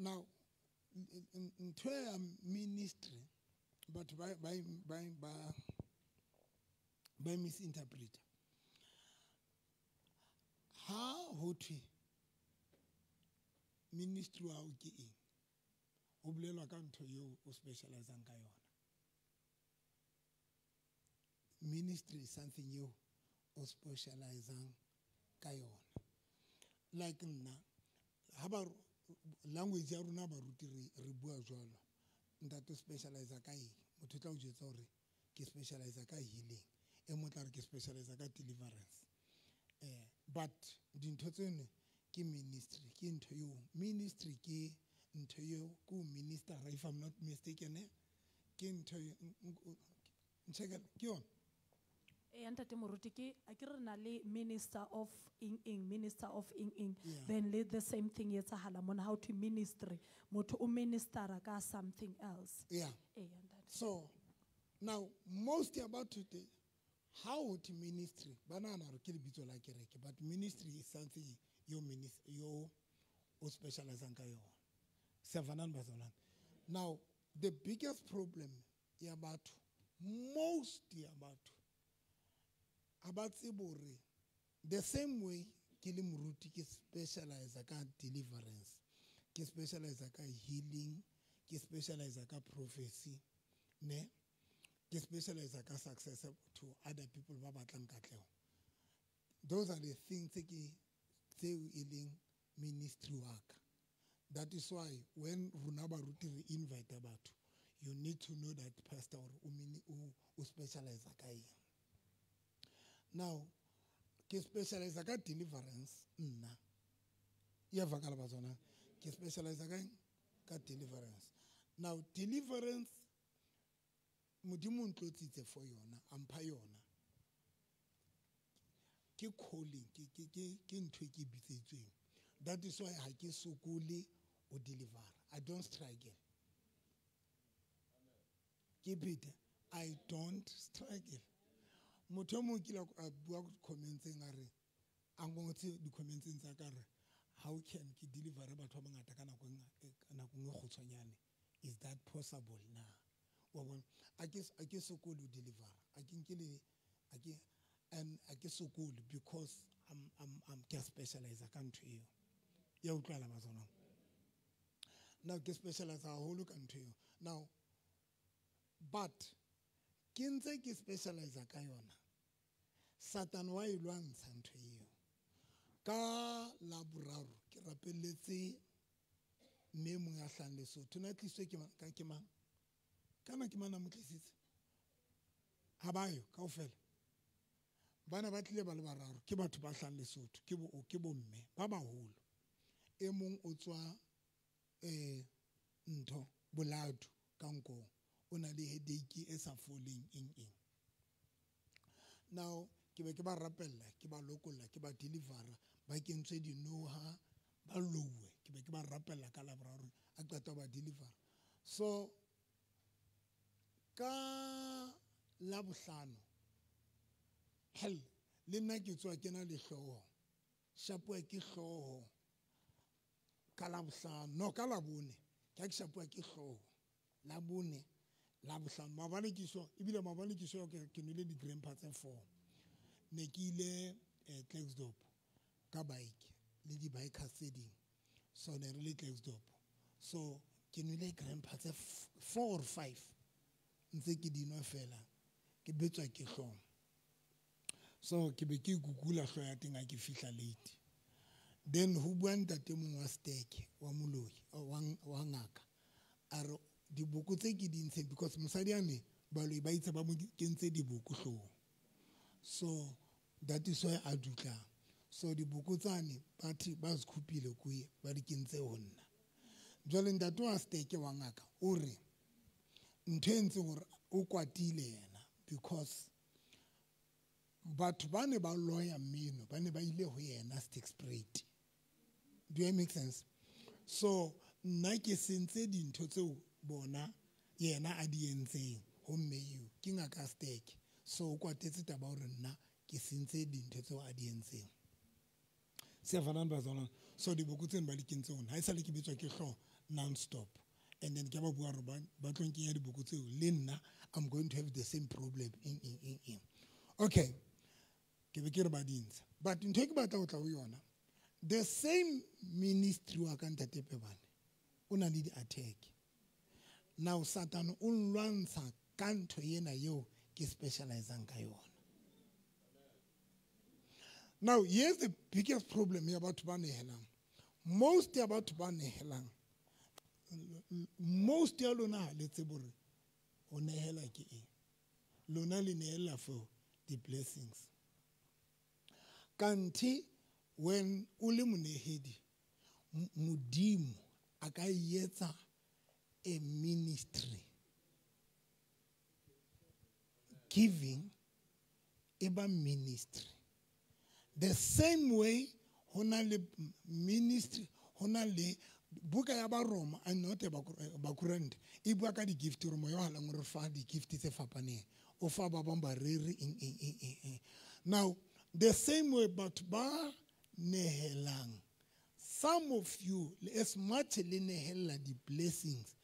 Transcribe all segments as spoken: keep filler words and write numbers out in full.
Now ntho ya ministry batho ba ba ba ba ba misinterpret. Ha ho thwe ministry wa hao ke eng, ho bolelwa ka ntho eo o specializang ka yona. Ministry is something eo o specializang ka yona. Like nna ha ba language ya rona baruti re re bua jwalo, ntate o specialize ka eng, motho o tla o jwetsa hore ke specialize ka healing, e mong o tla re ke specialize ka deliverance. Eh but dintho tseno ke ministry, ke ntho eo ministry ke ntho eo ko minister, if I'm not mistaken, eh ke ntho nchekela ke yona. E ntate Moruti ke a ke re na le minister of eng eng, minister of eng eng. Yeah. Then le the same thing e etsahala mona how to ministry, motho o ministera ka something else. Yeah. E ntate. So now most about today how to ministry ba nahana hore ke lebitso la kereke, but ministry is something yo minis-, yo o specializang ka yona. Sevanani bazalwane. Now the biggest problem ya batho, most ya batho ha ba tsebe hore the same way ke le moruti ke specialize ka deliverance, ke specialize ka healing, ke specialize ka prophecy, ne ke specialize ka success to other people ba batlang katleho. Those are the things tse ke tseo e leng ministry wa ka. That is why when rona baruti re invite batho, you need to know that pastor o mini-, o, o specialize ka eng. Now ke specialize ka deliverance nna. Ya vakala ba tsona. Ke specialize ka eng? Ka deliverance. Now deliverance Modimo o ntlotsitse for yona, a mpha yona. Ke calling, ke, ke, ke, ke ntho e ke bitsetsweng. That is why ha ke sokole o deliver. I don't struggle. Ke phete, I don't struggle. Motho e mong kile a bua comments-eng a re, a ngotse di-comments-eng tsa ka re, how can ke deliver batho ba bangata ka nako e nga-, ka nako e kgutshwanyane? Is that possible na? Wa bona? A ke, a ke sokole ho deliver. A ke nke le, a ke, and a ke sokole because I'm, I'm, I'm ke a specialize ka ntho eo. Ya utlwala ba tsona. Now ke specialize haholo ka ntho eo. Now but ke ntse ke specialize ka yona. Satan wa e lwantsha ntho eo. Ka la boraro ke rapelletse mme mong a hlahang Lesotho. Na tliswe ke mang? Ka ke mang? Kana ke mang a mo tlisitse? Ha ba yo kaofela. Bana ba tlile ba le bararo, ke batho ba hlahang Lesotho, ke bo, ke bomme ba baholo. E mong o tswa, eh, ntho boladu ka nkong, o na le headache e sa foleng eng eng. Now ke be ke ba rapella, ke ba lokolla, ke ba delivera, ba kentswe dinoha, ba louwe, ke be ke ba rapella ka la boraro, a qeta ba delivera. So ka la bohlano, hell, le nna ke tswa ke na le hlooho, shapuwa ke hlooho ka la bohlano, no ka la bone, ke ha ke shapuwa ke hlooho la bone, la bohlano. Maobane ke so, ebile maobane ke so ke, ke nwele di-grandpa tse four. Ne ke ile, eh, Klerksdorp ka bike le di-bikers tse ding. So ne re le Klerksdorp. So ke nwele grandpa tse f-, four or five. Ntse ke di nwa fela, ke betswa ke hlooho. So ke be ke kukula hlooho ya teng ha ke fihla late. Then ho bua ntate mong wa steke, wa moloi, wa, wa ngaka. A re diboko tse ke di ntsheng, because mosadi ane baloi ba itse ba mo kentse diboko hloohong. So that is why a dutlang. So diboko tsane ba thi ba zikhupile kuye ba di kentse ho nna. Jwale ntate wa steke wa ngaka o re ntho e entseng hore o kwatile yena because batho ba ne ba loya mmino, ba ne ba ile ho yena Sterkspruit. Do I make sense? So nna ke sentse dintho tseo bona yena a di entseng ho mme eo, ke ngaka Sterk. So o kwatetse taba hore nna ke sentse dintho tseo a di entseng. Siyavanani bazalwane. So diboko tseno ba di kentse hona. Ha esale ke betswa ke hlooho non-stop. And then ke ba bua hore ba tlo nkenya diboko tseo le nna I'm going to have the same problem. Eng eng eng eng. Okay. Ke be ke re ba di ntsha. But ntho e ke batla ho tla ho yona, the same ministry wa ka Ntate Pebane o na le di-attack. Now Satan o nlwantsha ka ntho ena eo ke specializang ka yona. Now here's the biggest problem ya batho ba nehelang. Most ya batho ba nehelang, most ya lona ha le tsebe hore ho nehela ke eng. Lona le nehela for the blessings. Kanthe when o le monehedi, Modimo a ka etsa a ministry. Giving e ba ministry. The same way ho na le ministry, ho na le buka ya ba Roma and not Bakorinthe e bua ka di-gift hore moya o halalelang o re fa di-gift tse fapaneng. O fa ba bang bareri eng eng eng eng eng. Now the same way batho ba nehelang, some of you as much le nehella di-blessings,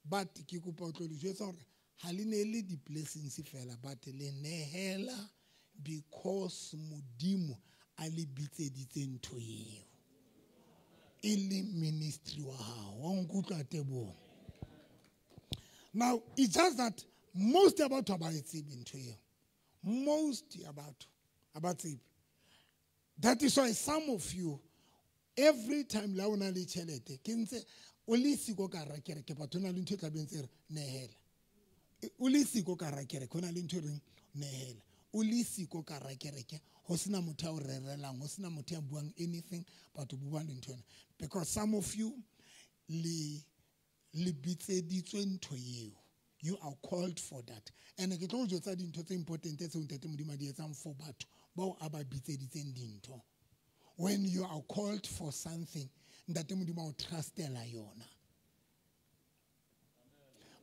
but ke kopa ho tlo le jwetsa hore ha le nehele di-blessings fela, but le nehela because Modimo a le bitseditse ntho eo e le ministry wa hao. Wa nkutlwa Teboho? Now it's just that most ya batho ha ba e tsebe ntho eo. Most ya batho ha ba tsebe. That is why some of you every time la o na le tjhelete ke ntse o le siko ka hara kereke, batho na le ntho e tla beng tse re nehela. O le siko ka hara kereke, ho na le ntho e reng nehela. O le siko ka hara kereke, ho sena motho ya o rerelang, ho sena motho ya buang anything, batho bo bua le ntho ena. Because some of you le le bitseditswe ntho eo. You are called for that. And ke tlo o jwetsa dintho tse important tseo Ntate Modimo a di etsang for batho bao a ba bitseditseng dintho. When you are called for something, Ntate Modimo a o trustela yona.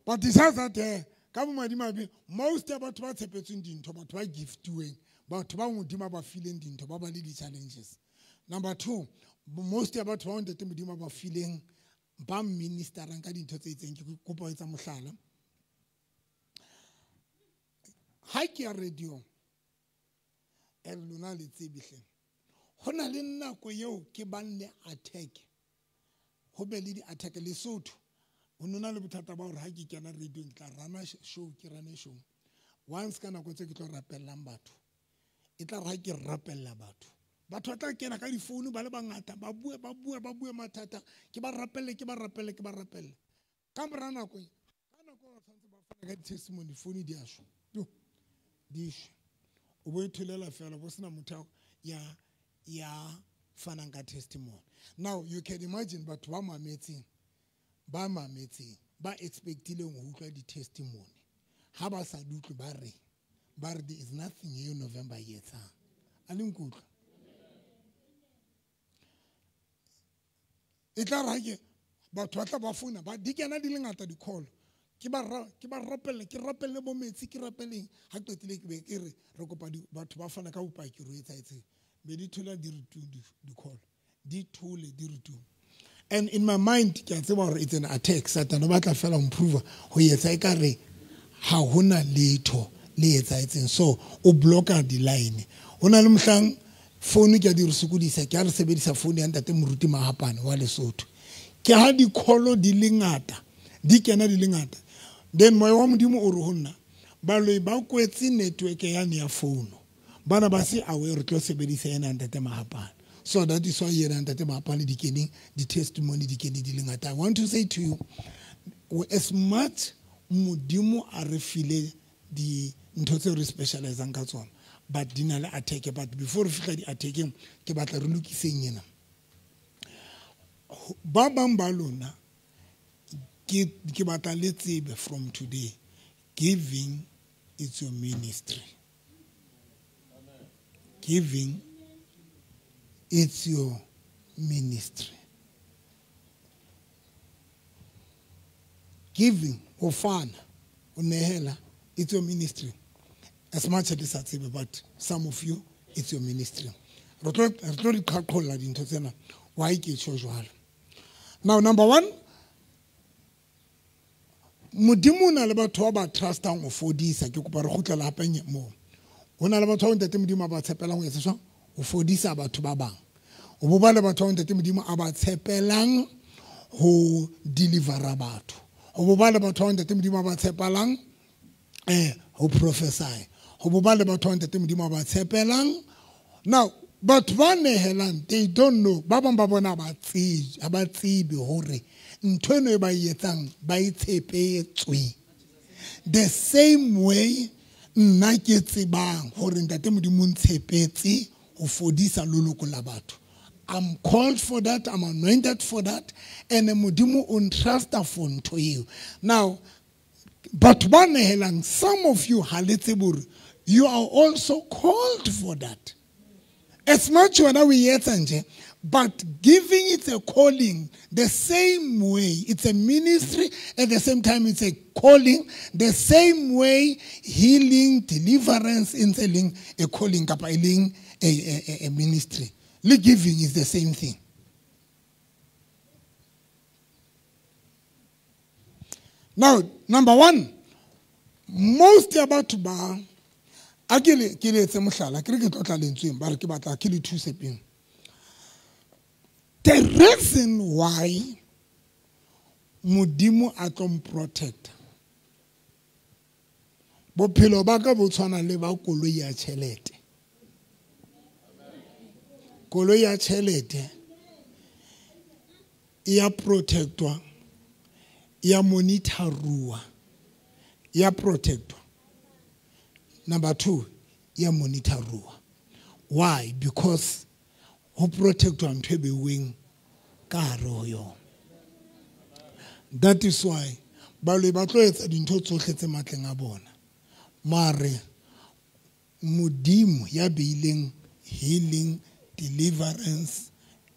But it says that eh, ka bomadimabe, most ya batho ba tshepetsweng dintho, batho ba giftiweng, batho ba Modimo a ba fileng dintho, ba ba le di-challenges. Number two, most ya batho ba Ntate Modimo a ba fileng, ba ministerang ka dintho tse itseng. Ke kopa ho etsa mohlala. Ha ke ya radio, e lona le tsebe hle. Ho na le nako eo ke bang le attack. Ho be le di-attack Lesotho. Ho nona le bothata ba hore ha ke kena radio ke tla rana show, ke rane show. Once ka nako tse ke tlo rapellang batho. E tla re ha ke rapella batho. Batho ba tla kena ka difounu ba le bangata, ba bue, ba bue, ba bue mathata. Ke ba rapelle, ke ba rapelle, ke ba rapelle. Ka mora nako, ka nako ba tshwanetse ba fane ka di-testimony, phone di a shwa. Jo, di shwe. O bo itholela fela, bo sena motho ya ya fanang ka testimony. Now you can imagine batho ba mametseng, ba mametseng, ba expectileng ho utlwa di-testimony. Ha ba sa di utlwe ba re, ba re there is nothing eo November e etsang. A le nkutlwa? E tla re ha ke batho ba tla ba founa, ba di kena di le ngata di-call. Ke ba ra, ke ba rapelle, ke rapelle bo metsi, ke rapeleng. Ha qetile ke be ke re, re kopa di, batho ba fana ka bopaki re etsahetseng. Be di thola di re tu di, di-call. Di thole di re tu. And in my mind, ke a tseba hore it's an attack. Satan o batla fela ho improve ho etsa ekare ha hona letho le etsahetseng. So o blocka di-line. Ho na le mohlang phone ke a di re sokodisa, ke a re sebedisa phone ya Ntate Moruti Mahapane wa Lesotho. Ke ha di-call di le ngata, di kena di le ngata. Then moya wa Modimo o re ho nna, baloi ba kwetse network yane ya phone. Bana ba se aware re tlo sebedisa yena Ntate Mahapane. So that is why yena Ntate Mahapane di keneng, di testimony di kene di le ngata. I want to say to you, as much Modimo a re file di ntho tseo re specializang ka tsona, but di na le attack. But before re fihla di attackeng, ke batla re lokiseng ena. Ba bang ba lona, ke, ke batla le tsebe from today, giving is your ministry. Giving is your ministry. Giving, ho fana, ho nehela, it's your ministry. As much as it's a, but some of you, it's your ministry. Re tlo re tlo di qhaqholla dintho tsena. Why ke tjho jwalo? Now number one, Modimo o na le batho ba ba trustang ho fodisa. Ke kopa re kgutlela hape moo. Ho na le batho ba ntate Modimo a ba tshepelang ho etsa jwang? Ho fodisa batho ba bang. O bo ba le batho ba ntate Modimo a ba tshepelang ho delivera batho. O bo ba le batho ba ntate Modimo a ba tshepelang eh ho prophesy. Ho bo ba le batho ba ntate Modimo a ba tshepelang. Now batho ba nehelang, they don't know. Ba bang ba bona ba tsebe, ha ba tsebe hore ntho eno e ba e etsang ba e tshepetswe. The same way nna ke tsebang hore ntate Modimo o ntshepetse ho fodisa loloko la batho. I'm called for that, I'm anointed for that, and Modimo o ntrusta for ntho eo. Now, batho ba nehelang, some of you ha le tsebe hore you are also called for that. As much wena o e etsa nje, but giving it a calling the same way. It's a ministry, at the same time it's a calling. The same way healing, deliverance, e leng a calling kapa e leng a, a, a ministry. Le giving is the same thing. Now, number one, most about ba a ke le ke le etse mohlala, ke re ke tlotla lentsweng, ba re ke batla ke le thuse pele. The reason why Modimo a tlo mprotect, bophelo ba ka bo tshwana le ba koloi ya tjhelete. Koloi ya tjhelete e ya protectwa, e ya monitoruwa, e ya protectwa. Number two, e ya monitoruwa. Why? Because ho protectwa ntho e beuweng ka hare ho yona. That is why baloi ba tlo etsa dintho tsohle tse matleng a bona. Mare Modimo ya beileng healing, deliverance,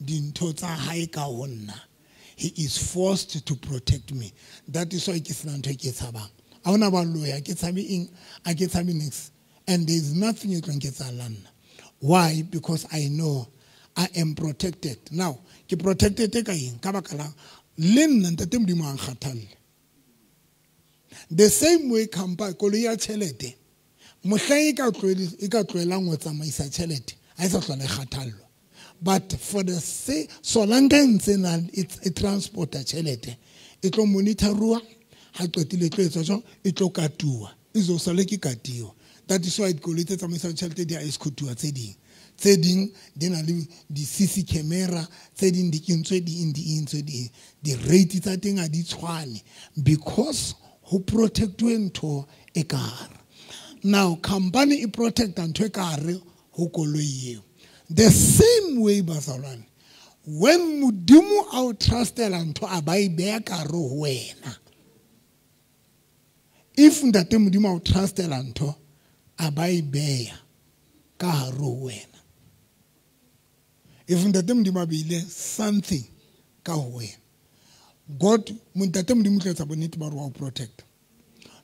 dintho tsa hae ka ho nna, he is forced to protect me. That is why ke sena ntho e ke tshabang. Ha hona baloi, ha ke tshabe eng, ha ke tshabe niks. And there is nothing e tlo nketsahalang nna. Why? Because I know I am protected. Now, ke protected ka eng? Ka baka la le nna ntate Modimo a nkgathalle. The same way company koloi ya tjhelete, mohlang e ka tlohele, e ka tlohelang ho tsamaisa tjhelete, ha e sa hlola e kgathallwa. But for the sake, solanka e ntse na e transporta tjhelete, e tlo monitoruwa, ha qetile e tlo etswa jwang, e tlo katuwa, e zo sale ke katiwa. That is why dikoloi tse tsamaisang tjhelete di a escortuwa tse ding. Tse ding di na le di-C C camera, tse ding di kentswe di eng, di eng, tse ding. Di-rate tsa teng ha di tshwane because ho protectwe ntho e ka hare. Now, company e protecta ntho e ka hare ho koloi eo. The same way, bazalwane, when Modimo a o trustela ntho a ba e beha ka hare ho wena. If ntate Modimo a o trustela ntho a ba e beha ka hare ho wena. If ntate Modimo a beile something ka ho wena, God, ntate Modimo o tla etsa bonnete ba hore wa o protect.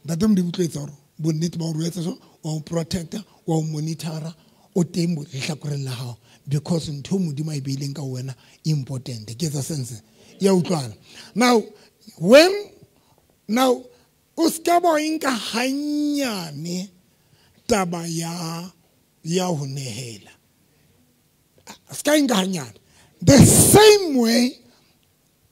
Ntate Modimo o tla etsa hore bonnete ba hore o etsa so, wa o protecta, wa o monitora, o teng lehlakoreng la hao, because ntho Modimo a e beileng ka ho wena important. Ke etsa sense? Ya utlwana. Now, when now o ska ba o nka hanyane taba ya ya ho nehela. Ska nka hanyane. The same way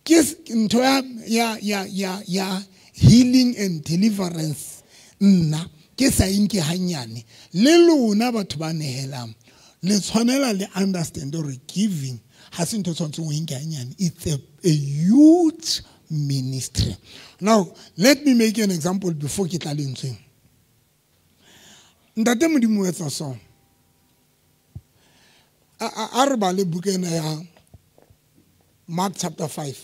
ke ntho ya ya ya ya ya healing and deliverance nna ke sa inke hanyane. Le lona batho ba nehelang le tshwanela le understand hore giving ha se ntho tshwantseng o inke hanyane. It's a, a huge ministry. Now let me make an example before ke tla lentsweng. Ntate Modimo o etsa so. A re bale buka ena ya Mark chapter five.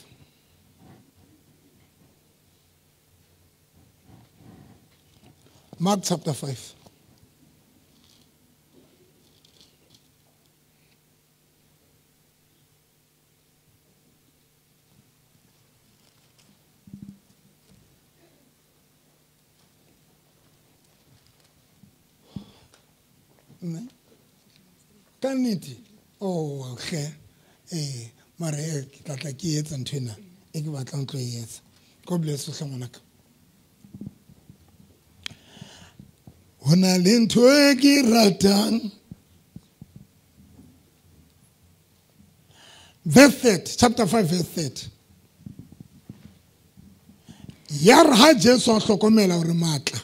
Mark chapter five. Ka nnete. Oh, okay. Eh, mare ke tla tla ke etsa ntho ena e ke batlang tlo e etsa. God bless you hle ngwanaka. Ho na le ntho e ke ratang. Verse thirty, chapter five, verse thirty. Ya re ha Jesu a hlokomela hore matla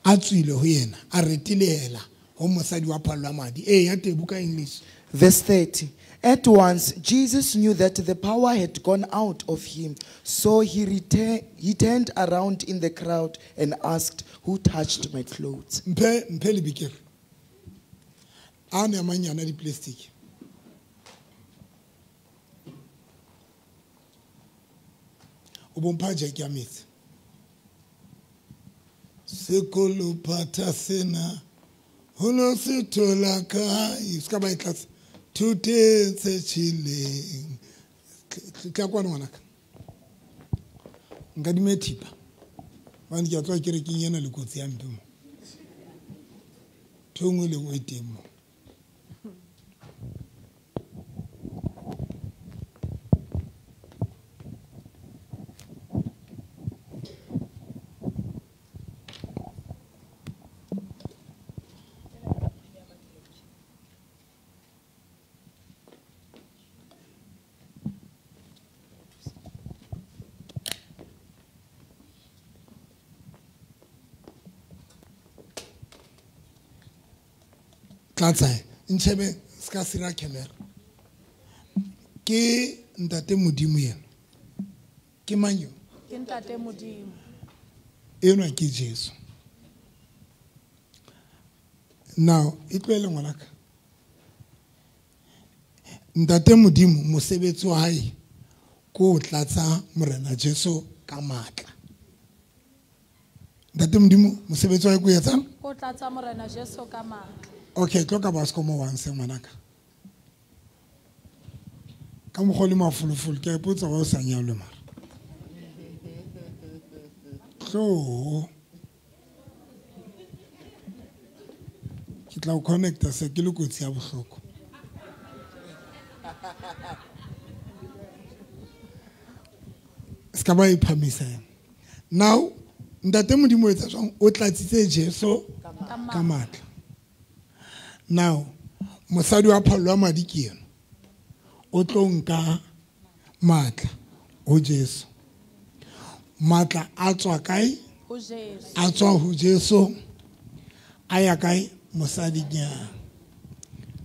a tswile ho yena, a retilehela ho mosadi wa phallo ya madi. Eh, ya teng buka English. Verse thirty. At once Jesus knew that the power had gone out of him, so he return, he turned around in the crowd and asked, "Who touched my clothes?" Mphe mphe lebikere. A ne manyana di plastic. O bompha jeke ya metsi. Sekolo phatha sena ho no se thola kae, se ka ba e tlatsa. Thuteng tse tjheleng. Tla kwana ngwanaka. Nkadime thipa. Hobane ke a tloha kerekeng ena le kotsi ya mpe mo. Ntho e nngwe le e nngwe e teng mo. Tlatsa ntshebe ska sira camera. Ke ntate Modimo yena. Ke mang yo? Ke ntate Modimo. Enwa ke Jesu. Now, e tlohele ngwanaka. Ntate Modimo mosebetsi wa hae ke ho tlatsa Morena Jesu ka matla. Ntate Modimo mosebetsi wa hae ke ho etsang? Ke ho tlatsa Morena Jesu ka matla. Okay, tlo ka basco mo once ngwanaka. Ka mokgwa le mafolofolo ke a ipotsa wa o sa nyalwe mara. Tlo. Ke tla o connecta se ke le kotsi ya bohloko. Se ka ba iphamisa yena. Now, ntate Modimo o etsa jwang? O tlatsitse Jesu ka matla. Now, mosadi wa phallo ya madi ke yena. O tlo nka matla ho Jesu. Matla a tswa kae? Ho Jesu. A tswa ho Jesu. A ya kae? Mosadinyana.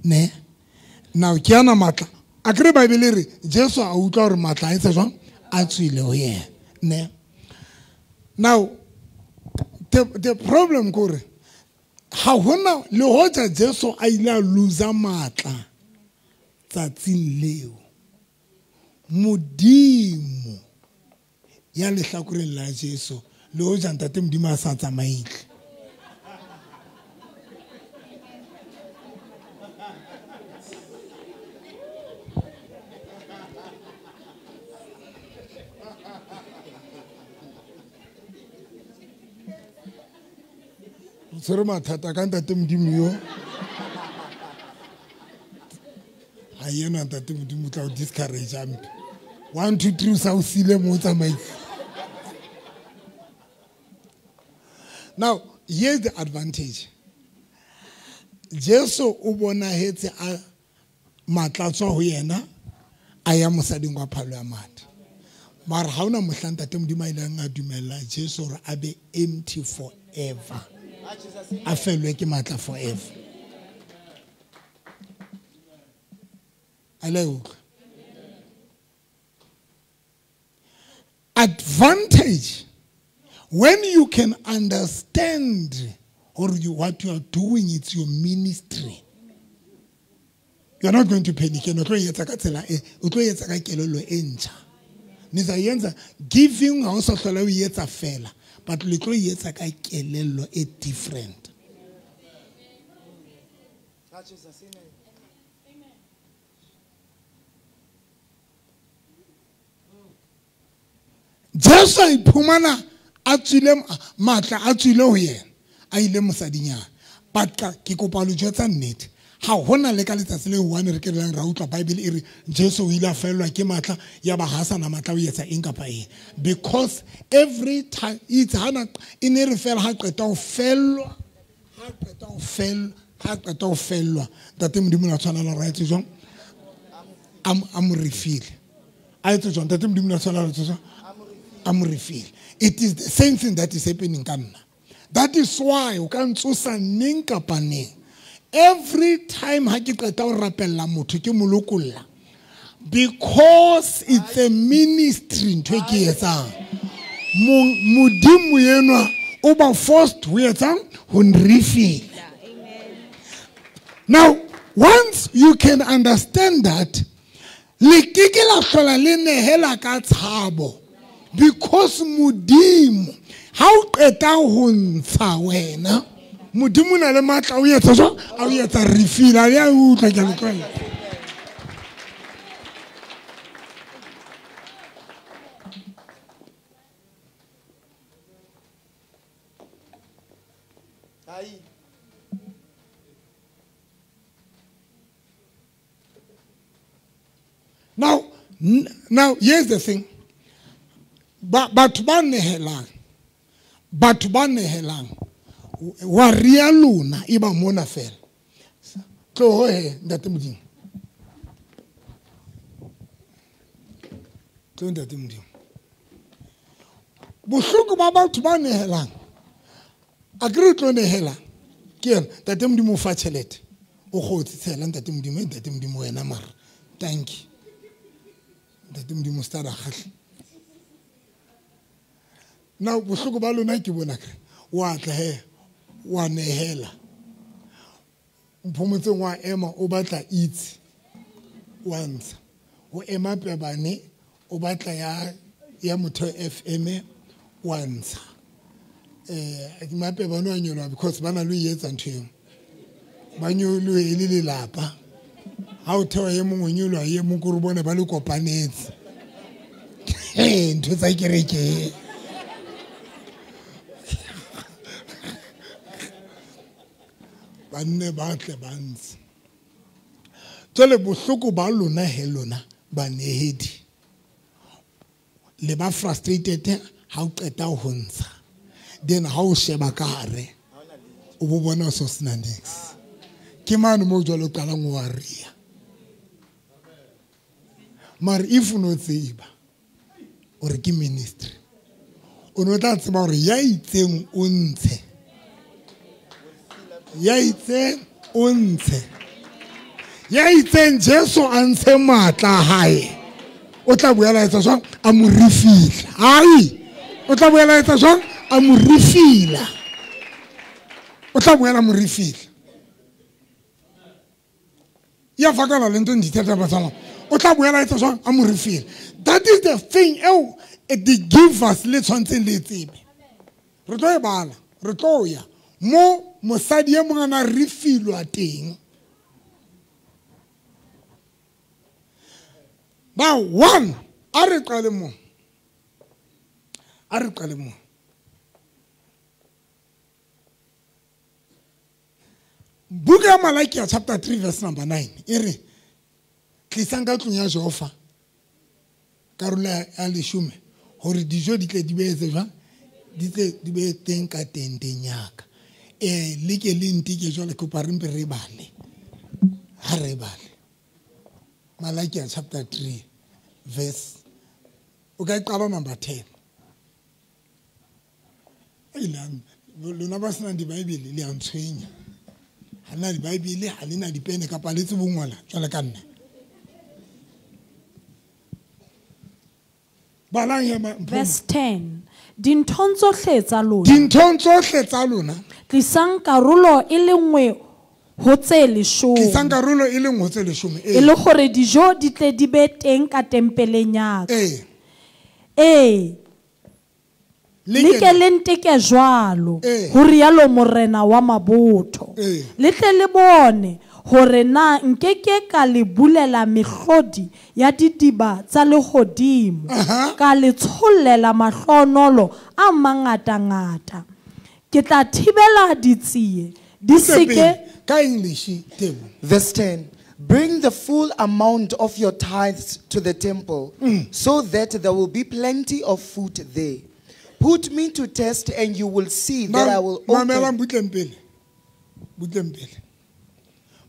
Ne? Now, ke ana matla. Akere Bible e re Jesu a utlwa hore matla a etsa jwang? A tswile ho yena. Ne? Now, the, the problem kore ha hona le hoja Jesu a ile a loser matla tsatsing leo. Modimo ya lehlakoreng la Jesu le hoja ntate Modimo a sa tsamaile. Tshwere mathata ka ntate Modimo yo. Ha yena ntate Modimo tla o discourage ampe. One two three sa o sile mo tsamaisa. Now, here's the advantage. Jesu o bonahetse a matla tswa ho yena a ya mosading wa phalo ya madi. Mara ha ona mohla ntate Modimo a ileng a dumella Jesu hore a be empty forever. A fellwe ke matla forever. A le utlwa? Advantage when you can understand or you, what you are doing, it's your ministry. You are not going to panic. O tlo etsa ka tsela e, o tlo etsa ka kelello e ntjha. Nitsa yenza giving ha o sa hlola o etsa fela, but le tlo etsa ka kelello e different. Jesu a iphumana a tswile matla a tswile ho yena a ile mosadinyana. But ke kopa lo jwetsa nnete, Ha hona le ka letsatsi le one re ke re ra utlwa Bible e re Jesu o ile a fellwa ke matla ya ba ha sana matla o etsa eng kapa eng. Because every time it's hana e ne re fela ha qeta ho fellwa, ha qeta ho fellwa, ha qeta ho fellwa. Ntate Modimo la tshwanela ra etse jwang? Am am refill. A etse jwang? Ntate Modimo la tshwanela ra etse jwang? Am refill. It is the same thing that is happening ka nna. That is why o ka ntsosa neng kapa neng. Every time ha ke qeta ho rapella motho ke mo lokolla, because it's a ministry ntho e ke etsang. Modimo enwa o ba forced ho etsang ho nrefill. Now once you can understand that, le ke ke la hlola le nehela ka tshabo, because Modimo ha o qeta ho ntsha wena, Modimo na le matla o etsa jwang? A o etsa refill. A ya utlwa ke le tlwaela. Now, now here's the thing. Batho ba nehelang, batho ba nehelang, wa ria lona e ba mona fela. Tloho he ntate Modimo. Tloho ntate Modimo. Bohloko ba batho ba nehelang, a ke re tlo nehela ke yena ntate Modimo o fa tjhelete, o kgotse tshela ntate Modimo, ntate Modimo wena mara thank you. Ntate Modimo sta ra kgahle. Now bohloko ba lona ke bona kre wa tla he wa nehela, Mphomotse wa ema o batla itse wa ntsha, o ema pebane o batla ya ya motho F M wa ntsha. Eh mapebane wa nyolwa because bana lo etsa ntho eo, ba nyolwe e le lelapa. Ha o thewa e mongwe nyolwa e mong ko re bone ba le kopanetse. Eh ntho tsa kereke. Ba nne ba tle ba ntse. Jwale bohloko ba lona he lona banehedi, le ba frustrated ha o qeta ho ntsha, then ha o sheba ka hare o bo bona o so sena niks. Ke mane mo jwale o qalang o ria. Mara if o no tseba o re ke ministry, o no tla tseba hore ya itseng o ntshe, ya itseng o ntshe, ya itseng Jesu a ntshe matla a hae, o tla boela etsa jwang? A mo refila. Ai, o tla boela etsa jwang? A mo refila. O tla boela mo refila. Ya fakala le ntho ndithetha batswana. O tla boela etsa jwang? A mo refila. That is the thing eo the givers le tshwantseng le tsebe. Re tlo e bala, re tlo ya mo mosadi e mongwe a refilwa teng. Now one, a re qale mo, a re qale mo. Buka ya Malakia chapter three verse number nine e re tlisang ka tlung ya Jehova karolo ya leshome hore dijo di tle di be etse jwang, di tle di be teng ka tenteng ya ka. Eh le ke le ntike jwale kopa re mpe re bale, ha re bale Malakia chapter three verse o ka qala number ten. Ai lona ba sena di-Bible le a ntshwenya. Ha lena di-Bible, ha lena dipene kapa le tsebo ngola jwale ka nna. Balang ya Verse ten. Dinthong tsohle tsa lona, dinthong tsohle tsa lona, tlisang karolo e le nngwe ho tse leshome, tlisang karolo e le nngwe ho tse leshome, e le hore dijo di tle di be teng ka tempeleng ya ka. Ee, ee, le ke le nteke jwalo, ho rialo Morena wa mabotho. Le tle le bone hore na nkeke ka le bulela mehlodi ya didiba tsa lehodimo, ka le tshollela mahlonolo a mangatangata. Ke tla thibela ditsie Di seke ka English table. Verse ten. Bring the full amount of your tithes to the temple, mm. so that there will be plenty of food there. Put me to test and you will see that I will open.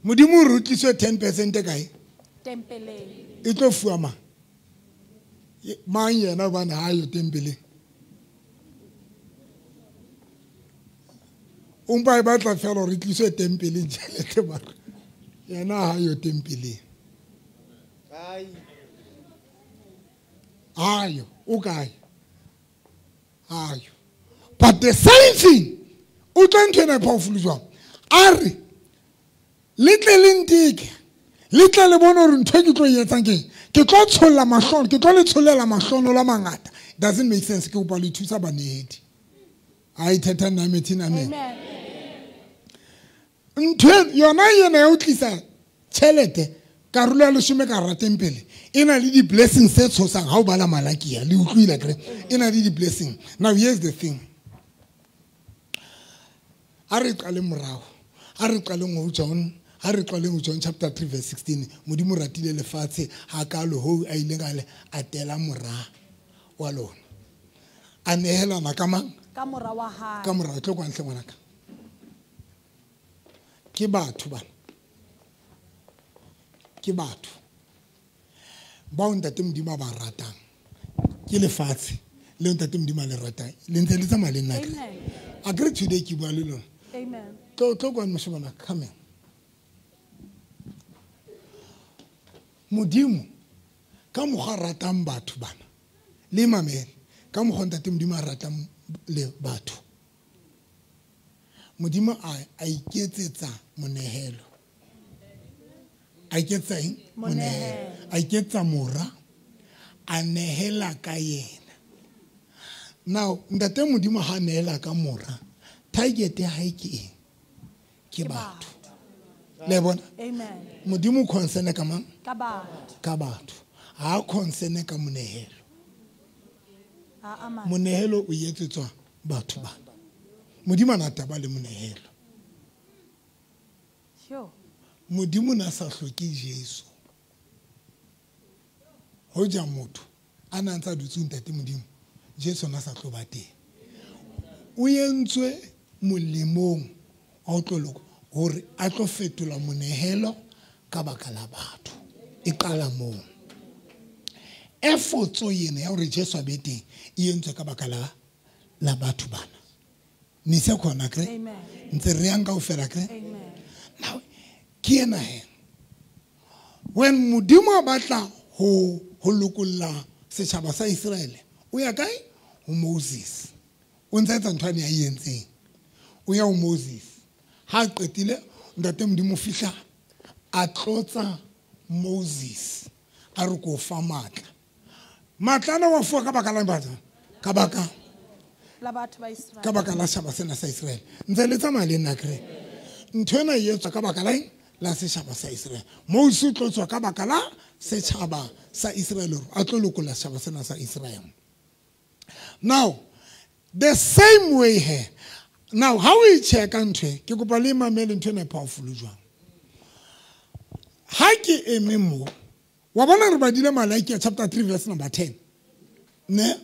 Modimo re tliswe ten percent kae? Tempeleng. E tlo fuwa mang? Mang yena hobane ha yo tempeleng. O mpa e batla fela hore e tliswe tempeleng tjhelete mara. Yena ha yo tempeleng. Ai. Ayo, o kae? Ayo. But the same thing, o tla ntho ena e powerful jwang? A re le tle le nteke, le tle le bone hore ntho e ke tlo e etsang keng. Ke tlo tsholla mahlono, ke tlo le tshollela mahlono la mangata. Doesn't make sense. Ke kopa le thusa banedi. A ithetha nna methina amen. Ntho yona yena ya o tlisa tjhelete karolo ya leshome ka hara tempele e na le di-blessings tse tshosang ha o bala Malakia le utlwile akere e na le di-blessing. Now here's the thing. A re qale morao, a re qaleng ho John, ha re qaleng ho John chapter three verse sixteen. Modimo ratile lefatshe ha kalo ho a ileng a le atela mora wa lona. A nehelana ka mang? Ka mora wa hae. Ka mora tlo kwa ntle ngwanaka. Ke batho bana. Ke batho bao ntate Modimo a ba ratang. Ke lefatshe le ntate Modimo a le ratang. Le ntse le tsamaya le nna. Agree today ke bua le lona. Amen. Tlo tlo kwa moshemana come. Modimo ka mokgwa ratang batho bana. Le mamele ka mokgwa ntate Modimo a ratang le batho. Modimo a a iketsetsa monehelo. A iketsa eng? Monehelo. A iketsa mora a nehela ka yena. Now ntate Modimo ha nehela ka mora, target ya hae ke eng? Ke batho. Le bona? Amen. Modimo concern ka mang? Ka batho. Ka batho. Ha concern ka monehelo. A ama. Monehelo o etsetswa batho bana. Modimo ana taba le monehelo. Sure. Modimo na sa hloke Jesu. Hoja motho a na ntsa dutse ntate Modimo, Jesu na sa tlo ba teng. O entswe molemong wa ho tlo loka hore a tlo fetola monehelo ka baka la batho. E qala moo. Effort yena ya hore Jesu a be teng e entswe ka baka la la batho bana. Ni se khona kre? Amen. Ntse re yang kaofela kre? Amen. Now ke ena he. When Modimo a batla ho ho lokolla setjhaba sa Israele, o ya kae? Ho Moses. O ntse etsa ntho ane a e entseng. O ya ho Moses. Ha qetile ntate Modimo fihla a tlotsa Moses a re ko fa matla. Matla ana wa fuwa ka baka la batho? Ka baka la batho ba Israele. Ka baka la setjhaba sena sa Israele. Ntse le tsamaya le nna kre. Ntho ena e etswa ka baka la eng? La setjhaba sa Israele. Moses o tlotswa ka baka la setjhaba sa Israele hore a tlo lokolla setjhaba sena sa Israele. Now, the same way here. Now, how we check ntho e, ke kopa le mamele ntho ena e powerful jwang. Ha ke eme mo, wa bona re badile Malakia chapter three verse number ten. Ne?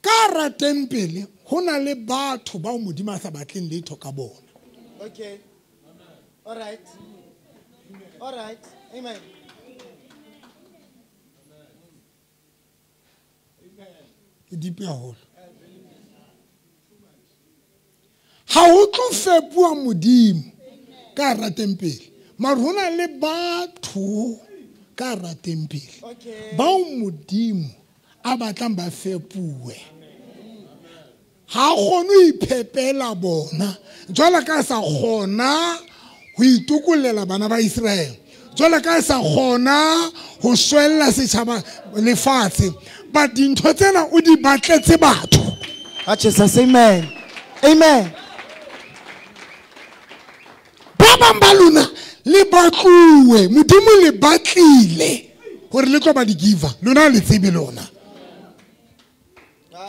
Ka ra tempele ho na le batho bao Modimo a sa batleng letho ka bona. Okay. All right. All right. Amen. E deep haholo. Ha ho tlo fepuwa Modimo ka hara tempele. Mara ho na le batho ka hara tempele bao Modimo a batlang ba fepuwe. Ha kgone ho iphepela bona jwalo ka sa kgona ho itokollela bana ba Israele, jwalo ka sa kgona ho shwella setjhaba lefatshe. But dintho tsena o di batletse batho. Jesus, amen. Amen. Ba bang ba lona le batluwe, Modimo le batlile hore le tlo ba di giver. Lona le tsebe lona.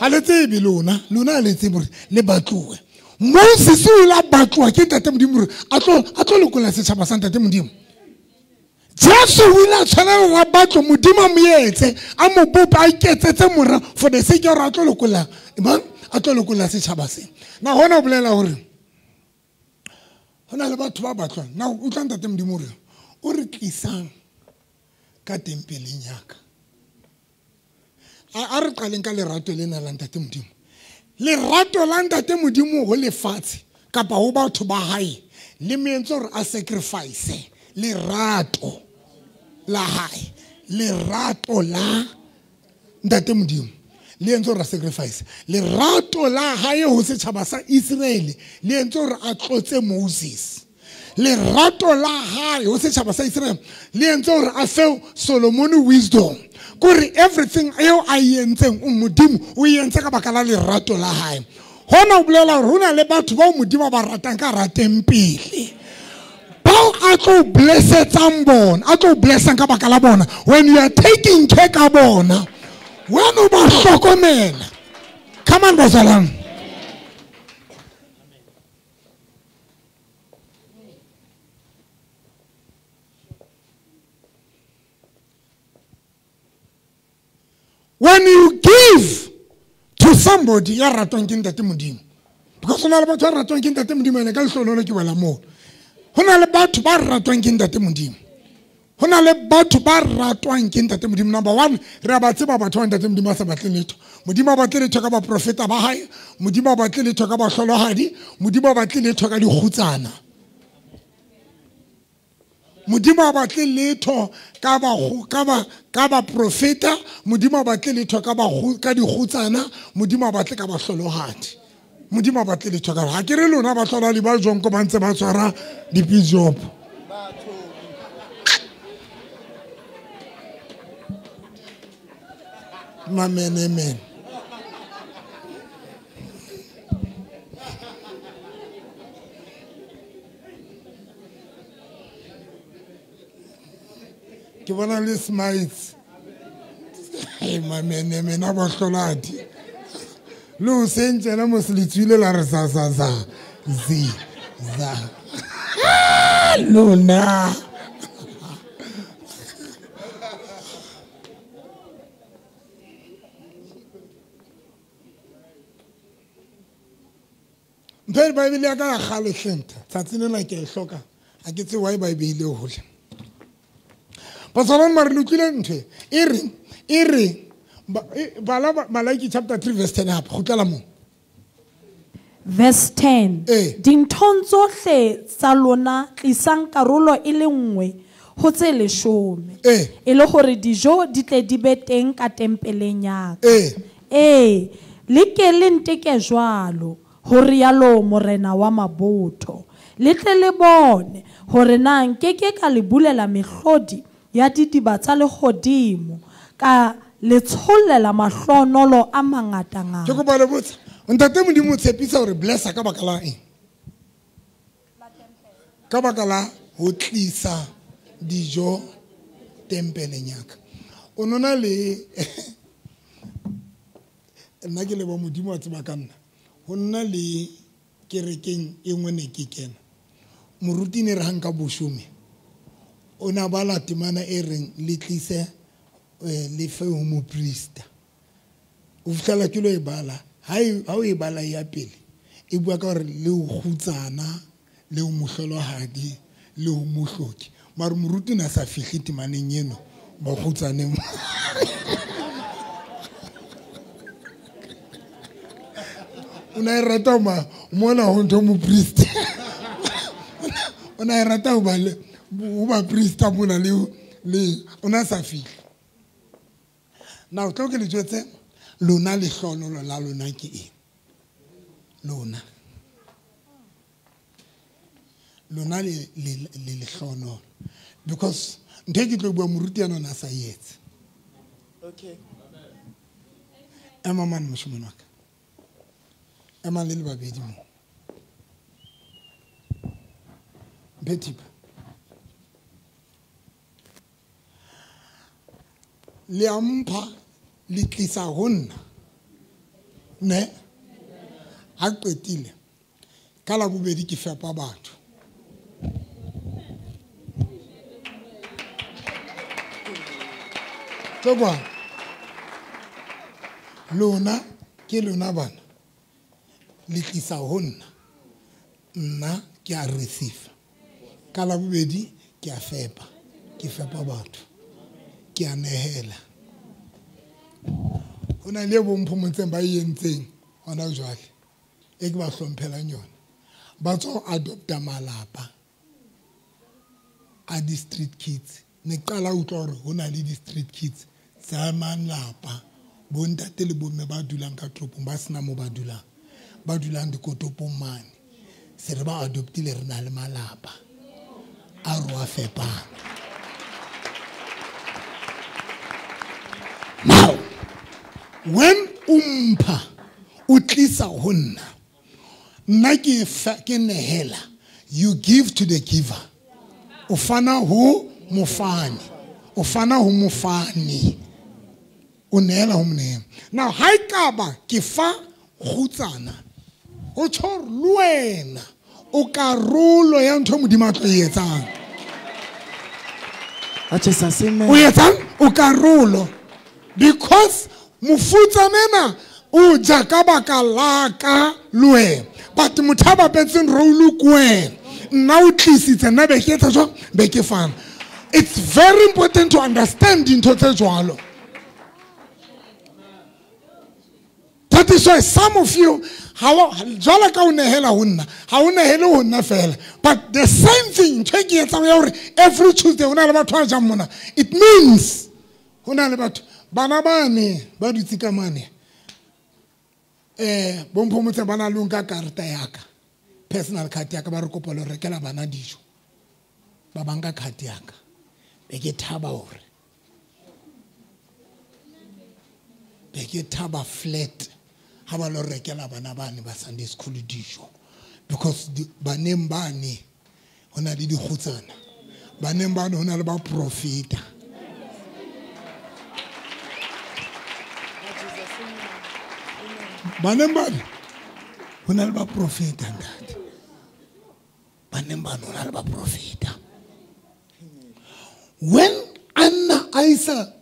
Ha le tsebe lona, lona le tsebe hore le batluwe. Moses o ile a batlwa ke Ntate Modimo hore a tlo a tlo lokolla setjhaba sa Ntate Modimo. Jesu o ile a tshwanela hore a batlwe, Modimo a mo etse, a mo bope, a iketsetse mora for the sake ya hore a tlo lokolla mang, a tlo lokolla setjhaba sena. Na hona ho bolela hore ho na le batho ba batlwang. Na utlwa Ntate Modimo hore o re tlisang ka tempeleng ya ka. A re qaleng ka lerato lena la Ntate Modimo. Lerato la Ntate Modimo ho lefatshe kapa ho batho ba hae le mo entse hore a sacrifice lerato la hae. Lerato la Ntate Modimo le entse hore a sacrifice. Lerato la hae ho setjhaba sa Israele le entse hore a tlotse Moses. Lerato la hae ho setjhaba sa Israele le entse hore a fe Solomon wisdom. Kore everything eo a e entseng o Modimo o e entse ka baka la lerato la hae. Hona o bolela hore ho na le batho bao Modimo a ba ratang ka hara tempele, bao a tlo blessetsang bona, a tlo blessang ka baka la bona. When you are taking care ka bona, when o ba hlokomela. Come on, bazalwane. When you give to somebody, ya ratwang ke Ntate Modimo. Because ho na le batho ba ratwang ke Ntate Modimo, ene ka lehlohonolo ke wela moo. Ho na le batho ba ratwang ke Ntate Modimo. Ho na le batho ba ratwang ke Ntate Modimo. Number one, re a ba tseba batho ba Ntate Modimo a sa batleng letho. Modimo a batle letho ka baprofeta ba hae, Modimo a batle letho ka bahlolohadi, Modimo a batle letho ka dikgutsana. Modimo a batle letho ka ba ka ba ka ba profeta, Modimo a batle letho ka ba ka dikgutsana, Modimo a batle ka bahlolohadi. Modimo a batle letho ka ha ke re lona bahlolohadi ba jong ko ba ntse ba tshwara di-bishop. Amen, amen. Ke bona le smiles. Hey, mamenemene a bahlolohadi. Le o sentsena mos le tswile la re sa sa sa zi za. Lona. Mphe Bible ya ka ya kgale hlenta. Tsatsi lena ke e hloka. Ha ke tsebe why ba e beile hole. Bazalwane mare le utlwile ntho e e re e re bala Malaki chapter three verse ten hape kgutlela moo. Verse ten. Eh. Dinthong tsohle tsa lona tlisang karolo e le nngwe ho tse leshome. Eh. E le hore dijo di tle di be teng ka tempeleng ya ka. Eh. Eh, le ke le nteke jwalo, ho rialo Morena wa mabotho. Le tle le bone hore na nkeke ka le bulela mehlodi ya didiba tsa lehodimo ka le tshollela mahlonolo a mangatangata. Ke kopa le botsa, Ntate Modimo o tshepisa hore blessa ka baka la eng? Ka baka la ho tlisa dijo tempeleng ya ka. O nona le nna ke leboha Modimo a tseba ka nna. Ho nna le kerekeng e nngwe ne ke kena. Moruti ne re ha nka boshome. O na bala temana e reng le tlise le fe ho moprista. O fihlela ke lo e bala. Ha o e bala ya pele e bua ka hore le ho kgutsana, le ho mohlolohadi, le ho mohloki. Mare moruti na sa fihle temaneng eno ba kgutsaneng. O na e rata ma mona ho ntho moprista. O na e rata ho ba le ho ba priesta mona le le o na sa fihle. Now tlo ke le jwetse lona lehlohonolo la lona ke eng? Lona. Lona le le le lehlohonolo. Because ntho e ke tlo bua moruti yana o na sa e etse. Okay. Ema mane moshemane wa ka. Ema le le babedi mo. Mphe thipa. Le a mpha le tlisa ho nna. Ne? Ha qetile. Ka la bobedi ke fepa batho. Tlo lona ke lona bana le tlisa ho nna, nna ke a receive. Ka la bobedi ke a fepa, ke fepa batho, ke a nehela. Ho na le bo mphomotseng ba e entseng hona jwale e ke ba hlomphelang yona. Ba tswa adopta malapa a di-street kids. Ne qala utlwa hore ho na le di-street kids tsa malapa, bontate le bomme ba dulang ka toropong ba sena mo ba dulang, ba dulang dikotopong mane. Se re ba adoptile, re na le malapa a re wa fepang. Now when o mpha o tlisa ho nna, nna ke ke nehela. You give to the giver. O fana ho mofani, o fana ho mofani, o neela ho monehela. Now ha ekaba ke fa kgutsana, ho tjho hore le wena o karolo ya ntho Modimo a tlo e etsang. O etsang? O karolo. Because mofutsana ena o ja ka baka la ka le wena, but motho a bapetseng role ke wena. Nna o tlisitse, nna be ke etsa jwang? Be ke fana. It's very important to understand dintho tse jwalo. That is why some of you, jwalo ka o nehela ho nna, ha o nehele ho nna fela. But the same thing, ntho e ke etsang ya hore every Tuesday ho na le batho ba jang mona. It means ho na le batho bana bane ba dutse ka mane. Eh, bo Mphomotse ba na le nka karata ya ka, personal card ya ka, ba re kopa le rekela bana dijo. Ba banka card ya ka. Be ke thaba hore be ke thaba flat ha ba lo rekela bana bane ba Sunday school dijo, because baneng bane ho na le dikgutsana, baneng bane ho na le ba profeta. Baneng bane ho na le ba profeta, ntate. Baneng bane ho na le ba profeta. When Anna a isa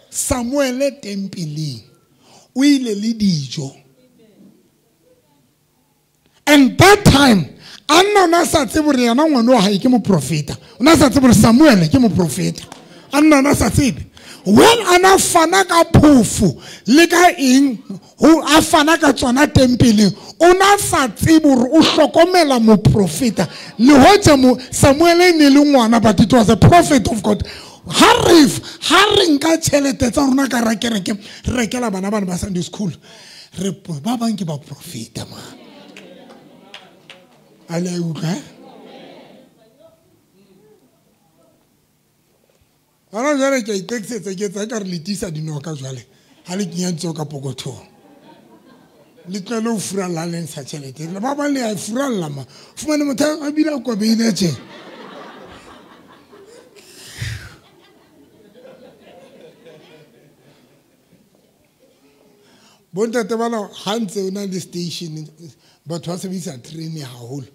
Samuel tempeleng, o ile le dijo. And that time, Anna o na sa tsebe hore yena ngwana wa hae ke moprofeta. O na sa tsebe hore Samuel ke moprofeta. Anna o na sa tsebe. When Anna fana ka phofo le ka eng, ho a fana ka tsona tempeleng, o na sa tsebe hore o hlokomela moprofeta. Le hoja mo Samuel e ne le ngwana, but it was a prophet of God. Ha re ha re nka tjhelete tsa rona ka ra kereke, re rekela bana bana ba Sunday school, re ba bang ke ba profeta ma. A le utlwa? Hona jwale ke a itekisetsa, ke etsa ekare le tiisa dinoka jwale ha le kenya ntso ka pokothong. Le tlohele ho furalla le ntsha tjhelete. Ba bang le a furalla ma. Fumane motho a bile a kobeile tje. Bontate bana ha ntse o na le station, batho ba sebedisa train haholo.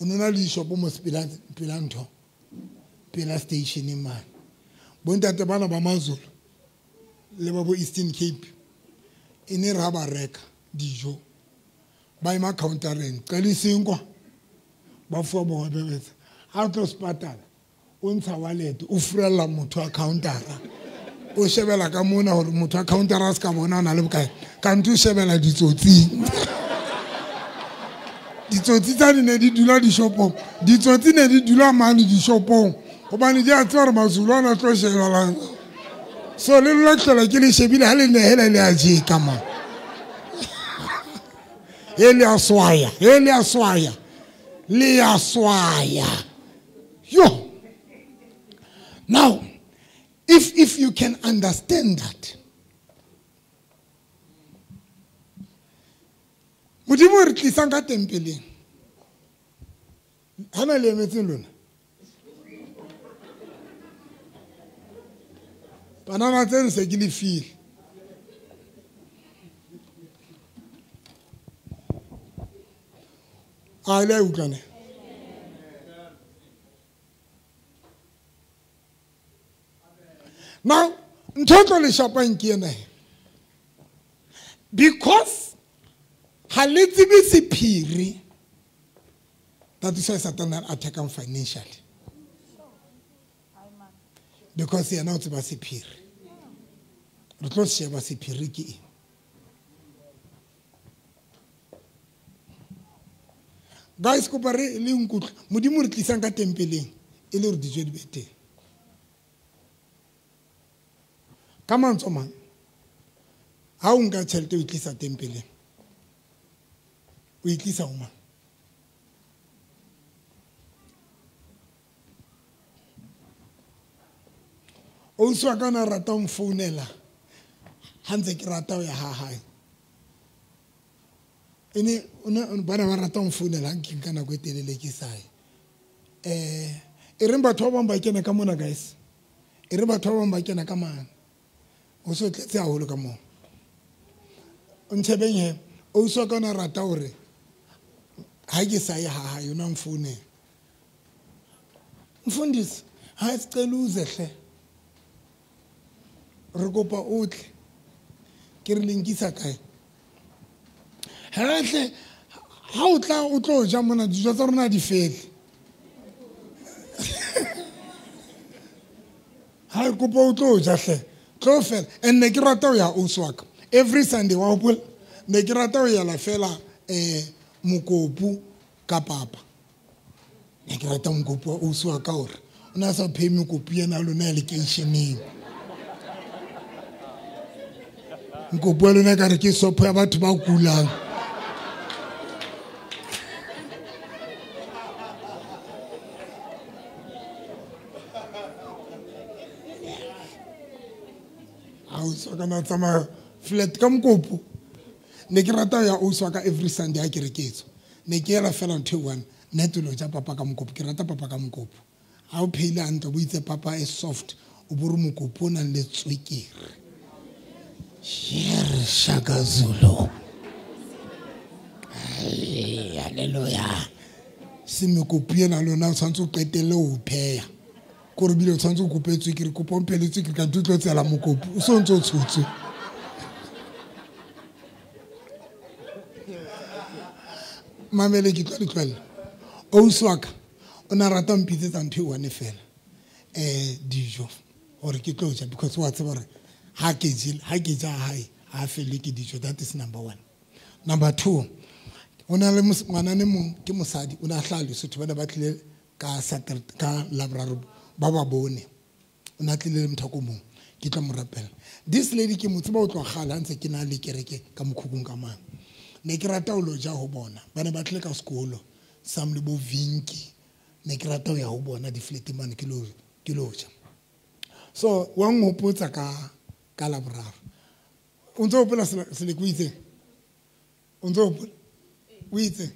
O no na le dishopo mo pela pela ntho, pela station mane. Bontate bana ba Mazulu le ba bo Eastern Cape e ne re ha ba reka dijo ba ema countereng, qaliseng kwa ba fuwa bohobe betsa. Ha o tlo sepatala o ntsha wallet, o furella motho wa countera, o shebela ka mona hore motho wa countera a se ka bona o na le bokae, kantho o shebela ditsotsing. Ditsotsi tsa di ne di dula dishopong, ditsotsi ne di dula mane dishopong, hobane di a tseba hore Mazulu ana tlo shebelang. So le lona hlola ke le shebile ha le nehela le a jeka ma. E le a swaya, e le a swaya, le a swaya. Yo. Now, if if you can understand that, Modimo re tlisang ka tempeleng. Hana le emetseng lona. Banana tseno se ke le file. A le a utlwane? Now, ntho e tlo le shapang ke ena he. Because ha le tsebe sephiri, that is why Satan attack him financially. Because yena o tseba sephiri. Re tlo sheba sephiri ke eng. Guys, kopa re le nkutlwe. Modimo re tlisang ka tempeleng e le hore dijo di be teng. Ka mantswe a mang, ha o nka tjhelete o e tlisa tempeleng, o e tlisa ho mang? Ausi wa ka o ne a rata ho nfounela ha ntse ke rata ho ya ha hae. E ne o ne ba ne ba rata ho nfounela ha nke nka nako e telele ke sa ye. Eh, e reng batho ba bang ba kena ka mona guys. E re batho ba bang ba kena ka mane. O so tletse haholo ka moo. O ntshebeng he, ausi wa ka o ne a rata hore ha ke sa ye ha hae o na nfounela. Mfundisi, ha sicela uze hle. Re kopa o tle. Ke re le nkisa kae? Hle, ha o tla o tlo ja mona dijo tsa rona di fele. Ha re kopa o tlo ja hle. Tlo fela. And ne ke rata ho ya ausi wa ka. Every Sunday wa hopola ne ke rata ho yela fela eh mokopu ka papa. Ne ke rata mokopu wa ausi wa ka hore o na sa phehe mokopu yena lona ya lekeisheneng. Mokopu wa lona ekare ke sopho ya batho ba kulang. Ausi wa ka na tsamaya flat ka mokopu. Ne ke rata ho ya ausi wa ka every Sunday ha ke re ke etswa. Ne ke ela fela ntho e one, nna ke lo ja papa ka mokopu. Ke rata papa ka mokopu. Ha o phehile hantle, o itse papa e soft, o bo re mokopu o nang le tswekere. Shere Shaka Zulu. Ai, hallelujah. Se mokopu ena lona o tshwanetse o qetelle ho pheha. Kore bile o tshwanetse o kope tswekere, kopa o mphe le tswekere ka ntho o tlo tsela mokopu. O so ntse o tshotswe. Mamele ke tlo le tlohella. Ausi wa ka o na rata ho mpitsetsa ntho e one fela. Eh, dijo hore ke tlo ja because wa tseba hore ha ke jele, ha ke ja hae, ha fele ke dijo. That is number one. Number two, o na le ngwanane mong ke mosadi, o na hlaha Lesotho, ba ne ba tlile ka Saturday, ka Laboraro ba ba bone. O na tlile le motho o mong, ke tlo mo rapela. This lady ke mo tseba ho tloha kgale ha ntse ke na le kereke ka mokhukhung ka mane. Ne ke rata ho lo ja ho bona. Ba ne ba tlile ka sekolo, Sam le bo Vinki. Ne ke rata ho ya ho bona di-flat mane ke lo, ke lo ja. So wa nhopotsa ka ka Laboraro. O ntso hopola Seleko o itseng? O ntso hopola? O itseng?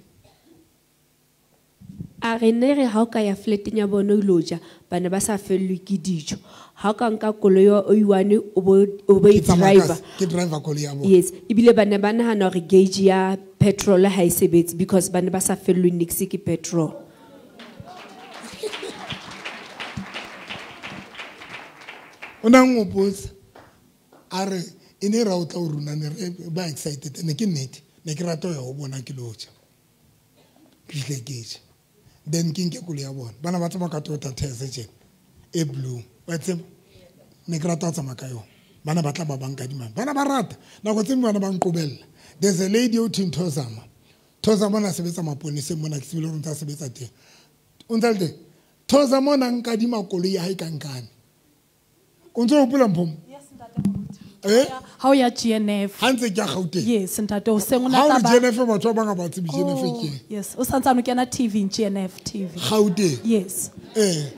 A re ne re ha o ka ya flateng ya bona o ilo ja, ba ne ba sa fellwe ke dijo. Ha o ka nka koloi o i-one o bo o bo Ke tsamaya ka driver. Ke driver koloi ya bona. Yes, ebile ba ne ba nahana hore gauge ya petrol ha e sebetse because ba ne ba sa fellwe niks ke petrol. O na nhopotsa a re e ne ra o tla o rona ne re ba excited ne ke nnete ne ke rata ho ya ho bona ke lo ja. Ke fihle ke ja. Then ke nke koloi ya bona. Bana ba tsamaya ka Toyota Tercel tjena e blue. Wa tseba? Ne ke rata ho tsamaya ka yona. Bana ba tla ba ba nkadima. Bana ba rata. Nako tse dingwe bana ba nqobella. There's a lady o thweng Thozama. Thozama o na sebetsa maponeseng mona, ke tsebile hore o ntse a sebetsa teng. O ntse a le teng? Thozama o na nkadima koloi ya hae ka nkane. O ntse o hopola Mphomo? Yes, ntate Moruti. Eh? Ha o ya G N F. Ha ntse ke ya Gauteng. Yes, ntate, o seng o na Ha o re tla ba G N F batho ba bang ha ba tsebe G N F Oh, ke eng. yes, o santsane o kena T V, G N F T V. Gauteng. Yes. Eh.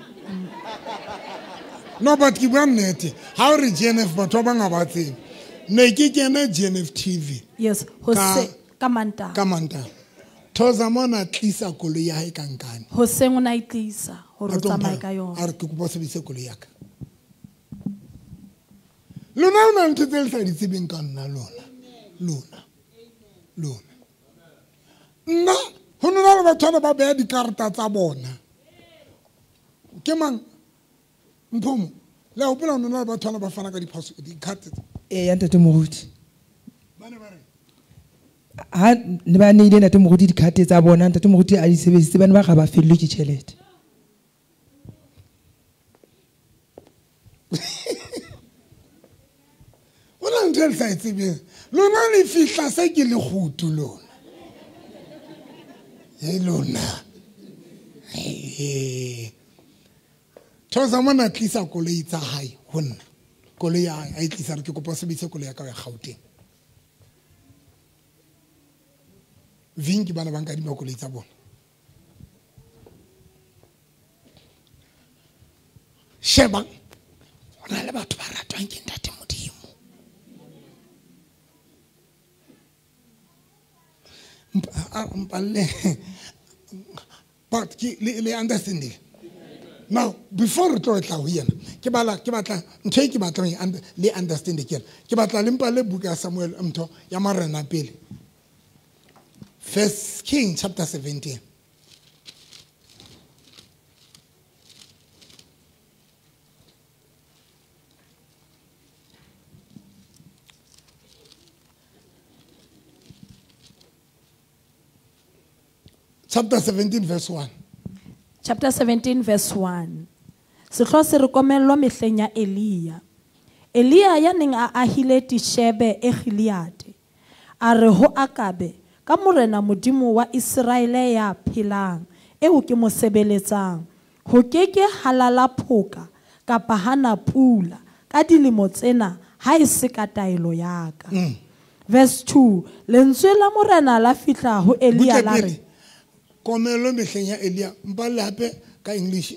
No, but ke bua nnete. Ha o re G N F batho ba bang ha ba tsebe. Ne ke kena G N F T V. Yes, ho Ka se ka Mantaha. Ka Mantaha. Thozama o na tlisa koloi ya hae ka nkane. Hoseng o na e tlisa hore A o tlo tsamaye mpha ka yona. A re ke kopa o sebedise koloi ya ka. Lona o na ntho tse le sa di tsebeng ka nna lona. Lona. Lona. Nna ho Ho nna le batho ba beha dikarata tsa bona. Ke mang? Mphomo. Le hopola ho nna le batho ba fana ka diphoso di-card. Eh ya ntate Moruti. Ba ne ba re ha ne ba neile ntate Moruti di-card tsa bona, ntate Moruti a di sebedisitse, ba ne ba ga ba fellwe ke tjhelete. O na ntho e le sa e tsebeng. Lona le fihla se ke lekgutu lona. E lona. Thosa mona tlisa koloi tsa hae ho nna. Koloi ya hae a e tlisa re ke kopa o sebedise koloi ya ka ya Gauteng. Vinki bana ba nkadima koloi tsa bona. Sheba, ho na le batho ba ratwang ke ntate Modimo. But ke le understanding. Now before re tlo tla ho yena, ke bala ke batla ntho e ke batlang le understand ke ena. Ke batla le mpa le buka ya Samuel ntho ya marena pele. First King chapter seventeen. Chapter seventeen verse one. Chapter seventeen verse one. Sehlooho se re komello mehleng ya Elia. Elia ya neng a ahile Tishebe e Gileade. A re ho Akabe, ka morena Modimo wa Iseraele ya phelang, eo ke mo sebeletsang, ho ke ke halala phoka kapa hana pula ka dilemo tsena ha e se ka taelo ya ka. Verse two, lentswe la morena la fihla ho Elia la re Komelo mehleng ya Elia, mpale hape ka English.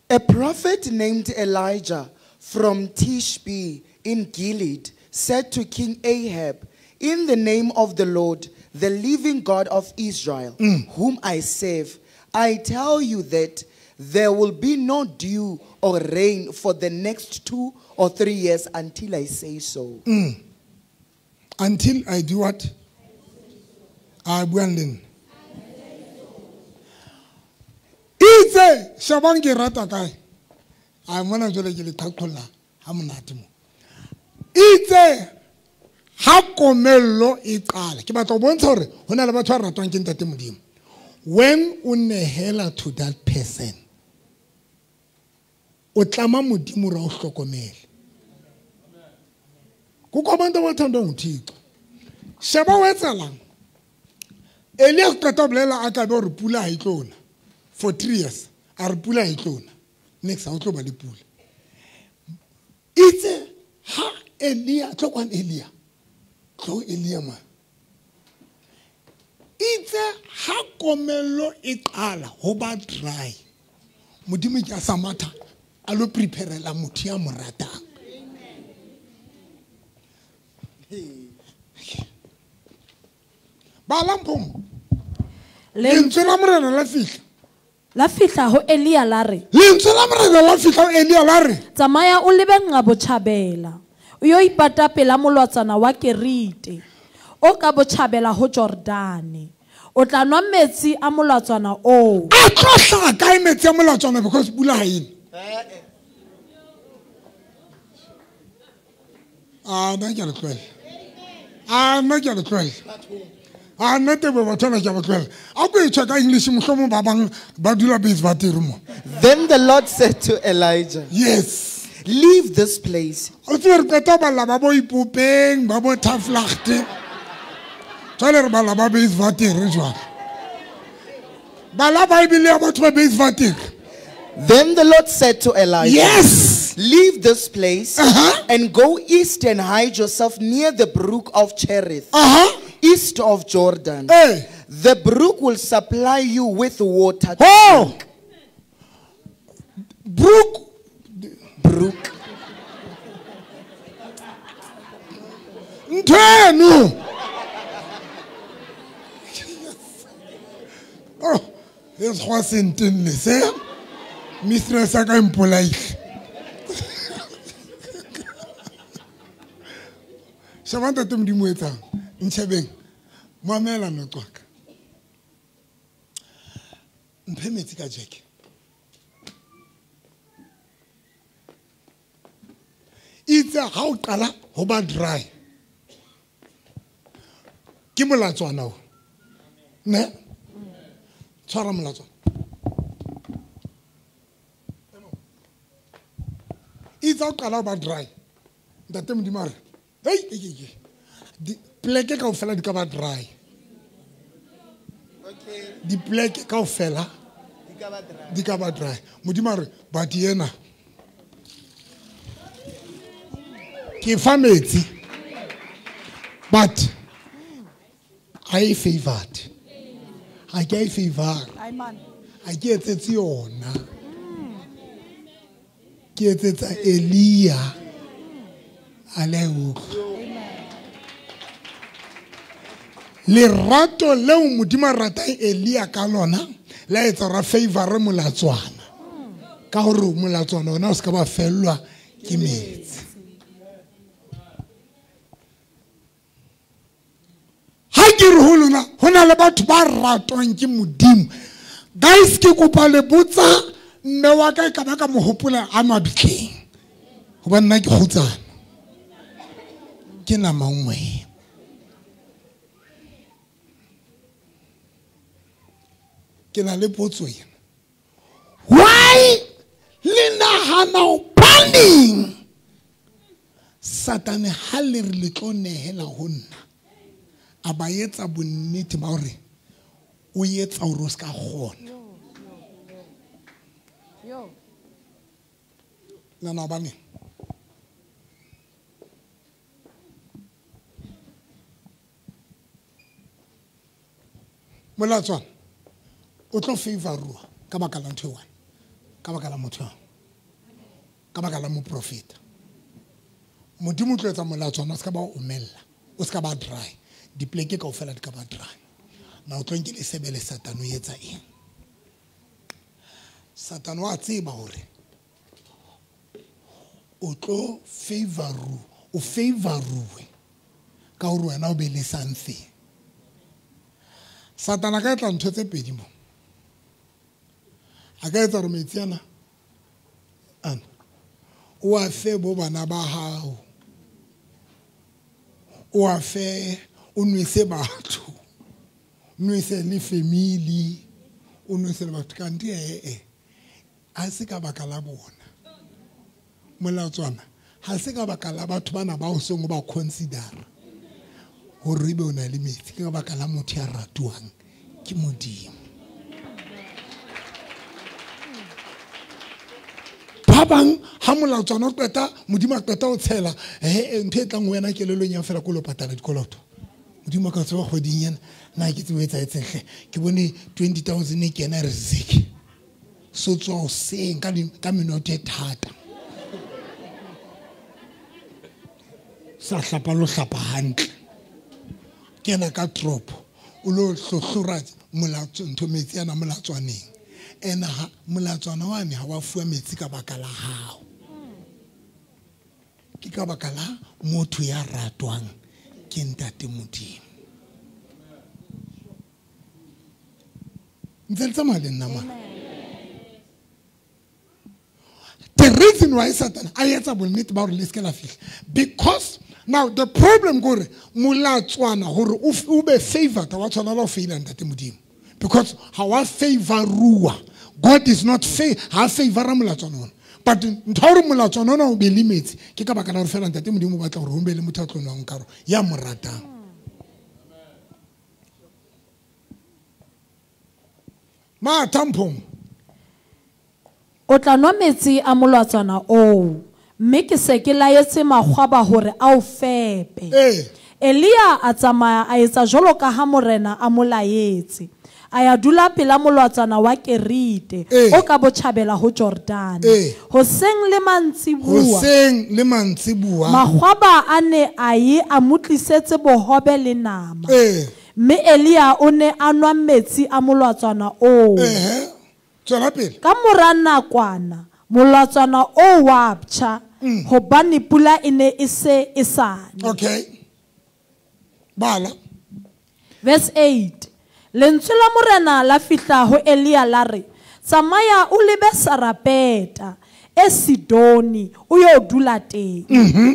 A prophet named Elijah from Tishbe in Gilead said to King Ahab, in the name of the Lord, the living God of Israel, mm. whom I serve, I tell you that there will be no dew or rain for the next two or three years until I say so. Mm. Until I do what? I will. Itse shabang ke rata kae? A mona jole ke le thakholla ha monate mo. Itse ha komello e qala. Ke batla ho bontsha hore ho na le batho ba ratwang ke ntate Modimo. When o nehela to that person, o tlama Modimo ra o hlokomele. Kukho abantu abathandwa nguThixo. Sheba o etsalang? Elia qeta bolela a ka be hore pula ha e tlona. For three years, a re pula e tlona. Next ha o tlo ba le pula. Itse ha Elia tlo kwan Elia. Tlo Elia ma. Itse ha komello e qala ho ba dry. Modimo ke a sa matha a lo preparela motho ya mo ratang. Bala mpong. Lentswe la morena la fihla. La fihla ho Elia la re. Lentswe la morena la fihla ho Elia la re. Tsamaya o lebe nqa botjhabela. O yo ipata pela molwatsana wa Kerite. O ka botjhabela ho Jordane. O tla nwa metsi a molatswana oo. A tlo hlaha kae metsi a molatswana because pula ha ene? Ah, nna ke a le tlohela. Ah, nna ke a le tlohela. Ah, nna tebo batho ba ke a ba tlohela. A ko e tjho ka English mohlomong ba bang ba dula base ba teng mo. Then the Lord said to Elijah, Yes. Leave this place. O tsebe re qeta ho balla ba bo Ipopeng, ba bo Taflagte. Jwale re balla ba base ba teng jwale. Bala Bible ya batho ba base ba teng. Then the Lord said to Elijah, Yes. Leave this place uh-huh. and go east and hide yourself near the brook of Cherith, uh-huh. east of Jordan. Hey. The brook will supply you with water. To oh. drink. Brook. Brook. Ntweno. Oh, this wasn't in the same. Mistress a ka mpolaile. Sheba ntate Modimo o etsang. Ntshebeng. Mamela noqwaka. Mphe metsi ka jeke. Itse ha o qala ho ba dry. Ke molatswana o. Ne? Tshwara molatswana. Itse ha o qala ho ba dry. Ntate Modimo a re, hei, hei, hei. Pleke kaofela di ka ba dry. Okay. Dipleke kaofela di ka ba dry. Di ka ba dry. Modimo a re, but yena ke fa metsi, but I favored. Ha ke a favor. Amen. Ha ke etsetse yona. Ke etsetsa Elia. A le utlwa. Lerato leo Modimo a ratang Elia ka lona la etsa hore a favor molatswana. Ka hore molatswana ona o se ka ba fellwa ke metsi. Ha ke re ho lona ho na le batho ba ratwang ke Modimo. Guys, ke kopa le botsa mme wa ka e ka ba ka mo hopola a mabitleng. Hobane nna ke kgutsana. Ke nama nngwe. Ke na le potso ena. Why le nahana hobaneng Satane ha le re le tlo nehela ho nna, a ba etsa bonnete ba hore o etsa hore o se ka kgona. Nana hobaneng? Molatswana o tlo favorwa ka baka la ntho e one, ka baka la motho, ka baka la moprofeta. Modimo o tlo etsa molatswana o se ka ba omella, o se ka ba dry. Dipleke kaofela di ka ba dry. Na o tlo nke le sebele Satane o etsa eng? Satane wa tseba hore o tlo favoru, o favoruwe ka hore wena o be le something. Satane a ka etla ntho tse pedi mo. A ka etsa hore metsi ana ana o a fe bo bana ba hao, o a fe, o nwese batho, nwese le family, o nwese le batho. Kanti ee, ha se ka baka la bona molatswana, ha se ka baka la batho bana ba o seng o ba considera hore ebe o na le metsi, ke ka baka la motho ya ratuwang ke Modimo. Ba bang ha molatswana o qeta, Modimo a qeta o tshela, eh ntho e tlang ho wena kelellong ya fela ko lo patala dikoloto. Modimo a ka tseba kgweding ena na ke tsebe etsa etseng hle, ke bone twenty thousand e kena re zeke. So tswa hoseng ka ka menoto e thata. Sa hlapa lo hlapa hantle. Kena ka tropo o lo hlohlora molatso ntho metsi ana molatswaneng. Ena ha molatswana wa ne ha wa fuwa metsi ka baka la hao. Ke ka baka la motho ya ratwang ke Ntate Modimo. Ntse le tsamaya le nna mona. The reason why Satan a etsa bonnete ba hore le se ke la fihla, because now the problem kore molatswana hore o be favored wa tshwanela ho feila Ntate Modimo, because ha wa favorua. God is not fa ha favora molatswana ona, but ntho hore molatswana ona o be le metsi ke ka baka la hore fela Ntate Modimo o batla hore ho be le motho a tlo nwang karo ya mo ratang. Ma tampong o tla nwa metsi a molatswana oo, mme ke se ke laetse makgwaba hore a o fepe. Elia a tsamaya a etsa jwalo ka ha morena a mo laetse. A ya dula pela molatswana wa Kerite o ka botjhabela ho Jordane. Hoseng le mantsibuwa, hoseng le mantsibuwa, makgwaba a ne a ye a mo tlisetse bohobe le nama. Mme Elia o ne a nwa metsi a molatswana oo. Tswela pele. Ka mora nakwana molatswana o wa ptjha, hobane pula e ne e se e sa ne. Okay. Bala. Verse eight. Lentswe la morena la fihla ho Elia la re, Tsamaya o lebe Sarepeta e Sidoni o yo dula teng.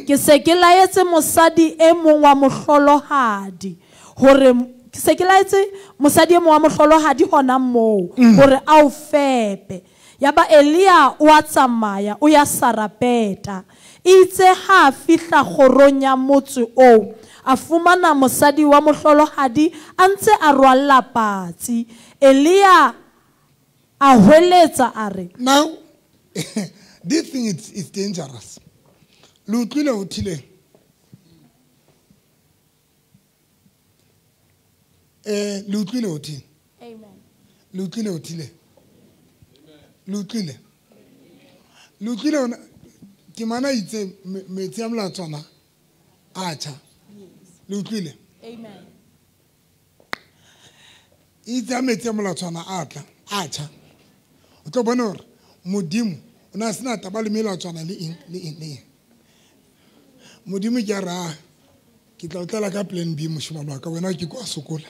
Ke se ke laetse mosadi e mong wa mohlolohadi hore ke se ke laetse mosadi e mong wa mohlolohadi hona moo hore a o fepe. Yaba Elia o a tsamaya o ya Sarepeta. Itse ha fihla kgorong ya motse oo, a fumana mosadi wa mohlolohadi a ntse a rwalla patsi. Elia a hweletsa a re, now this thing is, is dangerous. Le utlwile ho thileng? Eh, le utlwile ho thileng? Amen. Le utlwile ho thileng? Le utlwile? Le utlwile hona ke mana itse metsi a molatswana a tjha. Le utlwile? Amen. Itse a metsi a molatswana a tla a tjha. O tlo bona hore Modimo o na sena taba le melatswana le eng le eng le eng. Modimo ke a ra ke tla o tlela ka plan B moshimane wa ka, wena ke kwa sokola.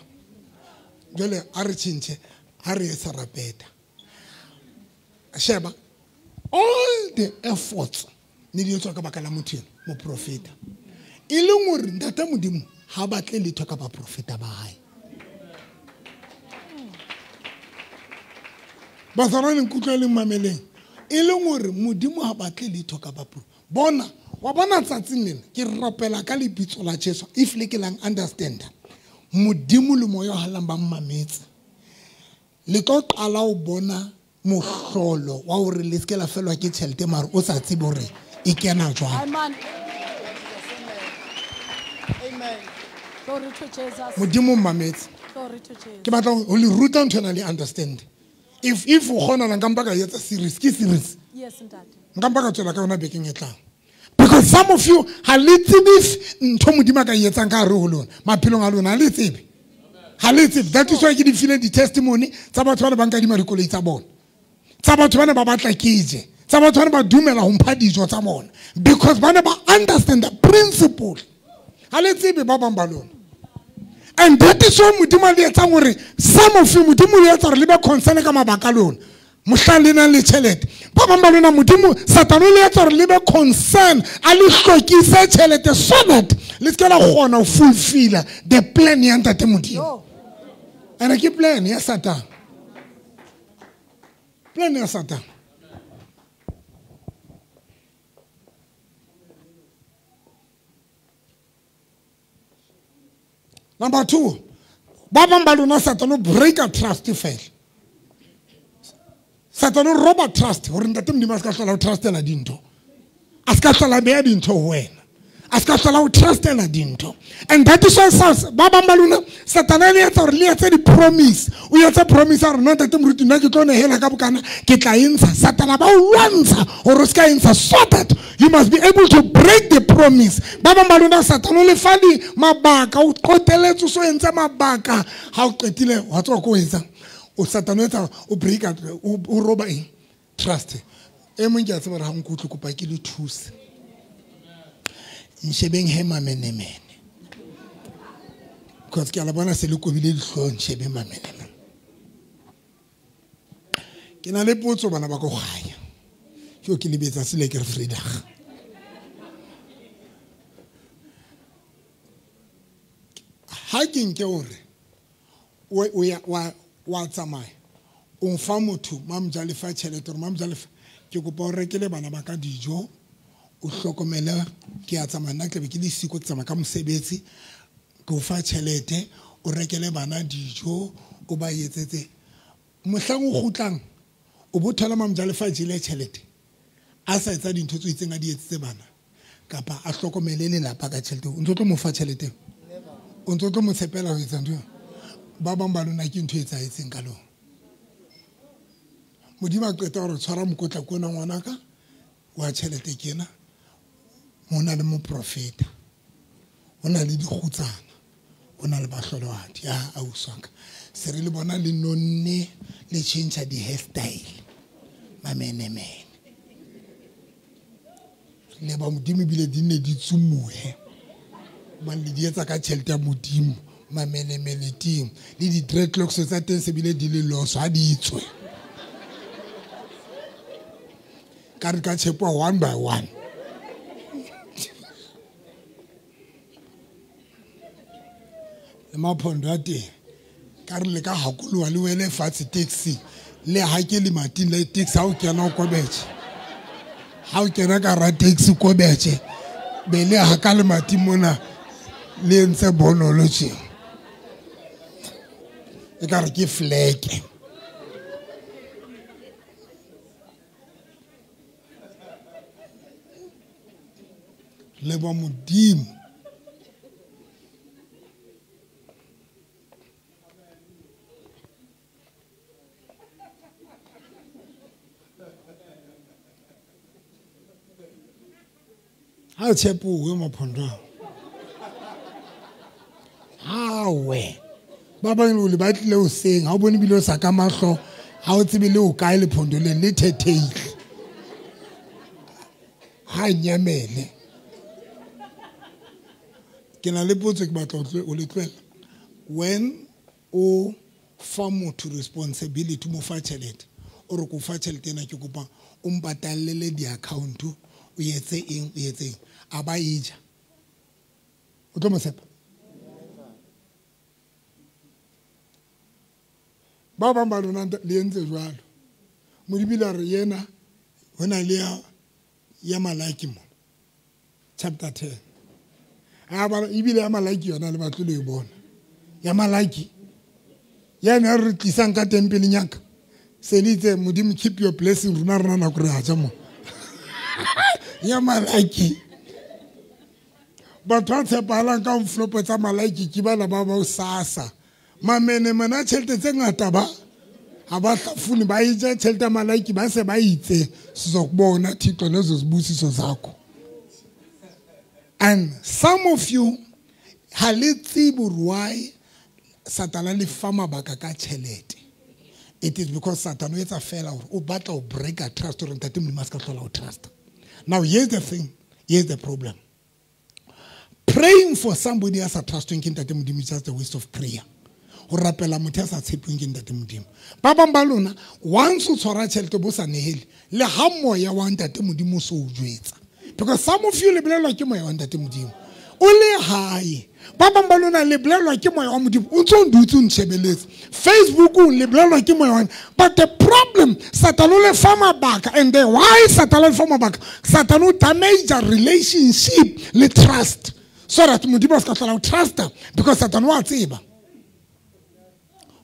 Jwale a re tjhentjhe, a re ye Sarepeta. Sheba all the efforts ne di etswa ka baka la motho ena, moprofeta. E leng hore ntate Modimo ha batle letho ka baprofeta ba hae. Bazalwane nkutlwa le mameleng. E leng hore Modimo ha batle letho ka baprofeta. Bona, wa bona tsatsing lena ke rapela ka lebitso la Jesu, if le ke lang understand. Modimo le moya o halang ba mmametse. Le tlo qala ho bona mohlolo wa hore le se ke la felwa ke tjhelete mare o sa tsebe hore e kena jwang. Amen. Amen. Glory to Jesus. Modimo mmametse. Glory to Jesus. Ke batla ho le ruta ntho ena le understand. If if o kgona la nka mpa ka etsa series, ke series. Yes, ntate. Nka mpa ka tswela ka yona bekeng e tlang. Because some of you ha le tsebe ntho Modimo a ka e etsang ka hare ho lona, maphelong a lona ha le tsebe. Ha le tsebe. That is why ke di file di testimony tsa batho ba ne ba nkadima dikoloi tsa bona. Tsa batho ba ne ba batla ke je. Tsa batho ba ne ba dumela ho mpha dijo tsa bona. Because ba ne ba understand the principle. Ha le tsebe ba bang ba lona. And that is why Modimo a le etsang hore some of you Modimo o etsa hore le be concern ka mabaka a lona. Mohlang le nang le tjhelete. Ba bang ba lona Modimo Satane o le etsa hore le be concern, a le hlokise tjhelete so that le se ke la kgona ho fulfill the plan ya ntate Modimo. And ke plan ya Satan. Plan ya Satan. Number two, ba bang ba lona Satan o break a trust fela. Satan o roba trust hore ntate Modimo a se ka hlola o trustela dintho. A se ka hlola beha dintho ho wena. A se ka hlola o trustela dintho. And that is why ba bang ba lona Satan a le etsa hore le etse di-promise. O etsa promise a re no ntate moruti nna ke tlo nehela ka bokana ke tla e ntsha. Satan a ba o lwantsha hore o se ka e ntsha so that you must be able to break the promise. Ba bang ba lona Satan o le fa di mabaka, o qoteletse o so entse mabaka. Ha o qetile wa tswa ko o etsang. O Satan o etsa o break o o roba eng? Trust. E mong ke a tseba hore ha nkutlwe kopa ke le thuse. Nshebeng he mamenemene. Because ke a la bona se le kobile dihlooho, nshebeng mamenemene. Ke na le potso bana ba ko kganya. Ke ke lebetsa sele ke re Vrydag. Ha ke nke hore o ya wa wa tsamaya o mfa motho mamjalefa tjhelete hore mamjalefa ke kopa o rekele bana ba ka dijo o hlokomele ke a tsamaya nna tlabe ke le siko ke tsamaya ka mosebetsi ke o fa tjhelete o rekele bana dijo o ba etsetse mohlang o kgutlang o bo thola mamjalefa jele tjhelete a sa etsa dintho tse itseng a di etsetse bana kapa a hlokomele lelapa ka tjhelete o ntso tlo mo fa tjhelete o ntso tlo mo tshepela ho etsa ntho ba bang ba lona ke ntho e etsahetseng ka lona. Modimo a qeta hore tshwara mokotla kona ngwanaka wa tjhelete ke ena ho na le moprofeta ho na le dikgutsana ho na le bahlolohadi ya auswaka se re le bona le nonne le tjhentjha di-hairstyle mamenemene le ba Modimo ebile di nne di tsumuhe hobane le di etsa ka tjhelete ya Modimo mamenemene teng le di-dreadlocks tsa teng se bile di le loso ha di tswe. Ka re ka tshepo one by one. Le maphondo a teng ka re le ka hakoloha le wele fatshe taxi le ha ke le mating le taxi ha o kena o kobetse ha o kena ka ra taxi kobetse be le ha ka le mating mona le entse bonolo tje e ka re ke fleke le ba modimo. Ha o tshepuwe maphondo hawe ba bang o le batlile o seng ha o bone bile o sa ka mahlo ha o tsebe le o kae lephondo le le thetheile ha nyamele ke na le potso ke batla o le tlohela. When o fa motho responsibility mo fa tjhelete o re ko fa tjhelete ena ke kopa o mpatallele di-account o etse eng o etse eng a ba e ja o tlo mo tshepa? Ba bang ba lona le entse jwalo. Modimo a re yena ho na le ya ya Malaki mo chapter ten. A ba ebile ya Malaki yona le batlo le e bona ya Malaki yena re tlisang ka tempeleng ya ka se le itse Modimo keep your blessing rona rena nako re a ja mo ya Malaki. Batho ba tshepahalang ka mflopo tsa Malaki ke bana ba ba sasa mamene mana tjhelete tse ngata ba ha ba hlafune ba e ja tjhelete ya Malaki ba se ba itse sizokubona Thixo lezo zibusiso zakho. And some of you ha le tsebe why Satana le fa mabaka ka tjhelete. It is because Satan o etsa fela hore o batla ho break a trust hore ntate Modimo a se ka hlola o trust. Now here's the thing, here's the problem. Praying for somebody a sa trustweng ke ntate Modimo is just a waste of prayer. Ho rapela motho a sa tshepeng ke ntate Modimo. Ba bang ba lona once o tshwara tjhelete bo sa nehele le ha moya wa ntate Modimo so o jwetsa. Because some of you le bolelwa ke moya wa ntate Modimo. O le hae. Ba bang ba lona le bolelwa ke moya wa Modimo. O ntso dutse o ntshebeletse. Facebook le bolelwa ke moya wa. But the problem Satan o le fa mabaka and the why Satan o le fa mabaka Satan o damage the relationship le trust. So that Modimo a se ka hlola o trusta because Satan wa tseba.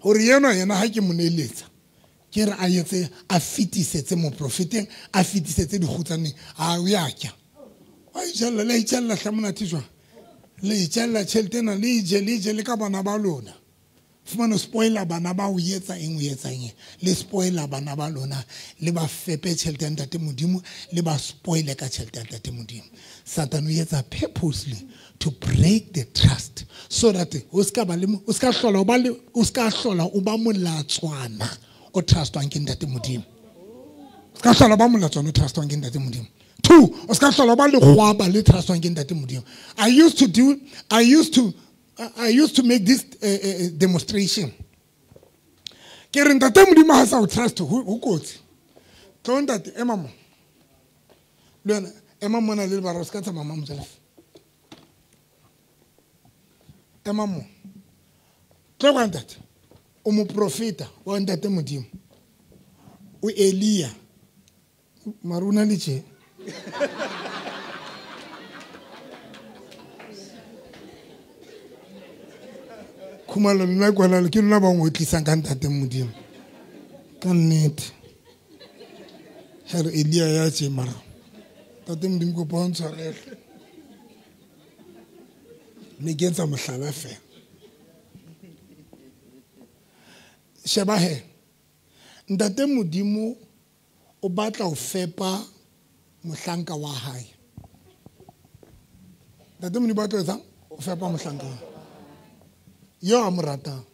Hore yena yena ha ke mo neletsa ke re a etse a fetisetse moprofeteng a fetisetse dikgutsaneng a o ya kya wa itjella le itjella hla monate jwang le itjella tjhelete ena le je le je le ka bana ba lona fumana spoiler bana ba o etsa eng o etsa eng le spoiler bana ba lona le ba fepe tjhelete ya ntate Modimo le ba spoile ka tjhelete ya ntate Modimo. Satan o etsa purposely to break the trust so that o ska ba le o ska hlola o ba le o ska hlola o ba molatswana o trustwang ke ntate Modimo. O ska hlola ba molatswana o trustwang ke ntate Modimo. Two, o ska hlola ba le kgwaba le trustwang ke ntate Modimo. I used to do I used to I used to make this uh, uh, demonstration. Ke re ntate Modimo ha sa o trust ho kotsi. Tlo ntate ema mo. Le wena ema mona le bara o ska tsamaya mama motjela. Ema mo. Tlo kwa ntate. O moprofeta wa ntate Modimo. O Elia. Maruna le tje. Khumalo nna kwana ke lona ba ngotlisang ka ntate Modimo. Ka nnete. Here Elia ya tje mara. Ntate Modimo ko pontshwarele. Ne ke etsa mohlala fela. Sheba he. Ntate Modimo o batla ho fepa mohlanka wa hae. Ntate Modimo batla etsang? O fepa mohlanka wa. Yo a mo ratang.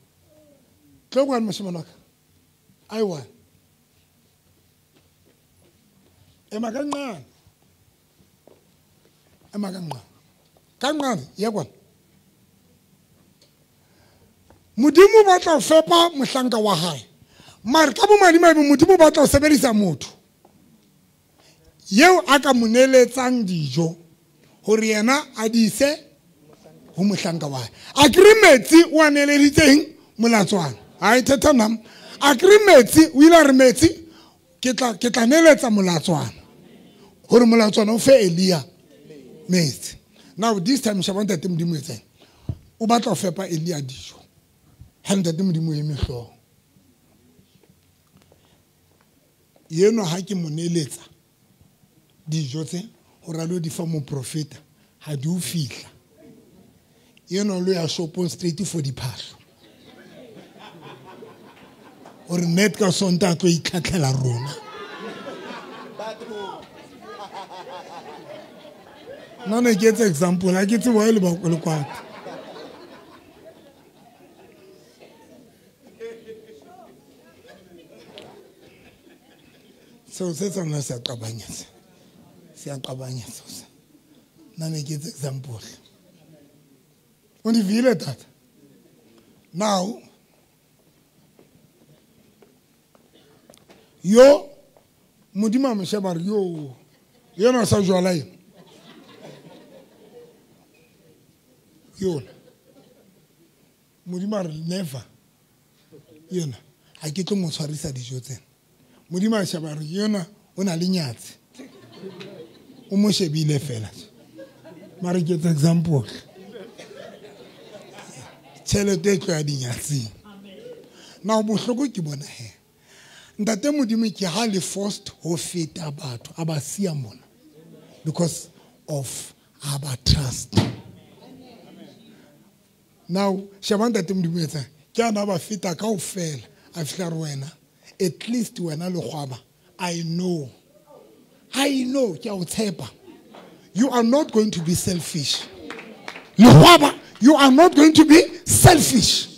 Tlo kwana moshemane wa ka. Aiwa. Ema ka nqane. Ema ka nqane. Ka nqane ya kwana. Modimo batla ho fepa mohlanka wa hae. Mara ka bomadimabe Modimo batla ho sebedisa motho. Yeo a ka mo neletsang dijo hore yena a di ise ho mohlanka wa hae. A kere metsi o a neleditseng molatswana. Ha e thetha nam. A kere metsi o ile a re metsi ke tla ke tla neletsa molatswana. Hore molatswana o fe Elia metsi. Now this time sheba ntate Modimo etseng. O batla ho fepa Elia dijo. Ha ntate Modimo eme hlooho. Yeno ha ke mo neletsa dijo tse hore a lo di fa moprofeta ha di o fihla. Yeno lo ya shopong straight for diphahlo. Hore net ka Sontaha a tlo itlhatlhela rona. Nna ne ke etsa example, ha ke tsebe why le ba le kwata. Seo se tsona se a qabanya se. Se a qabanya seo se. Nna ne ke etsa example. O di vile tata. Now yo Modimo a mo sheba re yo yena sa jwala eng. Yona Modimo a re never. Yona ha ke tlo mo tshwarisa dijo tsena. Modimo a sheba re yona o na le nyatsi. O mo shebile fela. Mara ke etsa example. Tjhelete e tlo ya dinyatsing. Now bohloko ke bona he. Ntate Modimo ke ha le forced ho feta batho a ba siya mona because of our trust. Now sheba ntate Modimo etsa ke ana ba feta kaofela a fihla re wena at least wena le kgwaba I know I know ke a o tshepa. You are not going to be selfish. Le kgwaba, you are not going to be selfish.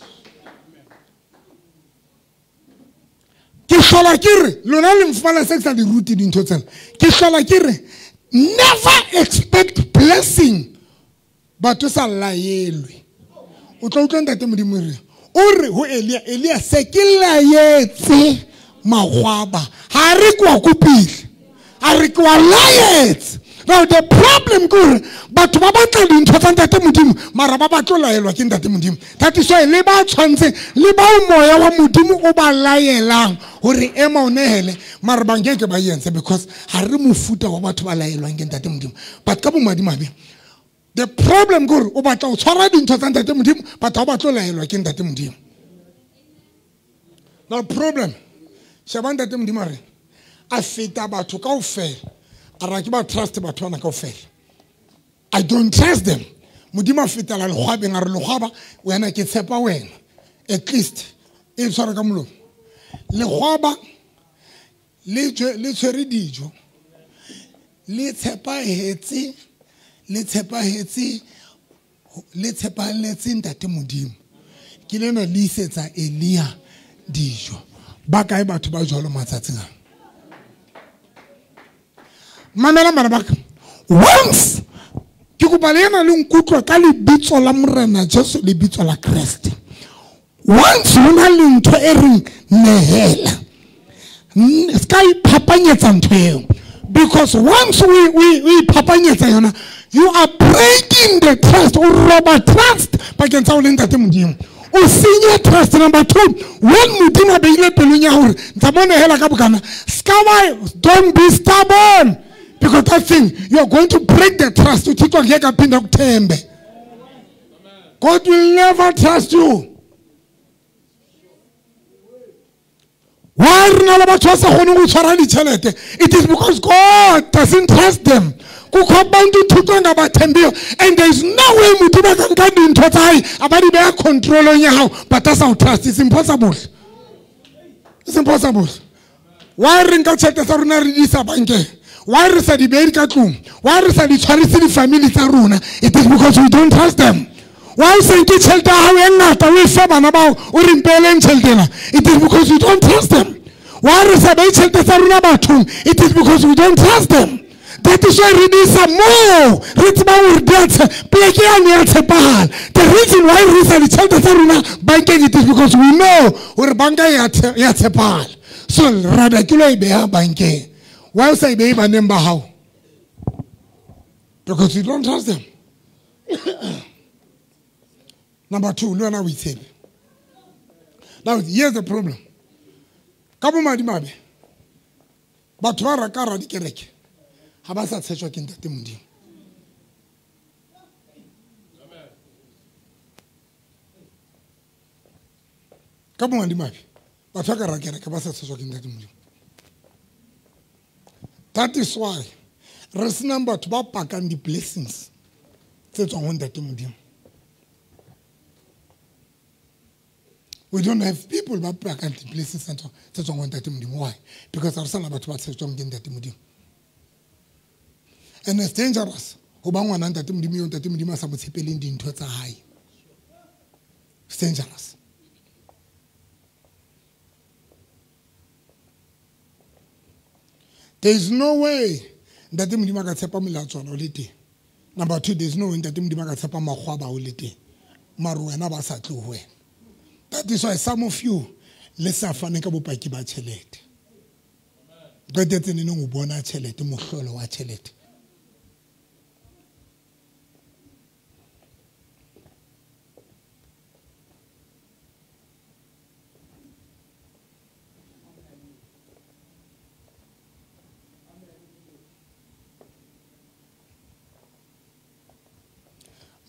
Ke hlola ke re lona le mfumana se ke sa di rute dintho tsena. Ke hlola ke re never expect blessing but o sa laelwe. O tla utlwa ntate Modimo re o re ho Elia, Elia se ke laetse magwaba ha re kwa kopile a re kwa laetse. Now the problem ke hore batho ba batla dintho tsa ntate Modimo mara ba batlo laelwa ke ntate Modimo. That is why le ba tshwantse le ba moya wa Modimo o ba laelang hore ema o nehele mara ba nkeke ba yentse because ha re mofuta wa batho ba laelwang ke ntate Modimo. But ka bomadimabe the problem ke hore o batla o tshwara dintho tsa ntate Modimo but ha o batlo laelwa ke ntate Modimo. Now problem sheba ntate Modimo a re a feta batho kaofela. A ke ba trust batho bana kaofela. I don't trust them. Modimo a fetela lekgwabeng a re lekgwaba wena ke tshepa wena. At least e tshwara ka molomo. Lekgwaba le le tshwere dijo. Le tshepahetse le tshepahetse le tshepahetse ntate Modimo. Ke lena le isetsa Elia dijo. Ba kae batho ba jwalo matsatsing a? Mamela bana ba ka. Once ke kopa le ena le nkutlwa ka lebitso la Morena Jesu lebitso la Kreste. Once ho na le ntho e reng nehela. Ska iphapanyetsa ntho eo. Because once we we we iphapanyetsa yona, you are breaking the trust o roba trust pakeng tsa o le ntate Modimo. O senya trust. Number two, when Modimo a beile pelong ya hore ntsa mo nehela ka bokana, ska wa don't be stubborn. Because that thing, you are going to break the trust. God will never trust you. Why It is because God doesn't trust them. And there is no way Modimo can get into that control on your but that's our trust. It's impossible. It's impossible. Why re nka tjhelete tsa rona re di isa bankeng? Why re sa di behe ka tlung? Why re sa di tshwarise di-family tsa rona? It is because we don't trust them. Why o se nke tjhelete ya hao e ngata o e fe bana bao o re mpeeleng tjhelete ena? It is because we don't trust them. Why re sa behe tjhelete tsa rona bathong? It is because we don't trust them. That is why re di isa moo re tsebang hore di a poleke yane ya tshepahala. The reason why re isa ditjhelete tsa rona bankeng, it is because we know hore banka ya tshepahala. So rather ke lo e beha bankeng. Why o sa e behe baneng ba hao? Because you don't trust them. Number two, le wena o itshepe. Now, here's the problem. Ka bomadimabe, batho ba reka ra dikereke ha ba sa tshetjwa ke Ntate Modimo. Ka bomadimabe, batho ba ka ra kereke ba sa tshetjwa ke Ntate Modimo. That is why re senang batho ba pakang di-blessings tse tswang ho Ntate Modimo. We don't have people ba pakang di-blessings tse tswang ho Ntate Modimo. Why? Because re sana batho ba tshetjwang ke Ntate Modimo. And it's dangerous ho ba ngwana Ntate Modimo eo Ntate Modimo a sa mo tshepeleng dintho tsa hae. It's dangerous. There is no way Ntate Modimo a ka tshepa molatswana o le teng. Number two, there is no way Ntate Modimo a ka tshepa makgwaba o le teng. Mare wena ba sa tlo ho wena. That is why some of you le sa fane ka bopaki ba tjhelete. Qetetse neneng o bona tjhelete, mohlolo wa tjhelete.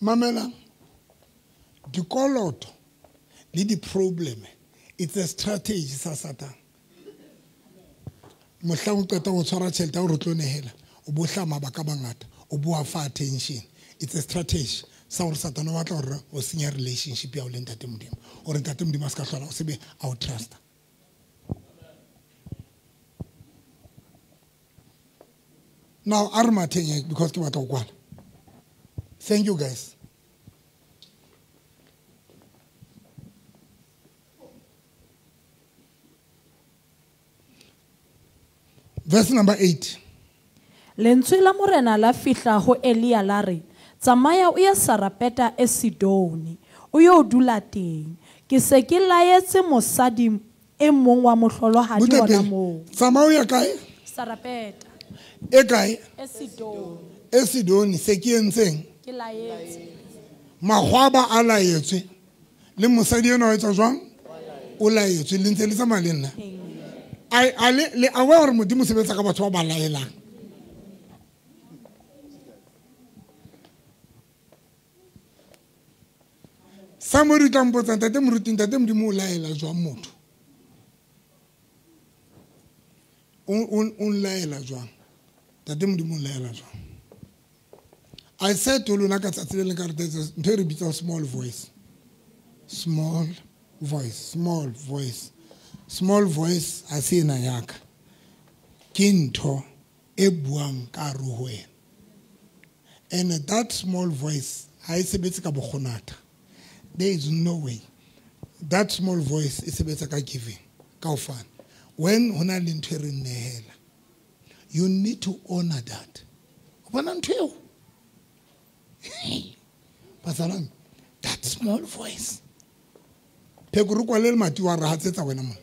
Mamela, dikoloto le di-problem, it's a strategy sa Satan. Mohlang o qeta ho tshwara tjhelete ya hore o tlo nehela, o bo hla mabaka a mangata, o bo a fa attention. It's a strategy sa hore Satan o batla hore o senya relationship ya hao le Ntate Modimo, hore Ntate Modimo a ska hlola o sebe a o trusta. Now, a re matheng because ke batla ho kwala. Thank you, guys. Verse number eight. Lentswe la Morena la fihla ho Elia la re, tsamaya o ye Sarepeta e Sidone, o yo dula teng. Ke se ke laetse mosadi e mong wa mohlolohadi hona moo. Tsamaya o ye kae? Sarepeta. E kae? E Sidone. E Sidone se ke entseng? Ke laetse. Makgwaba a laetswe. Le mosadi ena o etsa jwang? O laetswe. Le ntse le tsamaya le nna. I I le aware hore Modimo o sebetsa ka batho ba ba laelang. Somebody tla mpotsa, Ntate Moruti, Ntate Modimo o laela jwang motho? O o o laela jwang? Ntate Modimo o laela jwang? I said to lona ka tsatsi le leng ka re ntho e re bitsang small voice. Small voice, small voice. Small voice ha se ena ya ka. Ke ntho e buang ka hare ho wena. And that small voice ha e sebetse ka bokgonatha. There is no way. That small voice e sebetsa ka giving, ka ho fana. When ho na le ntho e re nehela, you need to honor that. O bona ntho eo? Bazalwane, that small voice. Pheko re kwale lemati wa re hatsetsa wena mona.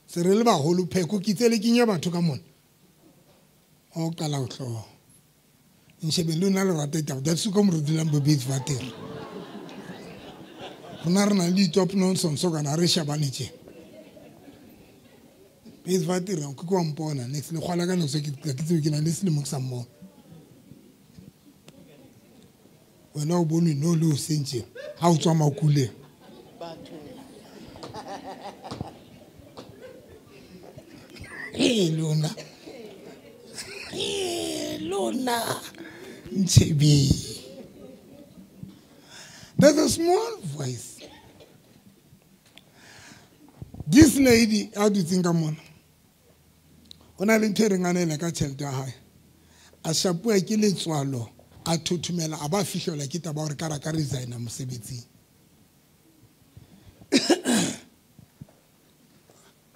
Se re le baholo pheko ke itse le kenye batho ka mona. O qala ho hlooho. Nshebe le nna le rata ditaba. That's ko mo re dulang bo bits vatere. Rona re na le di-top nonsense kana re shebane tje. Bits vatere ke kwa mpona next le kgwala ka next ke ke tsebe ke na le selemo ke sa mmona. Wena o bone no le o sentse ha o tswa makuleng. Hey lona. Hey lona. Nchebi. There's a small voice. This lady, how do you think I'm on? O na le ntho e reng a neela ka tjhelete ya hae. A shapuwa ke letswalo, a thothomela, a ba fihlelwa ke taba hore ka ra ka resigna mosebetsing.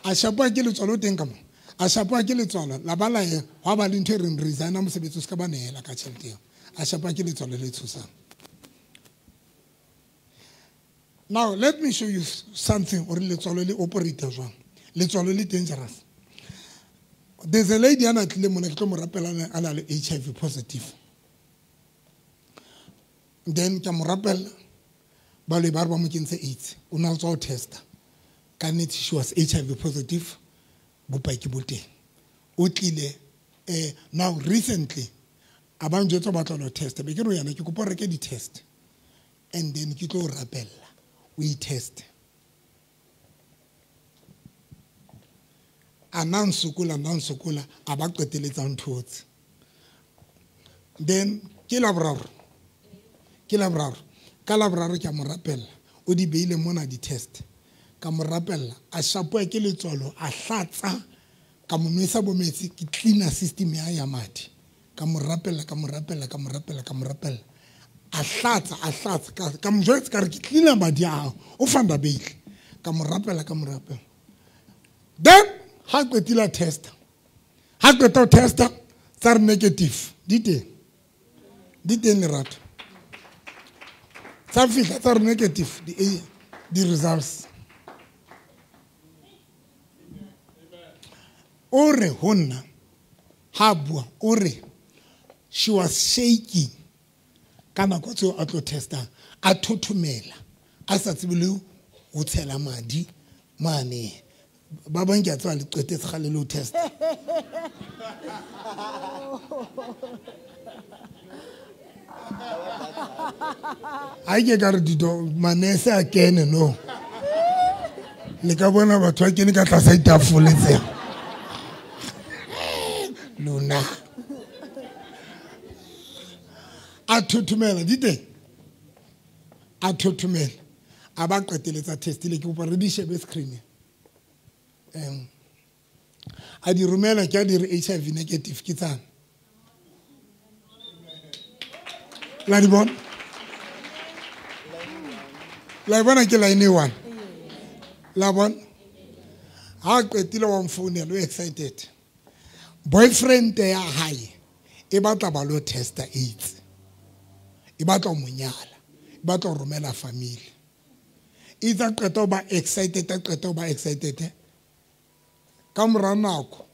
A shapuwa ke letswalo teng ka mo. A shapuwa ke letswalo, la ba la ye, hwa ba le ntho e reng resigna mosebetsi o ska ba neela ka tjhelete eo. A shapuwa ke letswalo le tshosang. Now, let me show you something or letswalo le operate jwang. Letswalo le dangerous. There's a lady ana tlile mona ke tlo mo rapela a na le H I V positive. Then ke mo rapela ba le ba re ba mo kentse AIDS. O na tswa o testa. Ka nnete she was H I V positive. Bopaki bo teng. O tlile eh now recently a ba njwetsa ba tla lo testa. Be ke re yana ke kopa reke di test. And then ke tlo rapela. We test. A na nsokola na nsokola a ba qeteletsa ntho tse. Then ke la boraro. Ke la boraro. Ka la boraro ke a mo rapella. O di beile mona di test. Ka mo rapella a shapoa ke letswalo a hlatsa ka mo nwesa bo metsi ke cleaner system ya ya madi. Ka mo rapella ka mo rapella ka mo rapella ka mo rapella. A hlatsa a hlatsa ka ka mo jwetsa ka re ke cleaner madi a hao. O fanda beile. Ka mo rapella ka mo rapella. Then ha qetile test. Ha qeta testa tsa re negative. Di teng. Di teng lerato. Tsa fihla tsa re negative di di results. O re ho nna ha bua o re she was shaking ka nako tseo a tlo testa a thothomela a sa tsebe le ho tshela madi mane ba bang ke a tswa le qetetse kgale le ho testa. Ha ke ka re dito manese a kene no le ka bona batho ba kene ka tlasa ditafole tseo. Lona a thothomela di teng a thothomela a ba qeteletsa testile ke kopa re di shebe screen em a di romela ke a di re H I V negative ke tsana la di bona la bona ke line one la bona ha qetile wa mfounela o excited. Boyfriend ya hae e batla ba lo testa AIDS. E batla mo nyala. E batla romela family. Itsa qeta ba excited qeta ba excited. Ka mora nako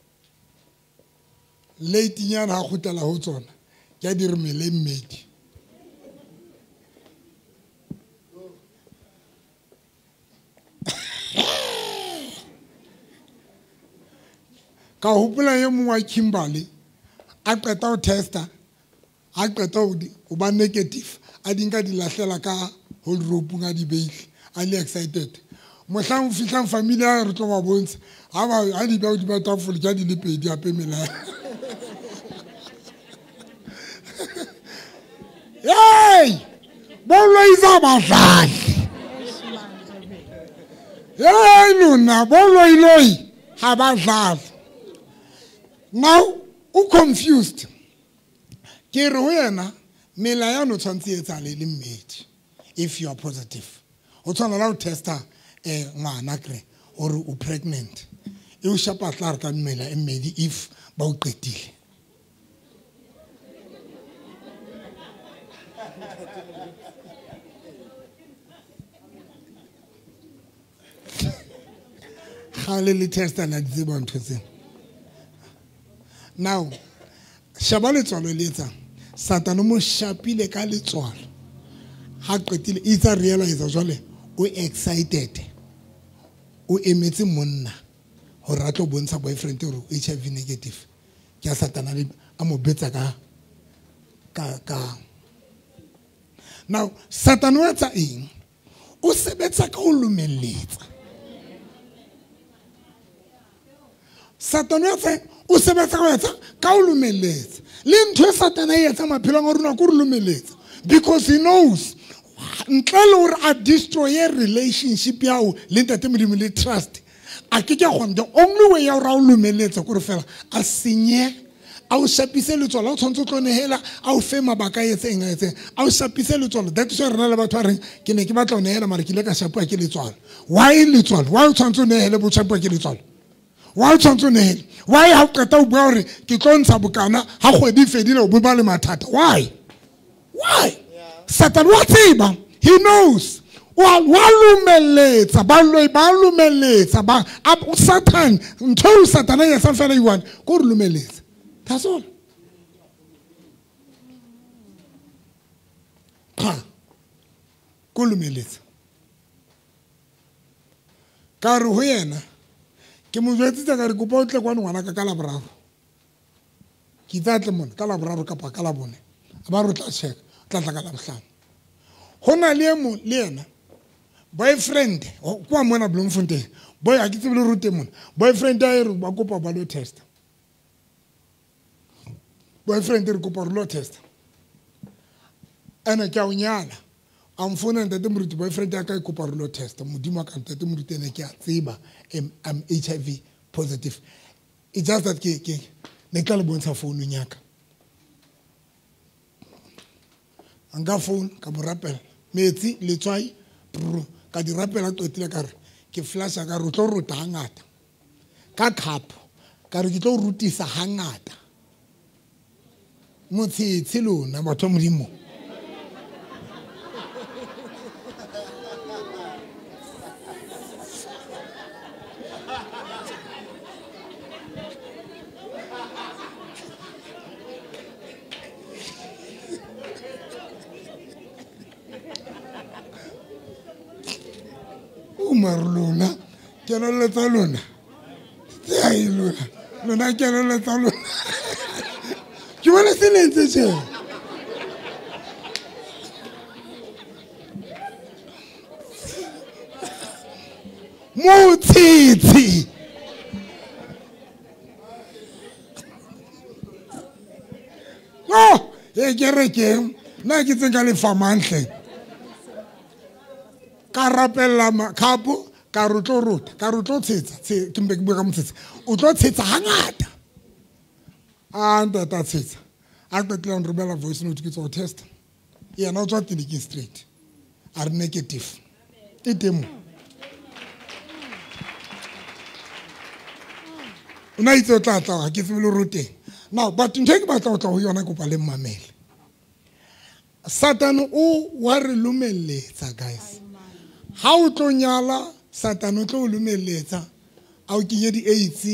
late nyana ha kgutlela ho tsona ke a di re mele mmedi. Ka hopola e mongwe wa Kimberley a qeta ho testa a qeta ho ba negative a di nka di lahlela ka hold rope a di beile a le excited. Mohlang o fihlang family ya re tlo ba bontsha ha ba ha di ba di ba tafole ke di le pedi hape mela. Hey! Boloiza badlali. Hey lona boloiloi ha ba dlali. Now o confused. Ke re ho yena mela ya no tshwantse etsale le mmedi if you are positive. O tshwana la o testa eh ngwana kre or o pregnant. E o shapa tla re ka mmela e mmedi if ba o qetile. Gale le testa la tseba ntho tsena. Now, shaba letswalo le etsa Satane mo shapile ka letswalo. Ha qetile itsa realize jwale o excited. O emetse monna hore a tlo bontsha boyfriend hore H I V negative. Ke a Satana le a mo betsa ka ka ka. Now, Satane o etsa eng? O sebetsa ka ho lumelletsa. Satane o etsa o sebetsa ka etsa ka o lumelletsa. Le ntho e Satane e etsa maphelong a rona ke re lumelletsa because he knows ntle le hore a destroy relationship ya hao le Ntate Modimo le trust a ke ke kgona. The only way ya hore a o lumelletsa ke hore fela a senye a o shapise letswalo. O tshwanetse o tlo nehela a o fe mabaka a etseng a etseng a o shapise letswalo. That is why re na le batho ba reng ke ne ke batla ho nehela mara ke ile ka shapuwa ke letswalo. Why letswalo? Why o tshwanetse o nehele bo shapuwa ke letswalo? Why o tshwanetse o nehele? Why ha o qeta o bua hore ke tlo ntsha bokana ha kgwedi e fedile o bo ba le mathata? Why? Why? Satan wa tseba. He knows. Wa lumeletsa ba loi ba lumeletsa ba Satan ntho Satan ya sa fela iwan ko re lumeletsa. That's all. Pa ko lumeletsa. Ka re ho yena ke mo jwetsitse ka re kopa o tle kwano ngwana ka ka la boraro. Ke tla tle mona ka la boraro kapa ka la bone. Ba re tla check tla tla ka la bohlano. Ho na le mo le yena boyfriend kwa mona Bloemfontein boy a ke tsebe le rute mona boyfriend a re ba kopa ba lo test boyfriend re kopa re lo test ene ke a o nyala a mfona ntate moruti boyfriend ya ka e kopa re lo test modimo ka ntate moruti ene ke a tseba I'm H I V positive. It's just that ke ke ne ka le bontsha phone ya ka anga phone ka mo rapela metsi letswai ka di rapela qetile ka re ke flasha ka re tlo rota hangata ka cup ka re ke tlo rutisa hangata motshitshi lona batho modimo Marlona, kelello tsa lona tse lona lona kelello tsa lona ke bona se le ntse tje motshitshi no e kerekeng nna ke tse ka lefa mantle ka rapella khapo ka re tlo rota ka re tlo tshetsa ke mpe ke bua ka motshetsa o tlo tshetsa hangata a ntata tshetsa a qetela nromela voice note ke tswa test yena o tswa clinic straight a re negative e teng o na itse o tla tla ke tsebe le roteng now but ntho e ke batla ho tla ho yona kopa le mmamele Satan o wa re lumelletsa guys ha o tlo nyala Satan o tlo o lumelletsa a o kenye di-AIDS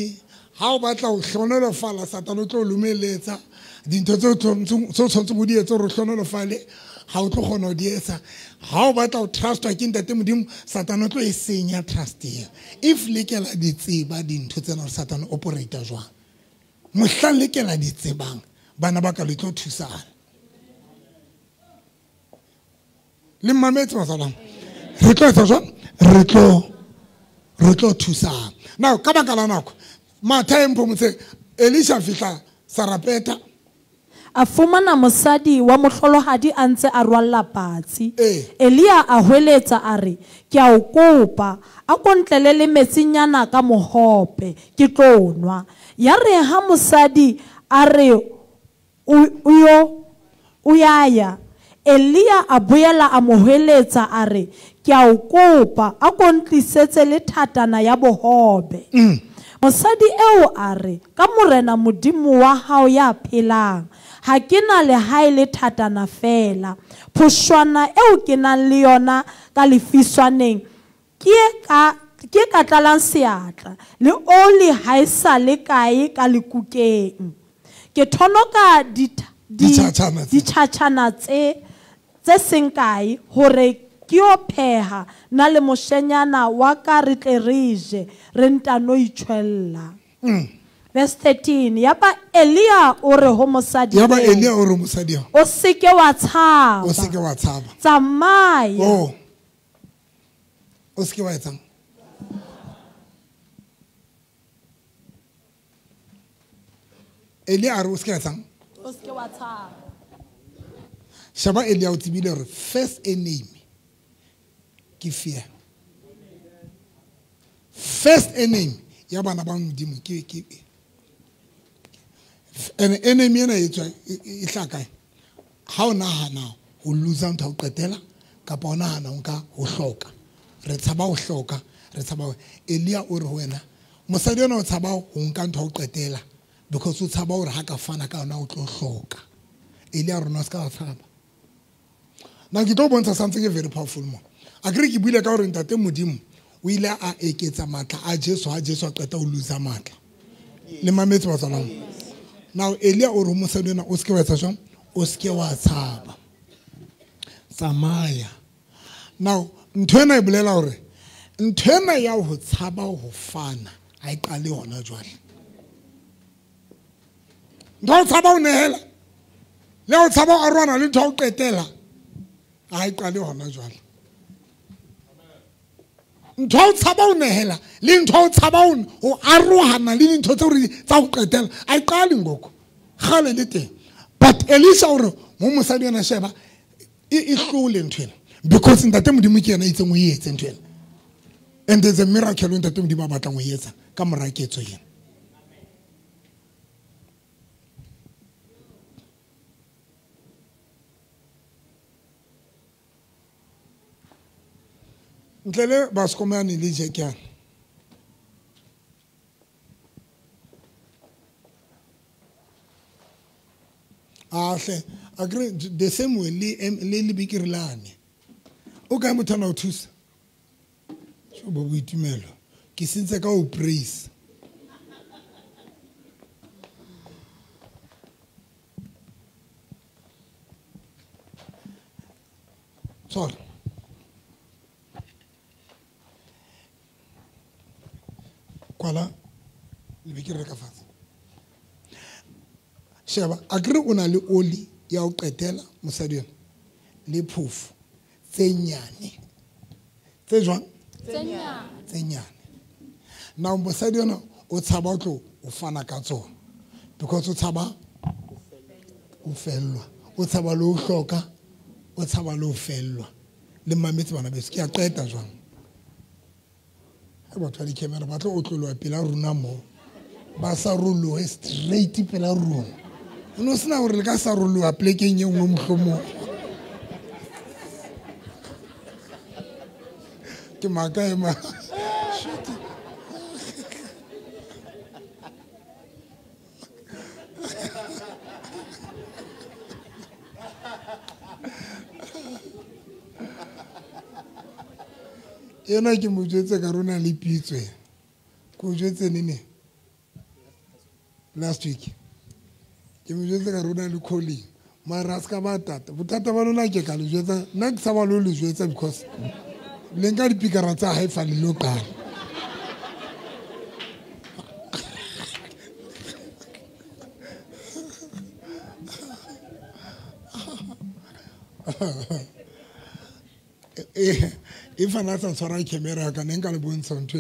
ha o batla ho hlonolofala Satan o tlo o lumelletsa dintho tse o tshwanetseng ho di etsa hore o hlonolofale ha o tlo kgona ho di etsa ha o batla ho trustwa ke ntate Modimo Satan o tlo e senya trust eo if le ke la di tseba dintho tsena hore Satan o operate jwang mohlang le ke la di tsebang bana ba ka le tlo thusana le mmametse matsalang re tlo etsa jwang re tlo re tlo thusana now ka baka la nako matha empho motse Elisha fihla Sarapeta a fumana mosadi wa mohlolohadi a ntse a rwalla patsi. Elia a hweletsa a re ke a o kopa a kontlele le metsinyana ka mohope ke tlo nwa. Ya re ha mosadi a re o yo o ya Elia a boela a mo hweletsa a re ke a o kopa a kontlisetse le thatana ya bohobe. Mm. Mosadi eo a re ka morena modimo wa hao ya phelang ha ke na le hae le thatana fela phoshwana eo ke nang le yona ka lefiswaneng ke ka ke ka tlalang seatla le oli ha e sa le kae ka lekukeng ke thonoka ditjhatjhana tse tse seng kae hore ke yo pheha na le moshenyana wa ka re tle re je re ntano itshwella. Verse thirteen yaba Elia o re ho mosadi yaba Elia o re mosadi o seke wa tshaba o seke wa tshaba tsamaya oh o seke wa etsang Elia a re o seke wa etsang o seke wa tshaba. Shaba Elia o tsebile hore first enemy ke fear. First enemy ya bana ba modimo ke ke ene enemy ena e tswa e tla kae ha o nahana ho lose ntho ho qetela kapa o nahana o nka ho hloka re tshaba ho hloka re tshaba Elia o re ho wena mosadi ona o tshaba ho nka ntho ho qetela because o tshaba hore ha ka fana ka yona o tlo hloka. Elia rona se ka tshaba. Now ke tlo bontsha something very powerful mo. Akere ke buile ka hore ntate Modimo o ile a eketsa matla a Jesu ha Jesu a qeta ho losa matla. Le mametse batswana. Now Elia o re mosadi ena o seke wa etsa jwang? O seke wa tshaba. Tsamaya. Now ntho ena e bolela hore ntho ena ya ho tshaba ho fana ha e qale hona jwale. Ntho ya ho tshaba ho nehela le ho tshaba ho arohana le ntho ya ho qetela ha e qale hona jwale. Ntho ya ho tshaba ho nehela le ntho ya ho tshaba ho arohana le dintho tseo re tsa ho qetela ha e qale ngoko. Kgale le teng. But Elisha o re mo mosadi ena sheba e e hlole ntho ena. Because ntate Modimo ke yena a itseng o e etse ntho ena. And there's a miracle ntate Modimo a batlang ho e etsa ka mora ketso ena. Ntle le baskomane le jekyana. Ah hle, agree the same way le le le bikirilane. O ka motho ana o thusa. So bo boitumelo. Ke sentse ka o praise. Sorry. Kwala le bikiri ka fatshe. Sheba, akere o na le oli ya ho qetela mosadi ena le phofo tse nyane. Tse jwang? Tse nyane. Tse nyane. Now mosadi ena o tshaba ho tlo o fana ka tsona because o tshaba o fellwa, o tshaba le ho hloka, o tshaba le ho fellwa. Le mametse bana beso, ke a qeta jwang? Ha batho ba di-camera ba tlo otloloha pela rona moo. Ba sa rolohe straight pela rona. O no sena hore le ka sa roloha plekeng e nngwe mohlomong. Ke maka ema. Ena ke mo jwetse ka rona le pitso e. Ke o jwetse nene? Last week. Ke mo jwetse ka rona le calling. Mara a ska ba tata. Bothata ba lona ke ka le jwetsa. Nna ke tshaba le ho le jwetsa because le nka dipikara tsa hae fa le lo qala. If ana sa tshwara camera ka ne nka le bontsha ntho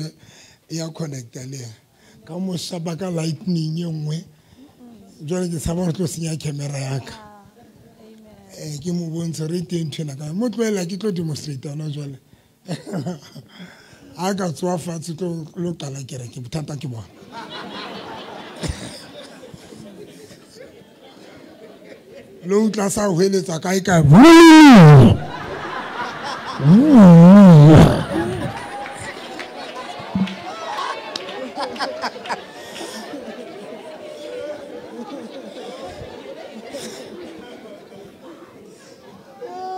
ya connecta le yena. Ka mo shapa ka lightning e nngwe. Jwale ke tshaba hore tlo senya camera ya ka. Eh ke mo bontsha re teng ntho ena ka mo tlohela ke tlo demonstrate hona jwale. Ha ka tswa fatshe tlo lo qala kereke bothata ke bona. Lo utlwa sa hweletsa kae kae.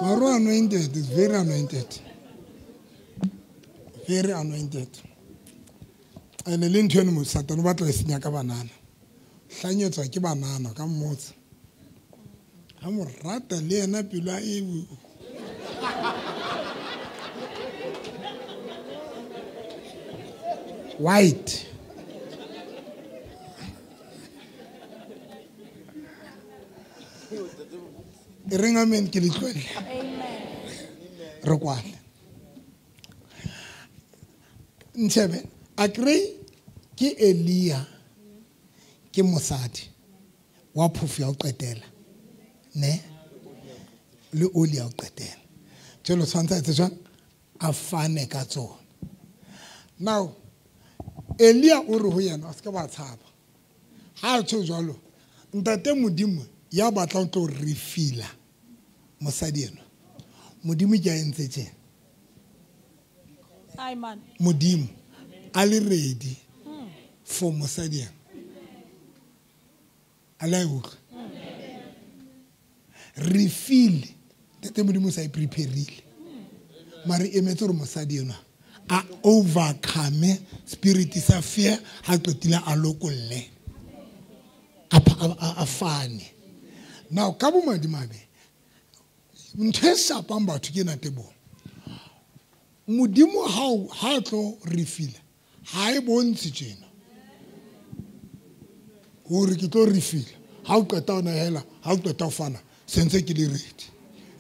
Maru anointed is very anointed. Very anointed. And le ntho eno mo Satan o batla e senya ka banana. Hlanyetswa ke banana ka mmotsa. Ha mo rata le yena pelo a e white. E reng amen ke le tlohelle. Amen. Re kwale. Ntshebe, akere ke Elia ke mosadi wa phofo ya ho qetela. Ne? Le oli ya ho qetela. Jwale tshwantse a etse jwang? A fane ka tsona. Now Elia o re ho yena o se ke wa tshaba. Ha a tjho jwalo, ntate Modimo ya batlang tlo refila mosadi eno. Modimo ke a entse tjena. Amen. Modimo a le ready for mosadi eno. A la e utlwa? Refill. Ntate Modimo sa e prepareile. Mare emetse hore mosadi enwa a overcome spirit sa fear ha qetile a lokolle a a fane. Now ka bomadimabe ntho e shapang batho ke ena tebo. Modimo ha ha tlo refila ha e bontshe tjena hore ke tlo refila ha o qeta ona hela ha o qeta ho fana sentse ke le ready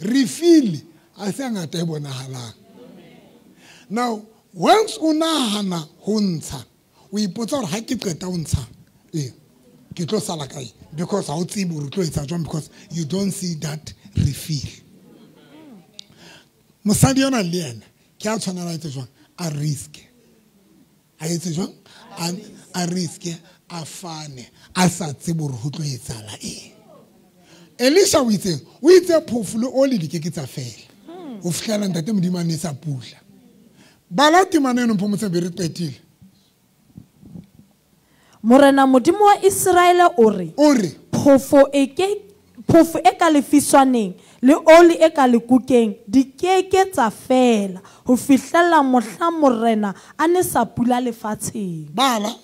refill a se ngata e bonahalang. Now once o nahana ho ntsha o ipotsa hore ha ke qeta ho ntsha eh ke tlo sala kae because ha o tsebe hore o tlo etsa jwang because you don't see that refill. Mosadi yona le yena ke a tshwanela etse jwang a risk a etse jwang a risk a fane a sa tsebe hore ho tlo etsahala eng. Elisha o itse o itse phofo le oli di ke ke tsa fela o fihlela ntate Modimo a ne sa pula. Bala temana eno mpho motse be re qetile. Morena Modimo wa Israele o re o re phofo e ke phofo e ka lefiswaneng le oli e ka lekukeng di ke ke tsa fela ho fihlela mohla Morena a ne sa pula lefatsheng. Bala.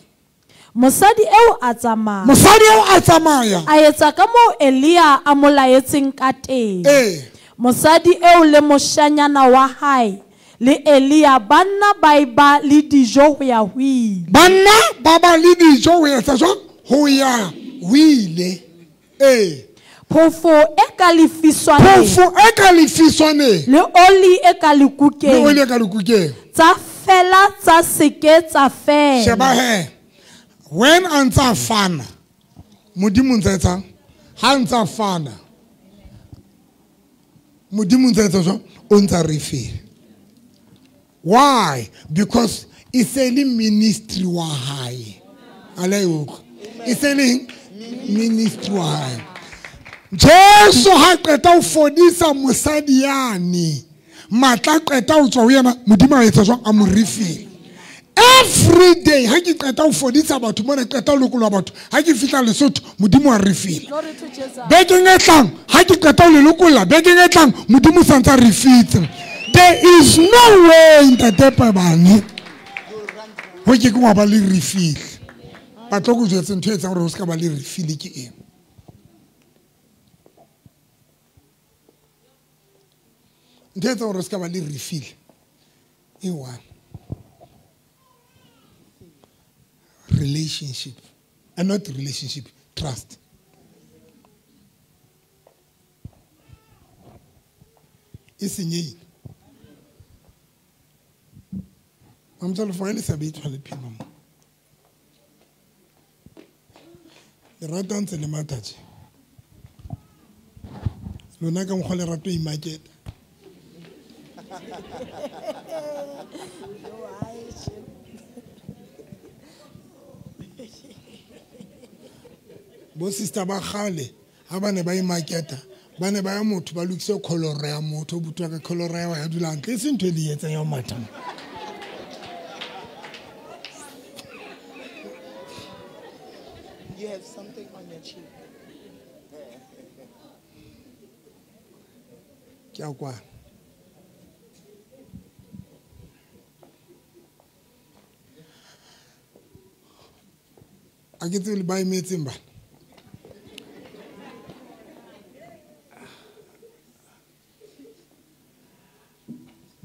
Mosadi eo a tsamaya. Mosadi eo a tsamaya. A etsa ka moo Elia a mo laetseng ka teng. Eh. Mosadi eo le moshanyana wa hae le Elia banna ba eba le dijo ho ya ho ile. Banna ba ba le dijo ho etsa jwang? Ho ya ho ile. Eh. Phofo e ka lefiswaneng. Phofo e ka lefiswaneng. Le oli e ka lekukeng. Le oli e ka lekukeng. Tsa fela tsa seke tsa fela. Sheba he. When a ntsa fana Modimo ntsa etsang ha ntsa fana Modimo ntsa etsa jwang o ntsa refill. Why? Because e se le ministry wa hae. Ale utlwa. E se le ministry wa hae. Jesu ha qeta ho fodisa mosadi yane matla qeta ho tswa ho yena Modimo a etsa jwang a mo refill. Every day ha ke qeta ho fodisa batho mona qeta ho lokolla batho ha ke fihla Lesotho Modimo a refill. Bekeng e tlang ha ke qeta ho le lokolla bekeng e tlang Modimo sa ntsa refitse. There is no way ntate Pabane ho ke ke wa ba le refill. Ba tlo go jwetsa ntho e etsang hore o ska ba le refill ke eng. Ntho e etsang hore o ska ba le refill e one. Relationship and not relationship, trust. E senyehile. Mamtsalo fa le sa beitswa le phima mo. Lerato ntse le matha tje. Lona ka mokgwa lerato imaketa. Bo sister ba kgale ha ba ne ba imaketa ba ne ba ya motho ba lokise kholoro ya motho butwa ka kholoro ya ya dula ntle e se ntho e le etsang ya ho matha. You have something on your cheek. Ke a kwa. A ke tsebe le ba emetseng bana.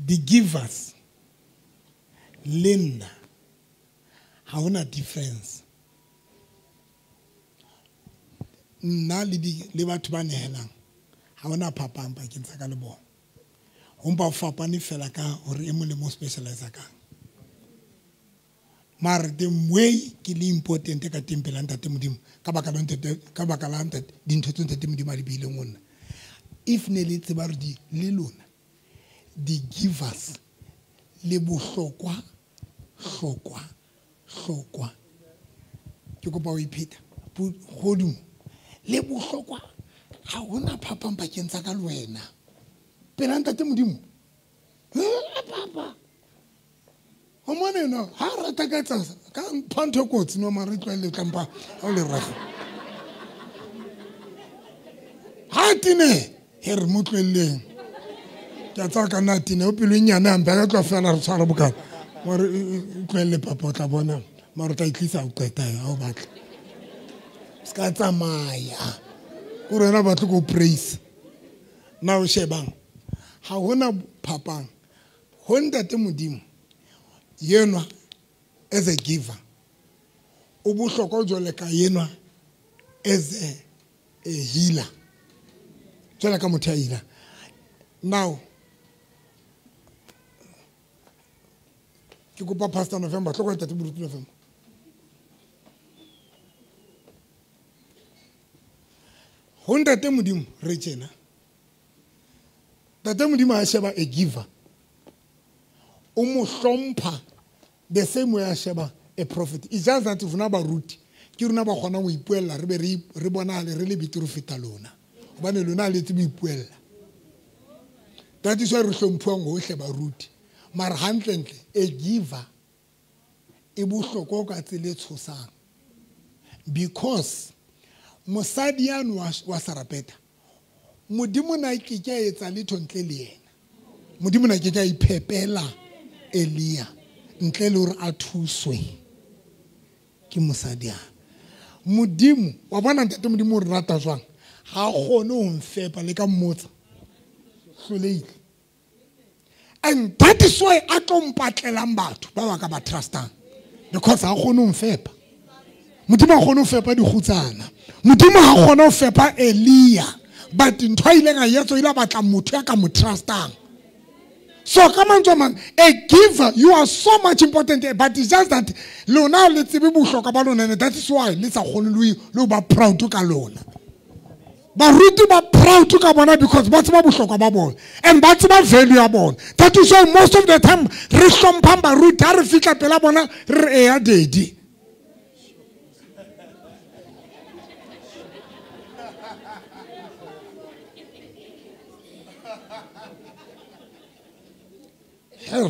The givers le nna ha hona difference. Nna le di le batho ba nehelang ha hona phapang pakeng tsa ka le bona. Ho mpa ho fapane fela ka hore e mong le mo specialize kang. Mare the way ke le important ka teng pela ntate Modimo ka baka la ntate ka baka la ntate dintho tse ntate Modimo a di beileng ho nna. If ne le tseba hore di le lona the givers le bohlokwa hlokwa hlokwa ke kopa o ipheta godimo le bohlokwa ha hona phapang pakeng tsa ka le wena pela ntate Modimo papa o mone no ha rata ka tsa ka mpha ntho kotsi no mare tlwaele tlampa ha o le raga ha tine he re mo tlwelleng. Ke a tsaya ka nna tene o pelo e nnyane hampe a ka tloa fela re tshwara bokana mare tlohelle papa o tla bona mare o tla itlisa o qeta ha o batla se ka tsamaya kore wena batle ko praise na o shebang ha hona phapang ho ntate Modimo yenwa as a giver o bohlokwa jwale ka yenwa as a, a healer jwale ka motho ya healer. Now ke kopa Pastor November tloko ntate Moruti November ho ntate Modimo re tjena ntate Modimo a sheba a giver o mo hlompha the same way a sheba a prophet. It's just that rona baruti ke rona ba kgona ho ipuella re be re re bonahale re le betere ho feta lona hobane lona le tsebe ho ipuella. That is why re hlomphuwang hohle baruti mara hantlentle a giver e bohlokwa ka tsela e tshosang because mosadi yano wa Sarapeta Modimo na ke ke a etsa letho ntle le yena. Modimo na ke ke a iphepela Elia ntle le hore a thuswe ke mosadi yana. Modimo wa bona ntate Modimo o re rata jwang ha kgone ho mfepa le ka mmotsa hlolehile. And that is why a tlo mpatlelang batho ba ba ka ba trustang because ha kgone ho mfepa. Modimo ha kgone ho fepa dikgutsana. Modimo ha kgone ho fepa Elia but ntho a ileng a etsa o ile a batla motho ya ka mo trustang. So ka mantswe a mang a giver you are so much important but it's just that lona le tsebe bohlokwa ba lona and that is why le sa kgone le ho ba proud ka lona. Baruti ba proud ka bona because ba tseba bohlokwa ba bona and ba tseba value ya bona. That is why most of the time re hlomphang baruti ha re fihla pela bona re eya daddy. Her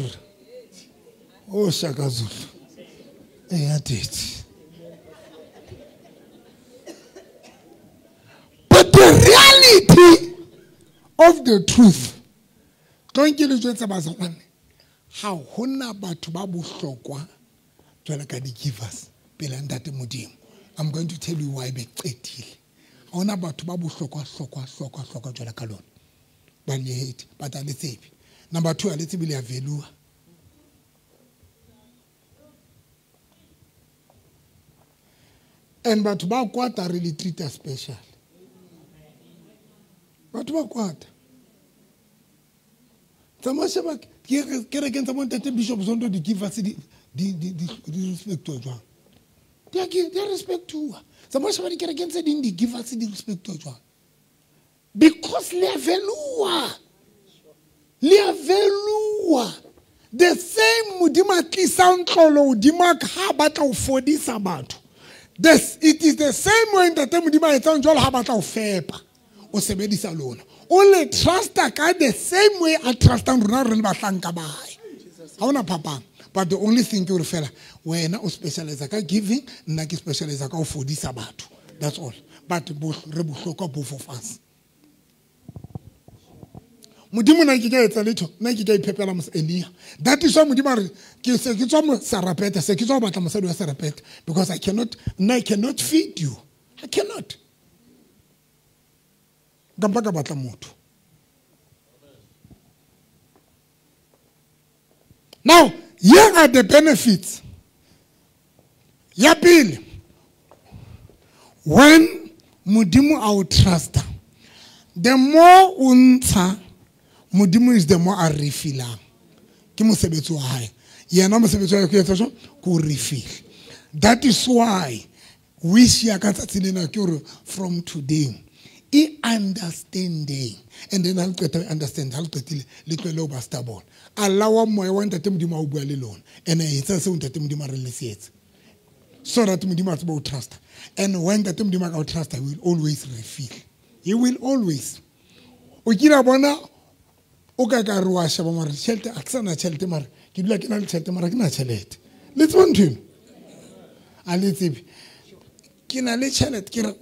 oh Shaka Zulu eya daddy. But the reality of the truth don't ke le jwetsa bazalwane ha hona batho ba bohlokwa jwale ka di-givers pela ntate Modimo. I'm going to tell you why be qetile. Ha hona batho ba bohlokwa hlokwa hlokwa hlokwa jwale ka lona ba le hate but a le tsebe. Number two a le tsebe le a value. And batho ba kwata re le treat special. Batho ba kwata. Tsamaya sheba kerekeng tsa bontate Bishop Zondo di-givers di di di di respectuwa jwang? Di a di a respectuwa. Tsamaya sheba dikerekeng tse ding di-givers di respectuwa jwang? Because le a value. Le a value. The same Modimo a tlisang tlolo hodimo ha batla ho fodisa batho. This it is the same way ntate Modimo a etsang jwalo ha batla ho fepa. O sebedisa lona. O le trusta ka the same way a trustang rona re le bahlanka ba hae. Ha hona phapang. But the only thing ke hore fela wena o specialize ka giving, nna ke specialize ka ho fodisa batho. That's all. But re bohlokwa both of us. Modimo na ke ka etsa letho, nna ke ka iphepela mos Elia. That is why Modimo a re ke se ke tswa Sarapeta, se ke tswa batla mosadi wa Sarapeta because I cannot, nna I cannot feed you. I cannot. Nka mpa ka batla motho. Now, here are the benefits. Ya pele, when Modimo a o trusta, the more o ntsha Modimo is the more a refilang. Ke mosebetsi wa hae. Yena mosebetsi wa hae ke etsa jwang? Ke o refill. That is why wish ya ka tsatsi lena ke hore from today e understanding and then ha le qeta understand ha le qetile le tlohele ho ba stubborn. Allow moya wa ntate Modimo a o bua le lona and etsa seo ntate Modimo a re le se etse so that Modimo a tsebe ho trust. And when ntate Modimo a ka o trust, he will always refill. He will always. O kila bona o ka ka re wa sheba mare tjhelete a ke sana tjhelete mare ke dula ke na le tjhelete mara ke na tjhelete. Le tseba ntho eno? A le tsebe. Ke na le tjhelete ke re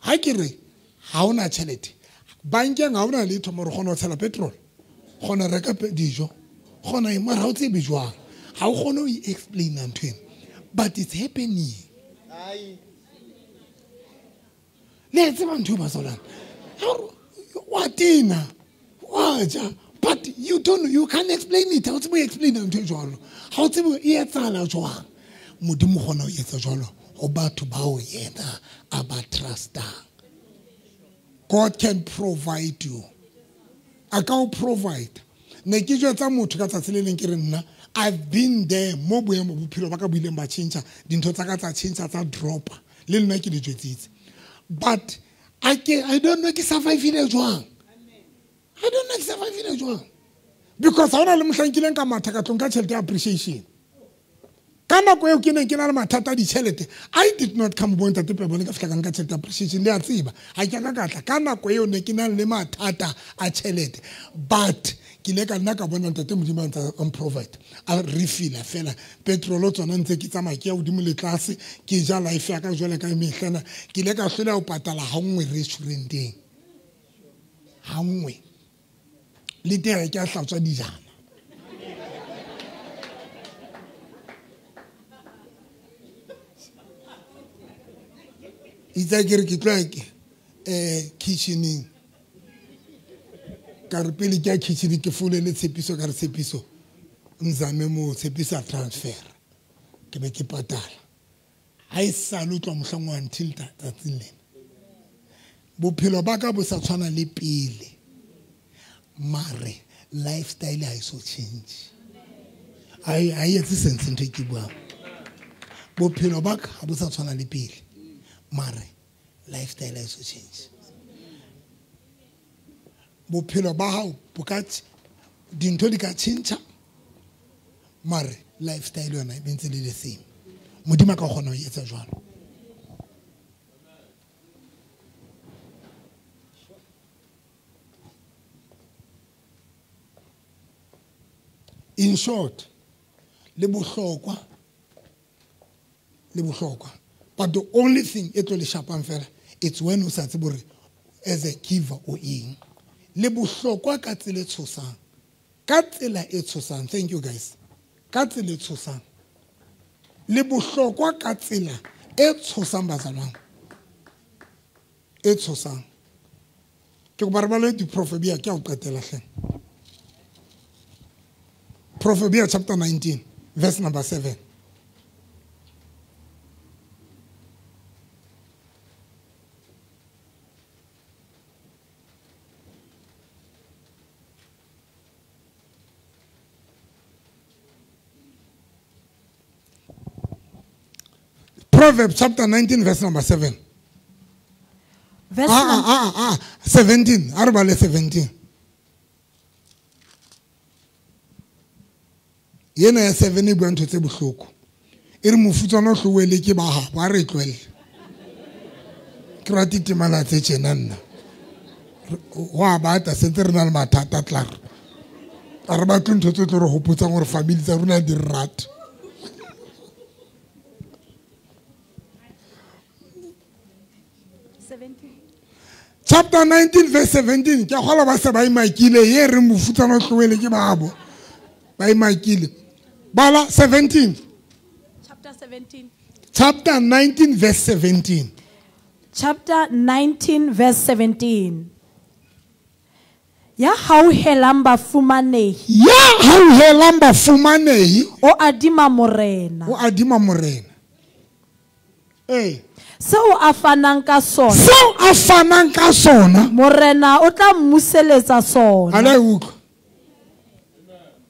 ha ke re ha ona tjhelete bankeng ha ona letho mare o kgona ho tshela petrol, Kgona reka dijo. Kgona eng mara ha o tsebe jwang. Ha o kgone ho e explain ntho ena. But it's happening. Le tseba ntho e bazalwane. Wa tena. Wa ja. But you don't, you can't explain it. Ha o tsebe ho explain ntho e jwalo. Ha o tsebe e etsahala jwang. Modimo kgona ho etsa jwalo ho batho bao yena a ba trustang. God can provide you. A ka o provide. Ne ke jwetsa motho ka tsatsi le leng ke re nna I've been there mo boemo bophelo ba ka bo ileng ba tjhentjha, dintho tsa ka tsa tjhentjha tsa dropa. Le nna ke di jwetsitse. But I ke I don't know ke survive-ile jwang. I don't know ke survive-ile jwang. Because ha hona le mohlang ke ileng ka matha ka tlong ka tjhelete ya appreciation. Ka nako eo ke neng ke na le mathata a ditjhelete, I did not come bo ntate Pebone ka fihla ka nka tjhelete appreciation le a tseba. Ha ke ka ka tla ka nako eo ne ke na le mathata a tjhelete. But ke ile ka nna ka bona ntate Modimo a ntse a provide. A refilla fela petrol tsona ntse ke tsamaya ke ya hodimo le tlase ke ja life ya ka jwale ka mehlana. Ke ile ka hlola ho patala ha nngwe restauranteng. Ha nngwe. Le teng ke a hlatswa dijana. Itse ke re ke tloha ke eh kitchening. Ka re pele ke ya kitchening ke founele Tshepiso ka re Tshepiso nzame mo Tshepiso a transfer. Ke be ke patala. Ha e sale o tloha mohlang wa until tsatsing lena. Bophelo ba ka bo sa tshwana le pele. Mare lifestyle ha e so change. Ha e ha e etse sense ntho e ke buang. Bophelo ba ka ha bo sa tshwana le pele. Mare lifestyle ha e so change. Bophelo ba hao bo ka dintho di ka tjhentjha mare lifestyle yona e ntse le the same. Modimo a ka kgona ho etsa jwalo. In short, le bohlokwa le bohlokwa. But the only thing e tlo le shapang fela, it's when o sa tsebe hore as a giver o eng. Le bohlokwa ka tsela e tshosang. Ka tsela e tshosang. Thank you guys. Ka tsela e tshosang. Le bohlokwa ka tsela e tshosang bazalwane. E tshosang. Ke kopa re bale diprofebia ke a o qetela hle. Proverbs chapter nineteen, verse number seven. Proverbs chapter nineteen, verse number seven. Verse ah, ah, ah, ah, seventeen. Arabale seventeen. Yena ya seven e bua ntho tse bohloko. E re mofutsana o hloele ke ba habo, a re tlohelle. Ke rate temana tse tjena nna. Ho a bata sentse re na le mathata tlar. A re batle ntho tse tlo re hopotsang hore family tsa rona di re rata. Chapter nineteen verse seventeen. Ke a kgolwa ba se ba imakile ye re mofutsana o hloele ke ba habo. Ba imakile. Bala seventeen. Chapter seventeen. Chapter nineteen verse seventeen. Chapter nineteen verse seventeen. Ya hauhelang bafumanehi. Ya hauhelang bafumanehi. O adima morena. O adima morena. Eh. Seo a fanang ka sona. Seo a fanang ka sona. Morena o tla mmuseletsa sona. Ala utlwa.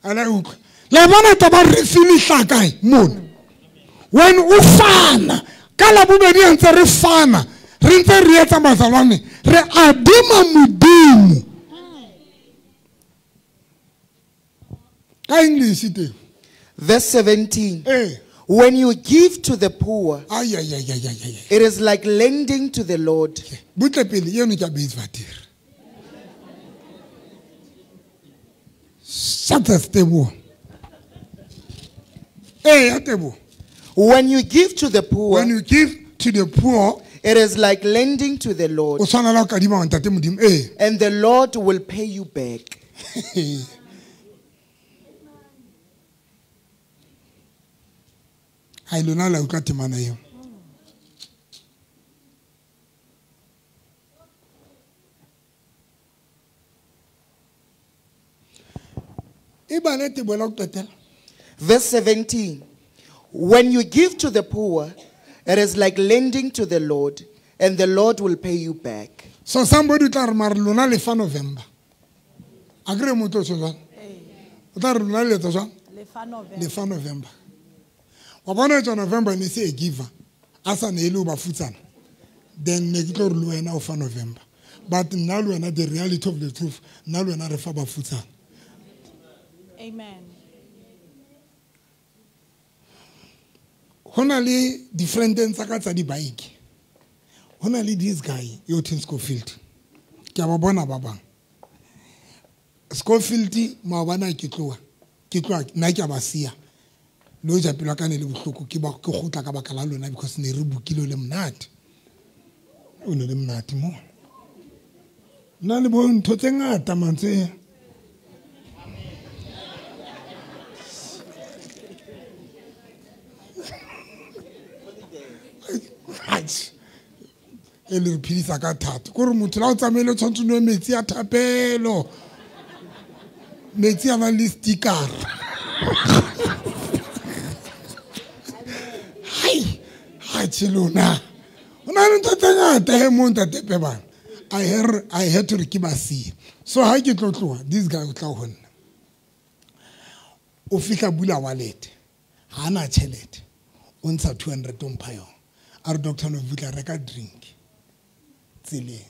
Ala utlwa. Le bona taba re finish kae mona. When o fana ka la bobedi ntse re fana, re ntse re etsa bazalwane, re adima Modimo. Ka English teng. Verse seventeen. Eh. When you give to the poor, ay, ay, ay, ay, ay, ay. It is like lending to the Lord. Butle pele eno ke a beisvater. Shut up, Tebo. Hey, Tebo. When you give to the poor, when you give to the poor, it is like lending to the Lord. O tshwana le ho kadima ntate Modimo, eh. And the Lord will pay you back. Hai lona la utlwa temana eo. Verse seventeen. When you give to the poor, it is like lending to the Lord, and the Lord will pay you back. So somebody tla re mare lona le fa November. Agree motho o jwang? O tla re lona le etsa jwang? Le fa November. Le fa November. Wa bona tswa November ne se a giver. A sa ne le o ba futsana. Then ne ke tlo re le wena o fa November. But nna le wena, the reality of the truth, nna le wena re fa ba futsana. Amen. Ho na le different tsa ka tsa di-bike. Ho na le this guy yo Tim Schofield. Ke a ba bona ba bang. Schofield maobane ke tloha. Ke tloha nna ke a ba siya. Le hoja pelo ya ka ne le bohloko ke ba ke kgutla ka baka la lona because ne re bukile le monate. O ne le monate mo. Nna le bo ntho tse ngata mantswe. E le re phedisa ka thata. Kore motho la o tsamaile o tshwanetse o nwe metsi a thapelo. Metsi a nang le sticker. Hai, ha lona. O na le ntho tse ngata he mo ntate Pebana. I hear I had to re ke ba siye. So ha ke tlo tloha, this guy o tla ho nna. O fihla bula wallet. Ha ana tjhelete. O ntsha two hundred o mpha yona. A re Doctor Novutla reka drink tseleng.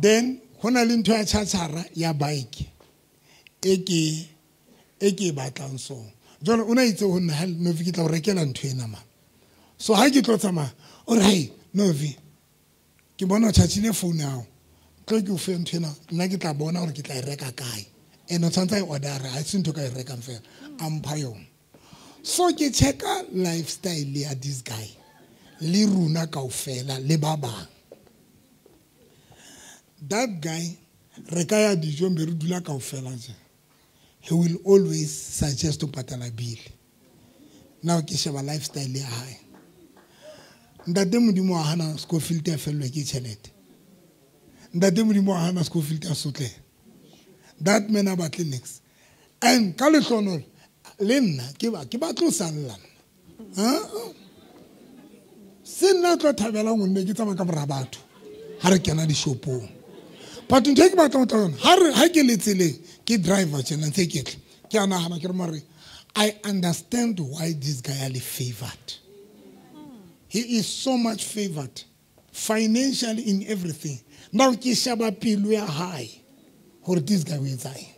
Then ho na le ntho ya tjhatjhara ya bike e ke e ke batlang so. Jwale o na itse ho nna ha Novi ke tla o rekela ntho ena ma. So ha ke tlo tsamaya o re hey Novi ke bona o tjhatjhile phone ya hao. Tlo ke o fe ntho ena nna ke tla bona hore ke tla e reka kae. And o tshwantse a e order ha se ntho ka e rekang fela. A mpha yona. So ke checka lifestyle ya this guy. Le rona kaofela le ba bang. That guy re ka ya dijong be re dula kaofela tje. He will always suggest to patala bill. Now ke sheba lifestyle ya hae. Ntate Modimo wa hana Schofield a fellwe ke tjhelete. Ntate Modimo wa hana Schofield a sotle. That man a batle next. And ka lehlohonolo le nna ke ba ke batlo salla nna. Ha? Se nna tlo thabelang ho nne ke tsamaya ka mora batho ha re kena dishopong. But ntho e ke batlang ho tla yona, ha re ha ke le tseleng ke driver tjena ntse ke tla ke a nahana ke re mare I understand why this guy are favored. He is so much favored financially in everything. Now ke sheba pelo ya hae hore this guy o etsa eng.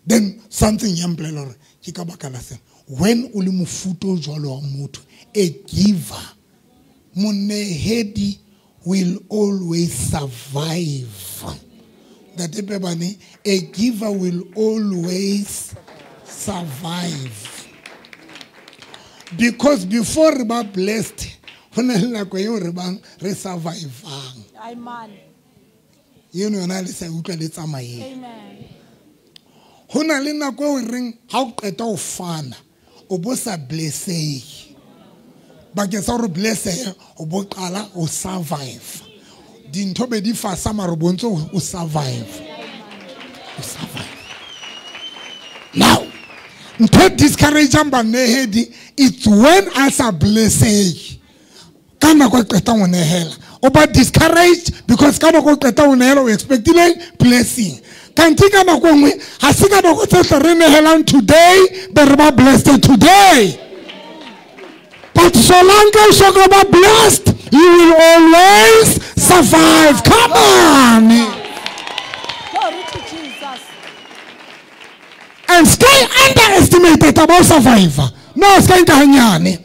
Then something ya mpolela hore ke ka baka la sena. When o le mofuta o jwalo wa motho, a giver, monehedi will always survive. Ntate Pebane, a giver will always survive. Because before re ba blessed, ho na le nako eo re bang re survivang. Amen. Eno yona le sa utlwa le tsamayeng. Amen. Ho na le nako eo reng ha o qeta ho fana, o bo sa blessehe. Bakeng sa hore blessehe, o bo qala o survive. Dintho be di fasa mare o bontse o survive. O survive. Now, ntho e discourage-ang banehedi, it's when a sa blessehe. Ka nako e qetang ho nehela. O ba discouraged because ka nako e qetang ho nehela o expectile blessing. Kanti ka nako e nngwe, ha se ka nako tsohle re nehelang today, be re ba blessed today. But so long as you ba blessed, you will always survive. Come on. Glory to Jesus. And stay underestimated about survivor. No, stay hanyane.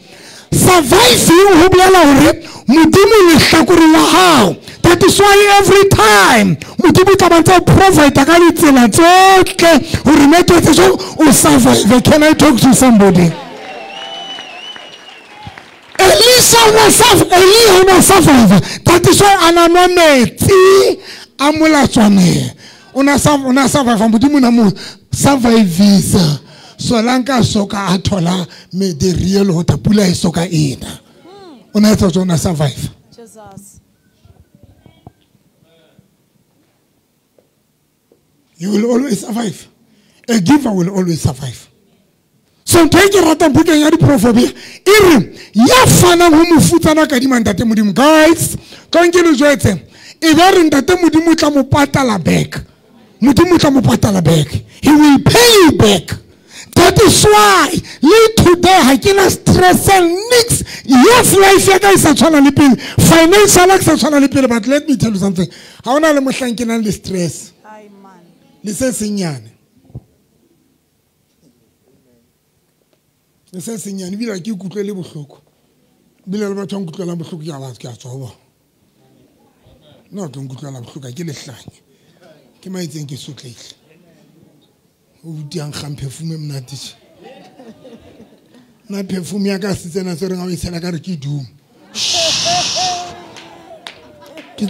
Surviving ho bolela hore Modimo lehlakore la hao. That is why every time Modimo tla ba ntse provide ka ditsela tsohle hore network tse o survive. Can I talk to somebody? Elisha was Elihu was survivor. That is why ana nwa metsi a molatswaneng. O na survive, Modimo na mo survivisa. Solanka soka a thola me the real water pula e soka ena. O na etsa tsona survive. Jesus. You will always survive. A giver will always survive. So ntho e ke ratang bukeng ya diprofobia e re ya fanang ho mofutsana ka dima ntate Modimo. Guys, ka nke le jwetse e ba re ntate Modimo o tla mo patala back. Modimo o tla mo patala back. He will pay you back. That is why le today ha ke na stress and nix. Yes, life ya ka e sa tshwana le pele. Financial e sa tshwana le pele, but let me tell you something. Ha hona le mohlang ke nang le stress. Le se senyane. Le se senyane ebile ke ikutlwe le bohloko. Ebile le batho ba nkutlwelang bohloko ke a ba ke a tswa ho bona. Nna o tlo nkutlwela bohloko ke lehlanya. Ke maitseng ke sotlehile. O butiang kgang perfume e monate tje. Nna perfume ya ka se tsena se reng ha o e tshela ka re ke doom. Ke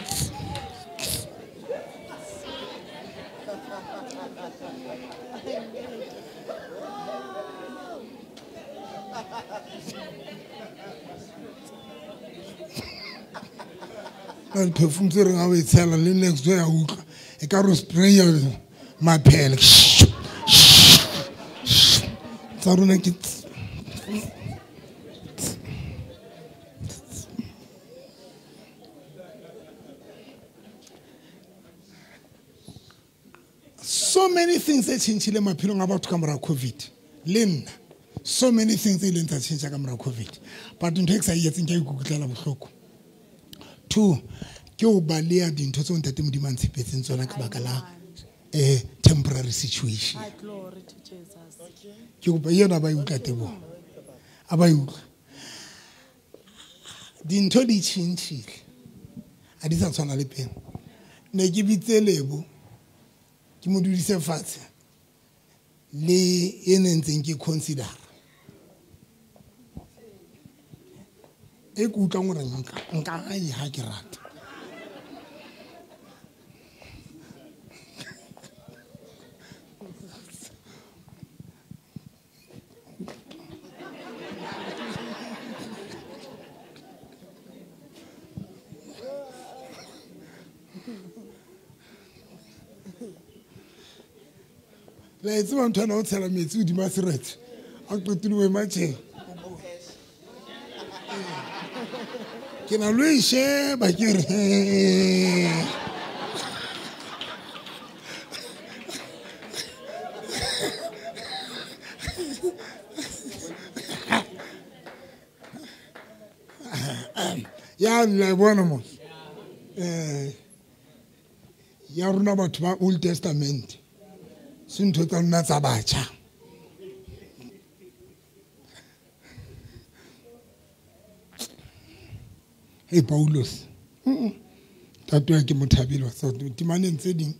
na perfume tse reng ha o e tshela le next day ya utlwa e ka re spray maphele tsa rona ke so many things tse tjhentjhile maphelong a batho ka mora COVID le nna. So many things tse ileng tsa tjhentjha ka mora COVID, but ntho e ke sa e etseng ke a ikutlwela bohloko. Two, ke o baleha dintho tseo ntate Modimo a ntshepetseng tsona ka baka la eh temporary situation. Glory to Jesus. Ke kopa yena ba e utlwa tebo. A ba e utlwa. Dintho di tjhentjhile. Ha di sa tshwana le pele. Ne ke bitse Lebo ke mo dudise fatshe le e ne ntseng ke consider. E ke utlwang hore nka nka e ha ke rata. La e tseba ntho ena o tshela metsi hodima seretse a qetile o ema tjena. Ke na lo e sheba ke re ya la e bona mo eh ya rona batho ba Old Testament se ntho tsa rona tsa batjha. Hey Paulus, ntate wa ke mothabile wa timaneng tse ding.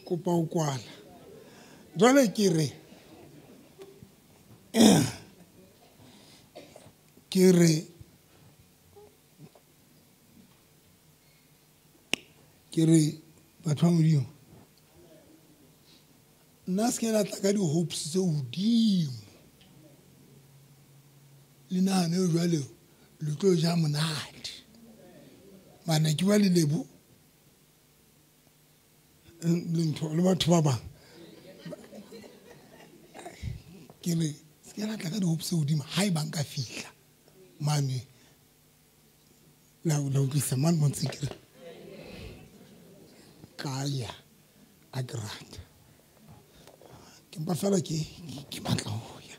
Kopa o kwala. Jwale ke re ke re ke re batho ba Modimo nna se ke la tla ka di-hopes tse hodimo le nahane jwale le tlo ja monate mane ke ba le Lebo le ntho le batho ba bang ke re se ke la tla ka di-hopes tse hodimo ha e bang ka fihla mane la la utlwisa mane mo ntse ke re ka ya a ke rata ke mpa fela ke ke batla ho ya.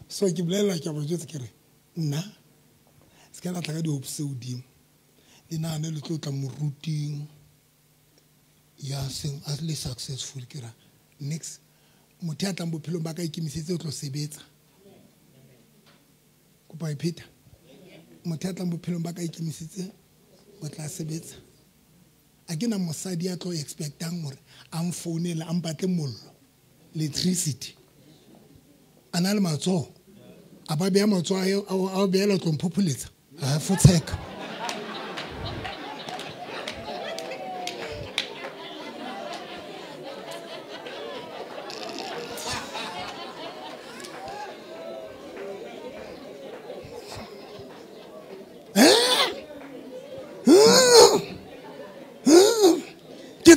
So ke bolela ke a ba jwetsa ke re nna se ke la tla ka di-hopes tse hodimo le nahane le tlo tla moruting ya seng a le successful ke ra next motho ya tlang bophelong ba ka ikemisetse o tlo sebetsa. Kopa e pheta. Motho ya tlang bophelong ba ka ikemisetse o tla sebetsa. A ke na mosadi ya tlo expectang hore a mfounele a mpatle mollo electricity a na le matsoho a ba beha matsoho a a beela tlo mphopholetsa ha fotsheka.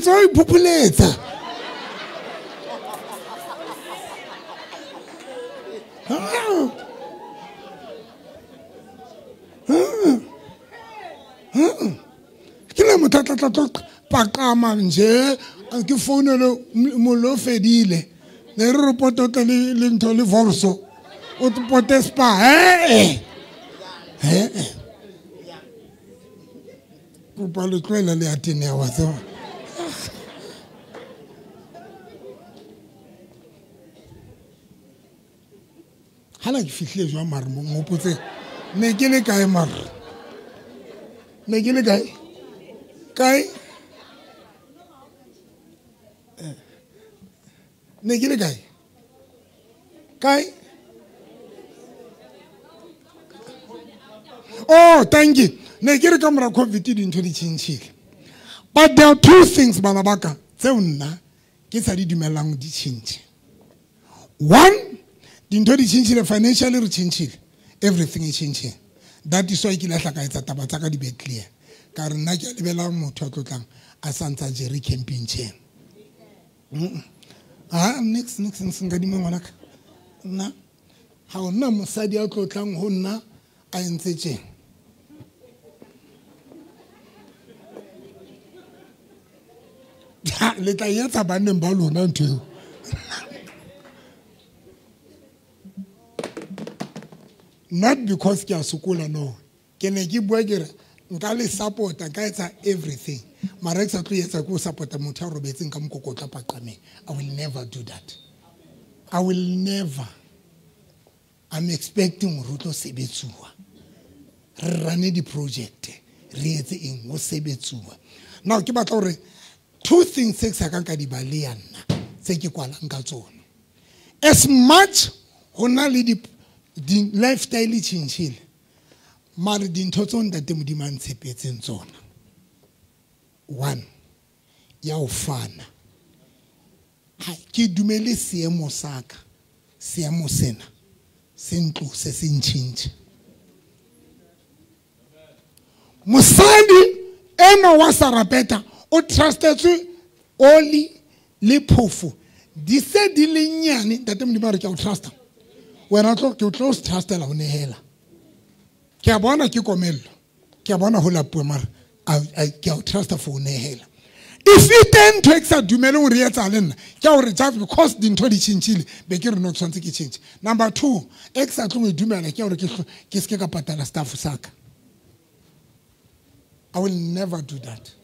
tswa iphopholetsa. Ke le motho a tla tla tlo paqama nje ke founele mollo o fedile ne re re pototla le le ntho le vorso o pote spa eh eh kopa le tlohela le a teneha wa tseba. Hala ke fihlile jwang mare mo nghopotse ne ke le kae mare ne ke le kae kae ne ke le kae kae. Oh, thank you. Ne ke re ka mora COVID dintho di tjhentjhile. But there are two things bana ba ka tseo nna ke sa di dumellang di tjhentjhe. One, dintho di tjhentjhile financially re tjhentjhile. Everything is changing. That is why ke lahla ka etsa taba tsa ka di be clear. Ka re nna ke a lebela motho a tlotlang a sa ntsa jere camping chair. Ah, next next next nka di ngwana ka. Nna ha ona mosadi a tlotlang ho nna a entse tjena. Le tla etsa banneng ba lona ntho eo. Not because ke a sokola, no. Ke ne ke bua ke re nka le support-a, nka etsa everything. Mara ke sa tlo etsa ke ho support-a motho a robetseng ka mokokotlo paqameng. I will never do that. I will never. I'm expecting hore ho tlo sebetsuwa. Re rane di-project, re etse eng ho sebetsuwa. Now ke batla hore two things tse ke sa kang ka di baleha nna, tse ke kwalang ka tsona. As much ho na le di di lifestyle e tjhentjhile, mare dintho tseo ntate Modimo a ntshepetseng tsona. One, ya ho fana. Ha ke dumele seemo sa ka, seemo sena se ntlose se ntjhentjhe. Mosadi enwa wa Sarapeta o trustetswe oli le phofo di se di le nyane. Ntate Modimo a re ke a o trusta wena, tlo ke o tlo trustela ho nehela. Ke a bona ke komello, ke a bona ho lapuwe, mara ke a o trusta for ho nehela. If e teng ntho e ke sa dumeleng hore e etsahale nna, ke a hore just because dintho di tjhentjhile be ke re no ke tshwanetse ke tjhentjhe. Number two, e ke sa tlong ho e dumela ke hore ke ke se ke ka patala staff sa ka. I will never do that.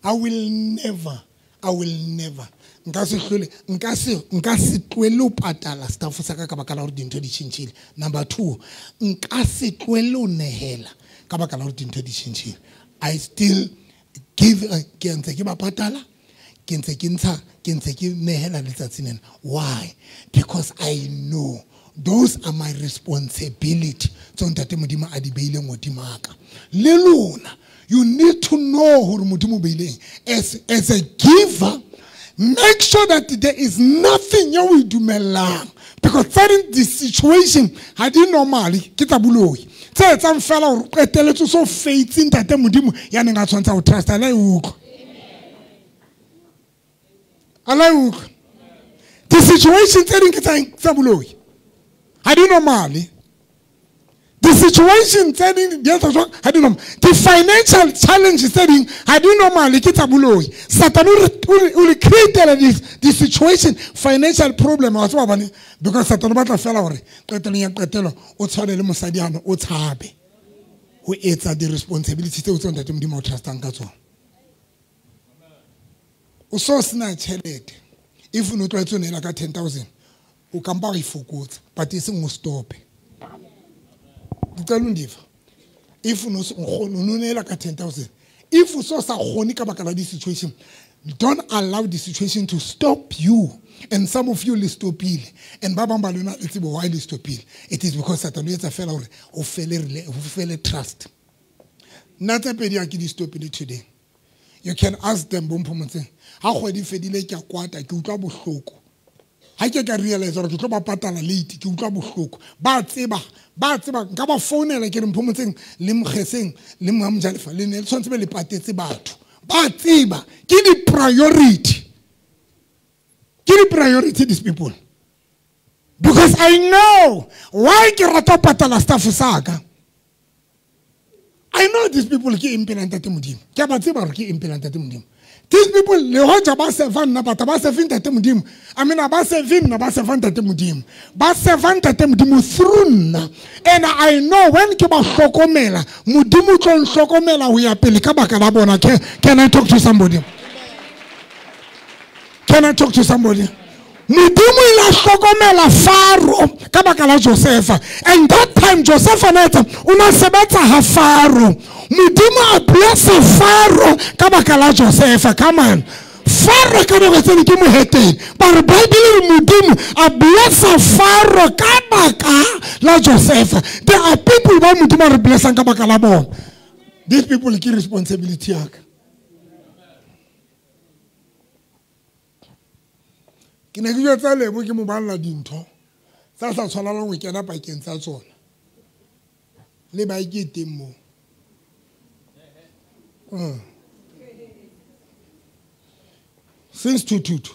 I will never, I will never. Nka se hlole, nka se, nka se tlohele ho patala staff sa ka ka baka la hore dintho di tjhentjhile. Number two, nka se tlohele ho nehela ka baka la hore dintho di tjhentjhile. I still give, ke ntse ke ba patala, ke ntse ke ntsha, ke ntse ke nehela letsatsi lena. Why? Because I know those are my responsibility. Tseo ntate Modimo a di beileng hodima ka. Le lona, you need to know hore Modimo o beileng. As, as a giver, make sure that there is nothing you will dumelang. Because certain this situation ha di normally ke tsa boloi. Tse etsang fela hore o qetelletse so faith ntate Modimo ya neng a tshwantsa ho trust ala e utlwa. Ala e utlwa. The situation tse ding ke tsa tsa boloi. Ha di normally. The situation tse ding di etsa jwang ha di normal. The financial challenges tse ding ha di normally ke tsa boloi. Satan o re create this this situation financial problem wa tseba bane, because Satan o batla fela hore qetelong ya qetelo o tshwane le mosadi ano o tshabe ho etsa di responsibility tseo tseo ntate Modimo o trustang ka tsona. O so sena tjhelete, if o no tlwaetse o neela ka ten thousand o kampa o e fokotsa, but e seng o stope. If no no ka ten thousand, if o so sa kgone ka baka la di situation, don't allow the situation to stop you. And some of you le stopile, and ba bang ba lona le tsebo why le stopile. It is because Satan o etsa fela hore o fele o fele trust. Nna tse pedi ha ke di stopile today. You can ask them bo Mphomotseng, ha kgwedi fedile ke a kwata, ke utlwa bohloko. Ha ke ka realize hore ke tlo ba patala late, ke utlwa bohloko. Ba tseba, ba tseba nka ba founela ke re Mphomotseng le Mokgeseng le Mojalefa le ne le tshwanetse be le patetse batho. Ba tseba ke di priority. Ke di priority these people. Because I know why ke rata patala staff sa ka. I know these people ke impela ntate Modimo. Ke ba tseba hore ke impela ntate Modimo. These people le hoja ba serva nna batho ba serve ntate Modimo. I mean ba serve nna ba serve ntate Modimo. Ba serve ntate Modimo through nna. And I know when ke ba hlokomela, Modimo tlo nhlokomela ho ya pele ka baka la bona. Can, can I talk to somebody? Can I talk to somebody? Modimo ile a hlokomela Faro ka baka la Josefa. And that time Josefa neta o na sebetsa ha Faro. Modimo a blessa Faro ka baka la Josefa. Come on. Faro ka nako tse ke moheteng. Ba re Bible re Modimo a blessa Faro ka baka la Josefa. There are people ba Modimo a re blessang ka baka la bona. These people ke responsibility ya ka. Ke ne ke jwetsa Lebo ke mo balla dintho tsa sa tshwanelang ho kena pakeng tsa tsona. Le ba ke teng moo. Mm. Since two two two.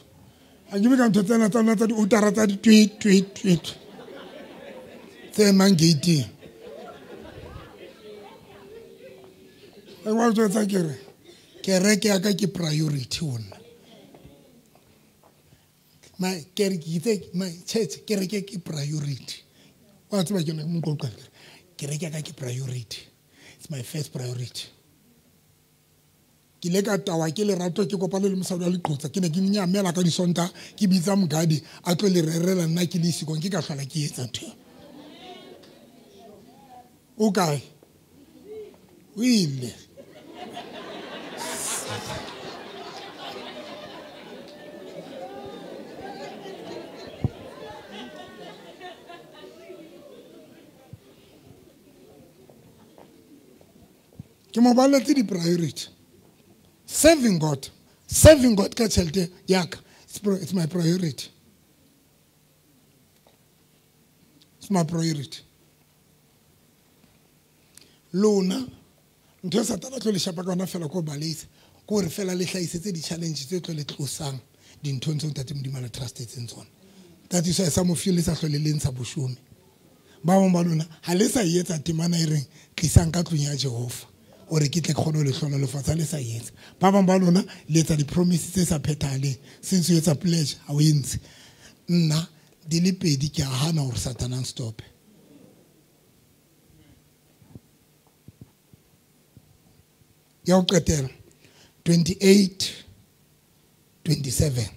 A ke be ka ntho tsena tsa nna tsa diutara tsa di tweet tweet tweet. Tse mang gate. E wa jwetsa ke re kereke ya ka ke priority ho nna. My kereke my church kereke ke priority. Wa tseba ke mo qoqa kereke ya ka ke priority. It's my first priority. Ke le ka tawa ke lerato ke kopane le mosadi wa leqotsa ke ne ke nyamela ka disonta ke bitsa mogadi a tlo le rerela nna ke le isikong ke ka hlola ke etsa ntho. O kae? O ile. Ke mo baletse di priority. Serving God. Serving God ka tjhelete ya ka. It's my priority. It's my priority. Lona ntho e Satana tlo le shapa ka yona fela ko baleisa ko re fela le hlahisetse di-challenge tse tlo le tlosang dinthong tseo ntate Modimo a le trustetseng tsona. That is why some of you le sa hlole le ntsha boshome. Ba bang ba lona ha le sa etsa temana e reng tlisang ka tlung ya Jehova. Ore ke tle kgone ho le hlonolofatsa le sa etsa. Ba bang ba lona le etsa di-promise tse sa phethahaleng. Since o etsa pledge ha o e ntshe. Nna di le pedi ke a hana hore Satana a nstope. Ya ho qetela twenty-eight twenty-seven.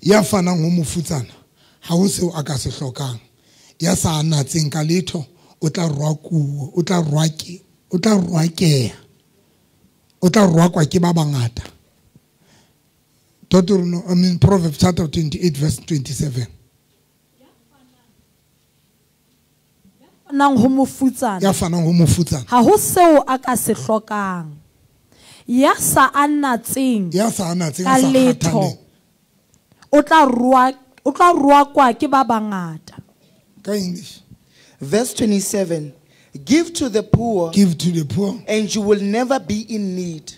Ya fanang ho mofutsana ha ho seo a ka se hlokang. Ya sa natseng ka letho o tla rwakuwa, o tla rwake, o tla rwakeha. O tla rwakwa ke ba bangata. Deuteronomy, I mean Proverbs chapter twenty-eight verse twenty-seven. Nang ho mofutsana. Ya fanang ho mofutsana. Ha ho seo a ka se hlokang. Ya sa anatseng. Ya sa anatseng ka letho. O tla rwa, o tla rwakwa ke ba bangata. Ka English. Verse twenty-seven. Give to the poor. Give to the poor. And you will never be in need.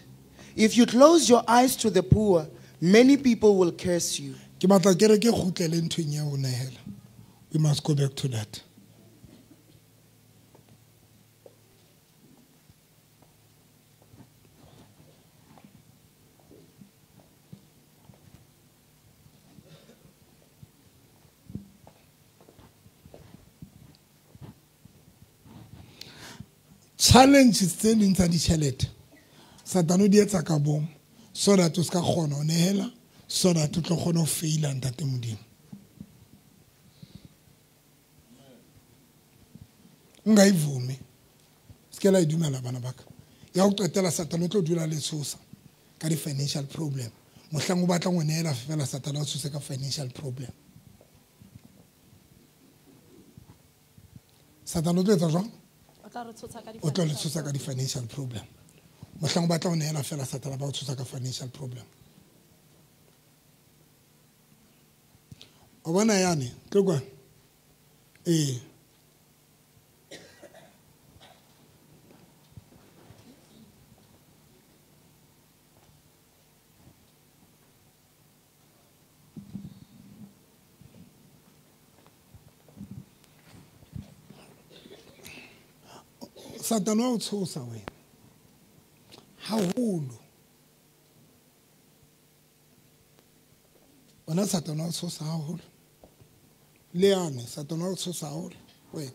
If you close your eyes to the poor, many people will curse you. Ke batla kereke kgutlele nthong ya ho nehela. We must go back to that. Challenges tse ding tsa ditjhelete Satane o di etsa ka bomo so that o ska kgona ho nehela, so that o tlo kgona ho faila ntate Modimo. Nka ivume se la e dumela bana ba ka. Ya ho qetela Satane o tlo dula le tshosa ka di financial problem. Mohlang o batlang ho nehela fela Satane o tshose ka financial problem. Satane o tlo etsa jwang? O tlo le tshosa ka di-financial problem. Mohlang o batla ho nehela fela Satane ba o tshosa ka financial problem. O bona yane, tlo kwa. Eh. Satane wa o tshosa wena. Haholo. Wena Satane wa o tshosa haholo. Le yane Satane wa o tshosa haholo wena.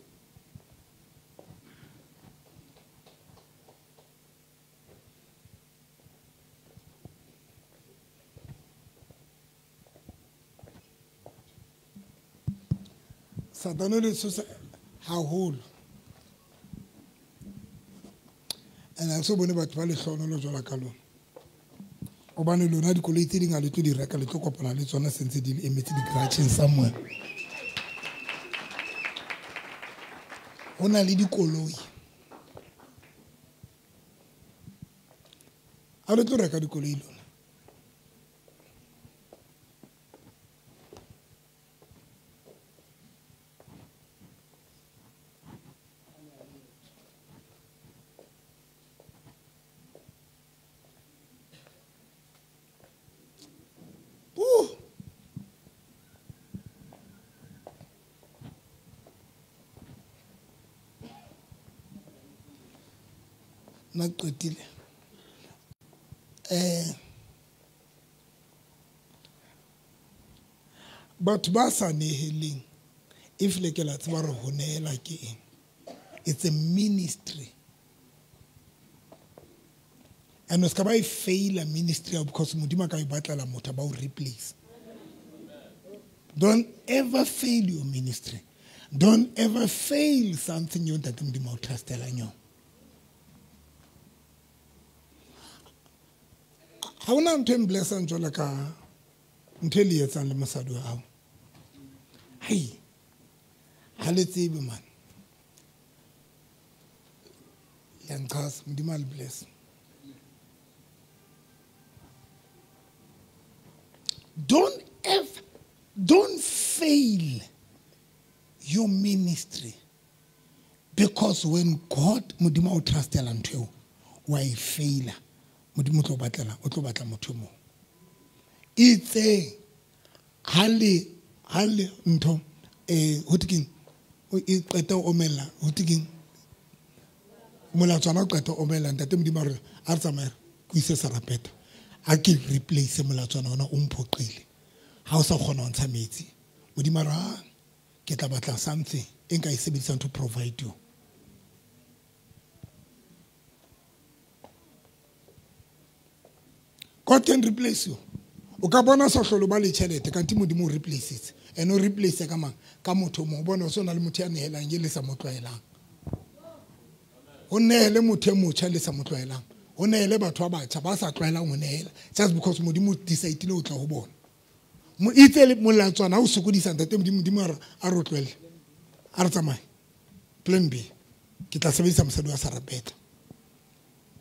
Satane le tshosa haholo. And I so bone batho ba lehlohonolo jwalo ka lona. Hobane lona dikoloi tse ding ha le tlo di reka, le tlo kopana le tsona sentse di emetse di-garageng somewhere. Ho na le dikoloi. Ha le tlo reka dikoloi lona. Nna qetile. Eh batho ba sa neheleng, if le ke la tseba re ho nehela ke eng, it's a ministry. And o ska ba e faila ministry because Modimo a ka e batlela motho ba o replace. Don't ever fail your ministry. Don't ever fail something you ntate Modimo o trustelang yona. Ha hona ntho e mblessang jwalo ka ntho e le etsang le mosadi wa hao. Hai, ha le tsebe man. Ya nqasa, Modimo a le bless. Don't ever, don't fail your ministry, because when God Modimo o trustela ntho eo, wa e faila. Modimo o tlo batlela, o tlo batla motho mo. Itse ha le ha le ntho eh ho thekeng o e qeta o omella, ho thekeng molatswana o qeta o omella, ntate Modimo a re a re tsamaye ke ise serapeta. A ke replace molatswana ona o mphoqile. Ha o sa kgona ho ntsha metsi. Modimo a re ha ke tla batla something e nka e sebedisang to provide you. God can replace you. O ka bona sa hlolo ba le tjhelete kanti Modimo o replace. And o replace ka mang? Ka motho mo bona o sona le motho ya nehelang e le sa mo tlwaelang. O nehele motho e motjha le sa mo tlwaelang. O nehele batho ba batjha ba sa tlwaelang ho nehela just because Modimo decide o tla ho bona. Mo itse le molatswana o sokodisa ntate Modimo, Modimo a re tlwele. A re tsamaye. Plan B. Ke tla sebedisa mosadi wa Sarapeta.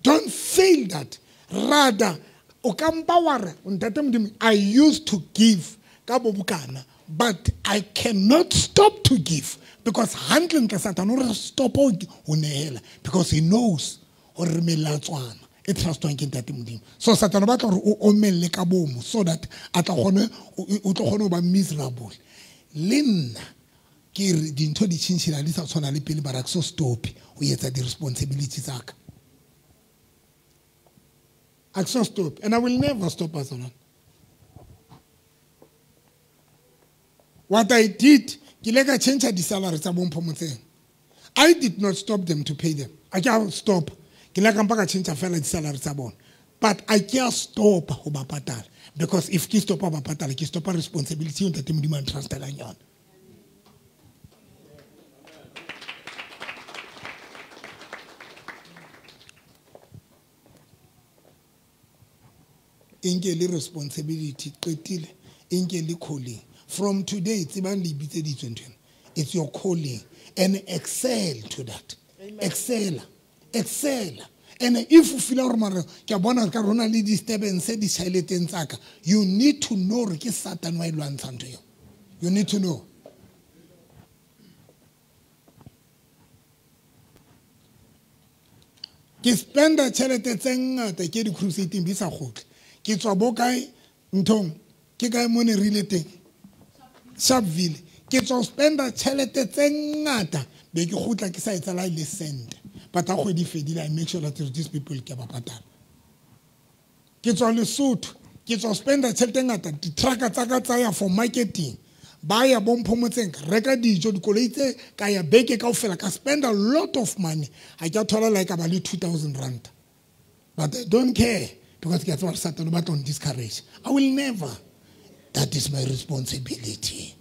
Don't fail that. Rather o ka mpa wa re ntate Modimo, I used to give ka bobokana, but I cannot stop to give because handling ka Satan o re stop ho nehela because he knows hore re melatswana e trustwang ke ntate Modimo. So Satan o batla hore o omelle ka bomo so that a tla kgone o tlo kgone ho ba miserable. Le nna ke re dintho di tjhentjhela di sa tshwana le pele, bara ke so stop ho etsa di responsibility tsa ka. I can't stop, and I will never stop as alone. What I did, ke ile ka change di salary tsa bompho motseng. I did not stop them to pay them. I can't stop. Ke ile ka mpa ka change fela di salary tsa bona. But I can't stop ho ba patala, because if ke stop ho ba patala, ke stop responsibility eo ntate Modimo a ntrustelang yona. Inke le responsibility qetile, inke le calling. From today, tsebang le bitseditswe ntho ena. It's your calling, and excel to that. Amen. Excel, excel. And if you feel hore mara ke a bona ka rona le disturbance di tjheleteng tsa ka, you need to know hore ke Satan wa e lwantshang ntho eo. You need to know. Ke spenda tjhelete tse ngata ke di crusading di sa kgutle. Ke tswa bo kae nthong, ke kae mo ne re ile teng, Sharpeville. Ke tswa spenda tjhelete tse ngata be ke kgutla ke sa etsa la le cent. But ha kgwedi fedile, I make sure that these people ke ba patala. Ke tswa Lesotho, ke tswa spenda tjhelete e ngata, di-trucker tsa ka tsa ya for marketing. Ba ya bo Mphomotseng, reka dijo, dikoloi tse ka ya beke kaofela, ka spend a lot of money. Ha ke a thola like ba le two thousand rand. But I don't care because ke a tseba Satan o batla ho discourage. I will never. That is my responsibility.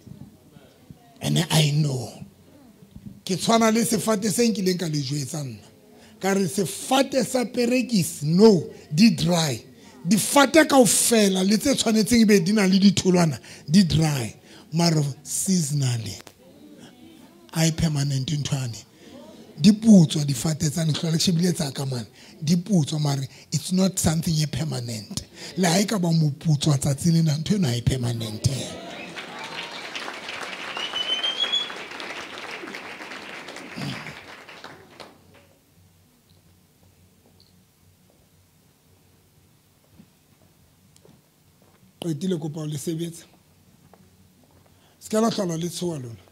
And I know. Ke tshwana le sefate se nkileng ka le jwetsa nna. Ka re sefate sa perekisi, no, di dry. Difate kaofela le tse tshwanetseng ebe di na le ditholwana, di dry. Mara seasonally, I permanent nthwane. Di putswa difate tsa ntlhole ke shebile tsa ka mane. Di putswa mare it's not something e permanent. Le ha e ka ba moputswa tsatsi lena ntho eno ha e permanent. Qetile kopa le sebetsa. Se ka la hlola le tshoha lona.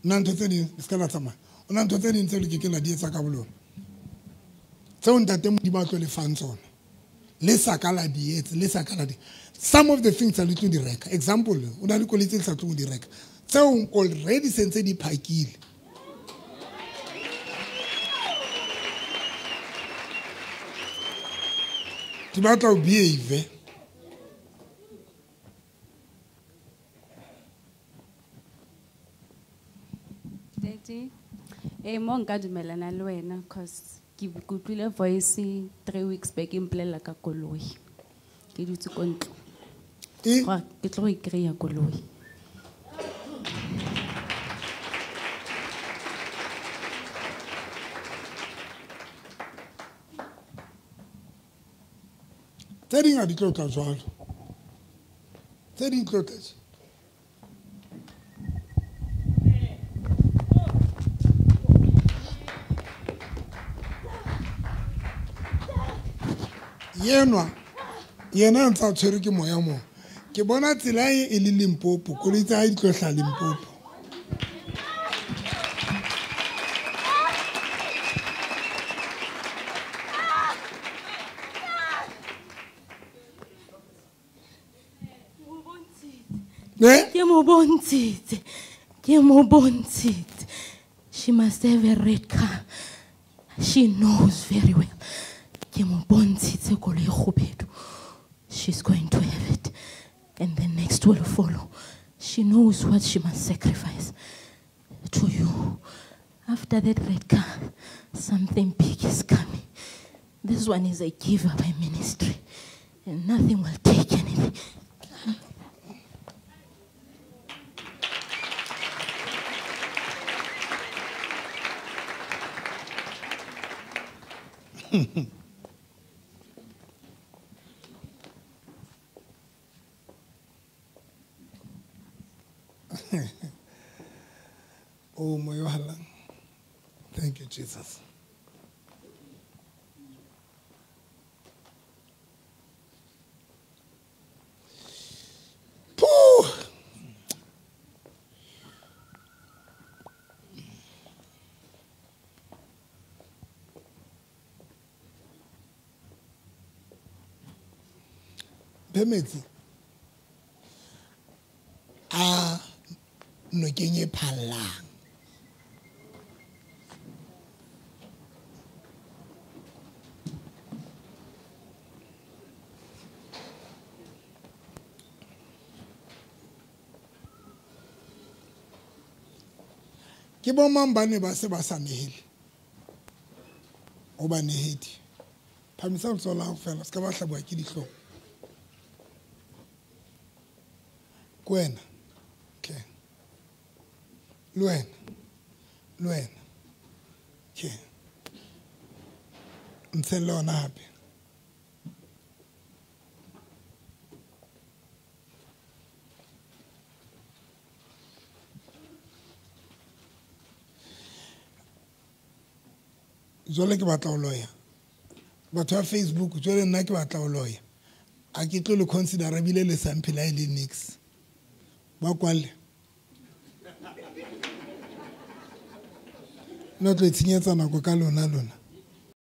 Nna ntho tse ding se ka la tsamaya. O na ntho tse ding tseo le ke ke la di etsa ka bolona. Tseo ntate Modimo a tlo le fang tsona. Le sa ka la di etsa, le sa ka la di. Some of the things tsa le tlo di reka. Example, o na le koloi tse le sa tlo di reka. Tseo already sentse di phakile. Di batla o behave. Eh, mo nka dumelana le wena cause ke kutlwile voice three weeks back e mpolelela ka koloi. Ke dutse ko ntlo. Gore ke tlo go i-kry-a koloi. Tse ding ha di tlo tla jwalo. Tse ding tlo tla. Yenwa yena ntsa tshwere ke moya mo. Ke bona tsela e e le Limpopo, koloi tsa hae di tlo hla Limpopo. Ne? Ke mo bontshitse. Ke mo bontshitse. She must have a red car. She knows very well. Ke mo bontshitse koloi e kgubedu. She's going to have it. And the next will follow. She knows what she must sacrifice to you. After that red car, something big is coming. This one is a giver by ministry. And nothing will take anything. Oh, my God. Thank you, Jesus. Pooh! Metsi a nokeng e phallang. Ke bo mang ba ne ba se ba sa nehele? O ba nehedi. Phamisa letsoho la hao fela, se ka ba hlabuwa ke dihlong. Ke wena. Okay. Le wena. Le wena. Okay. Ntshelle ona hape. Jwale ke batla ho loya. Batho ba Facebook, jwale nna ke batla ho loya. A ke tlo le consider ebile le sa mphela e le nix. Ba kwalle. Nna tlo itshenyetsa nako ka lona lona.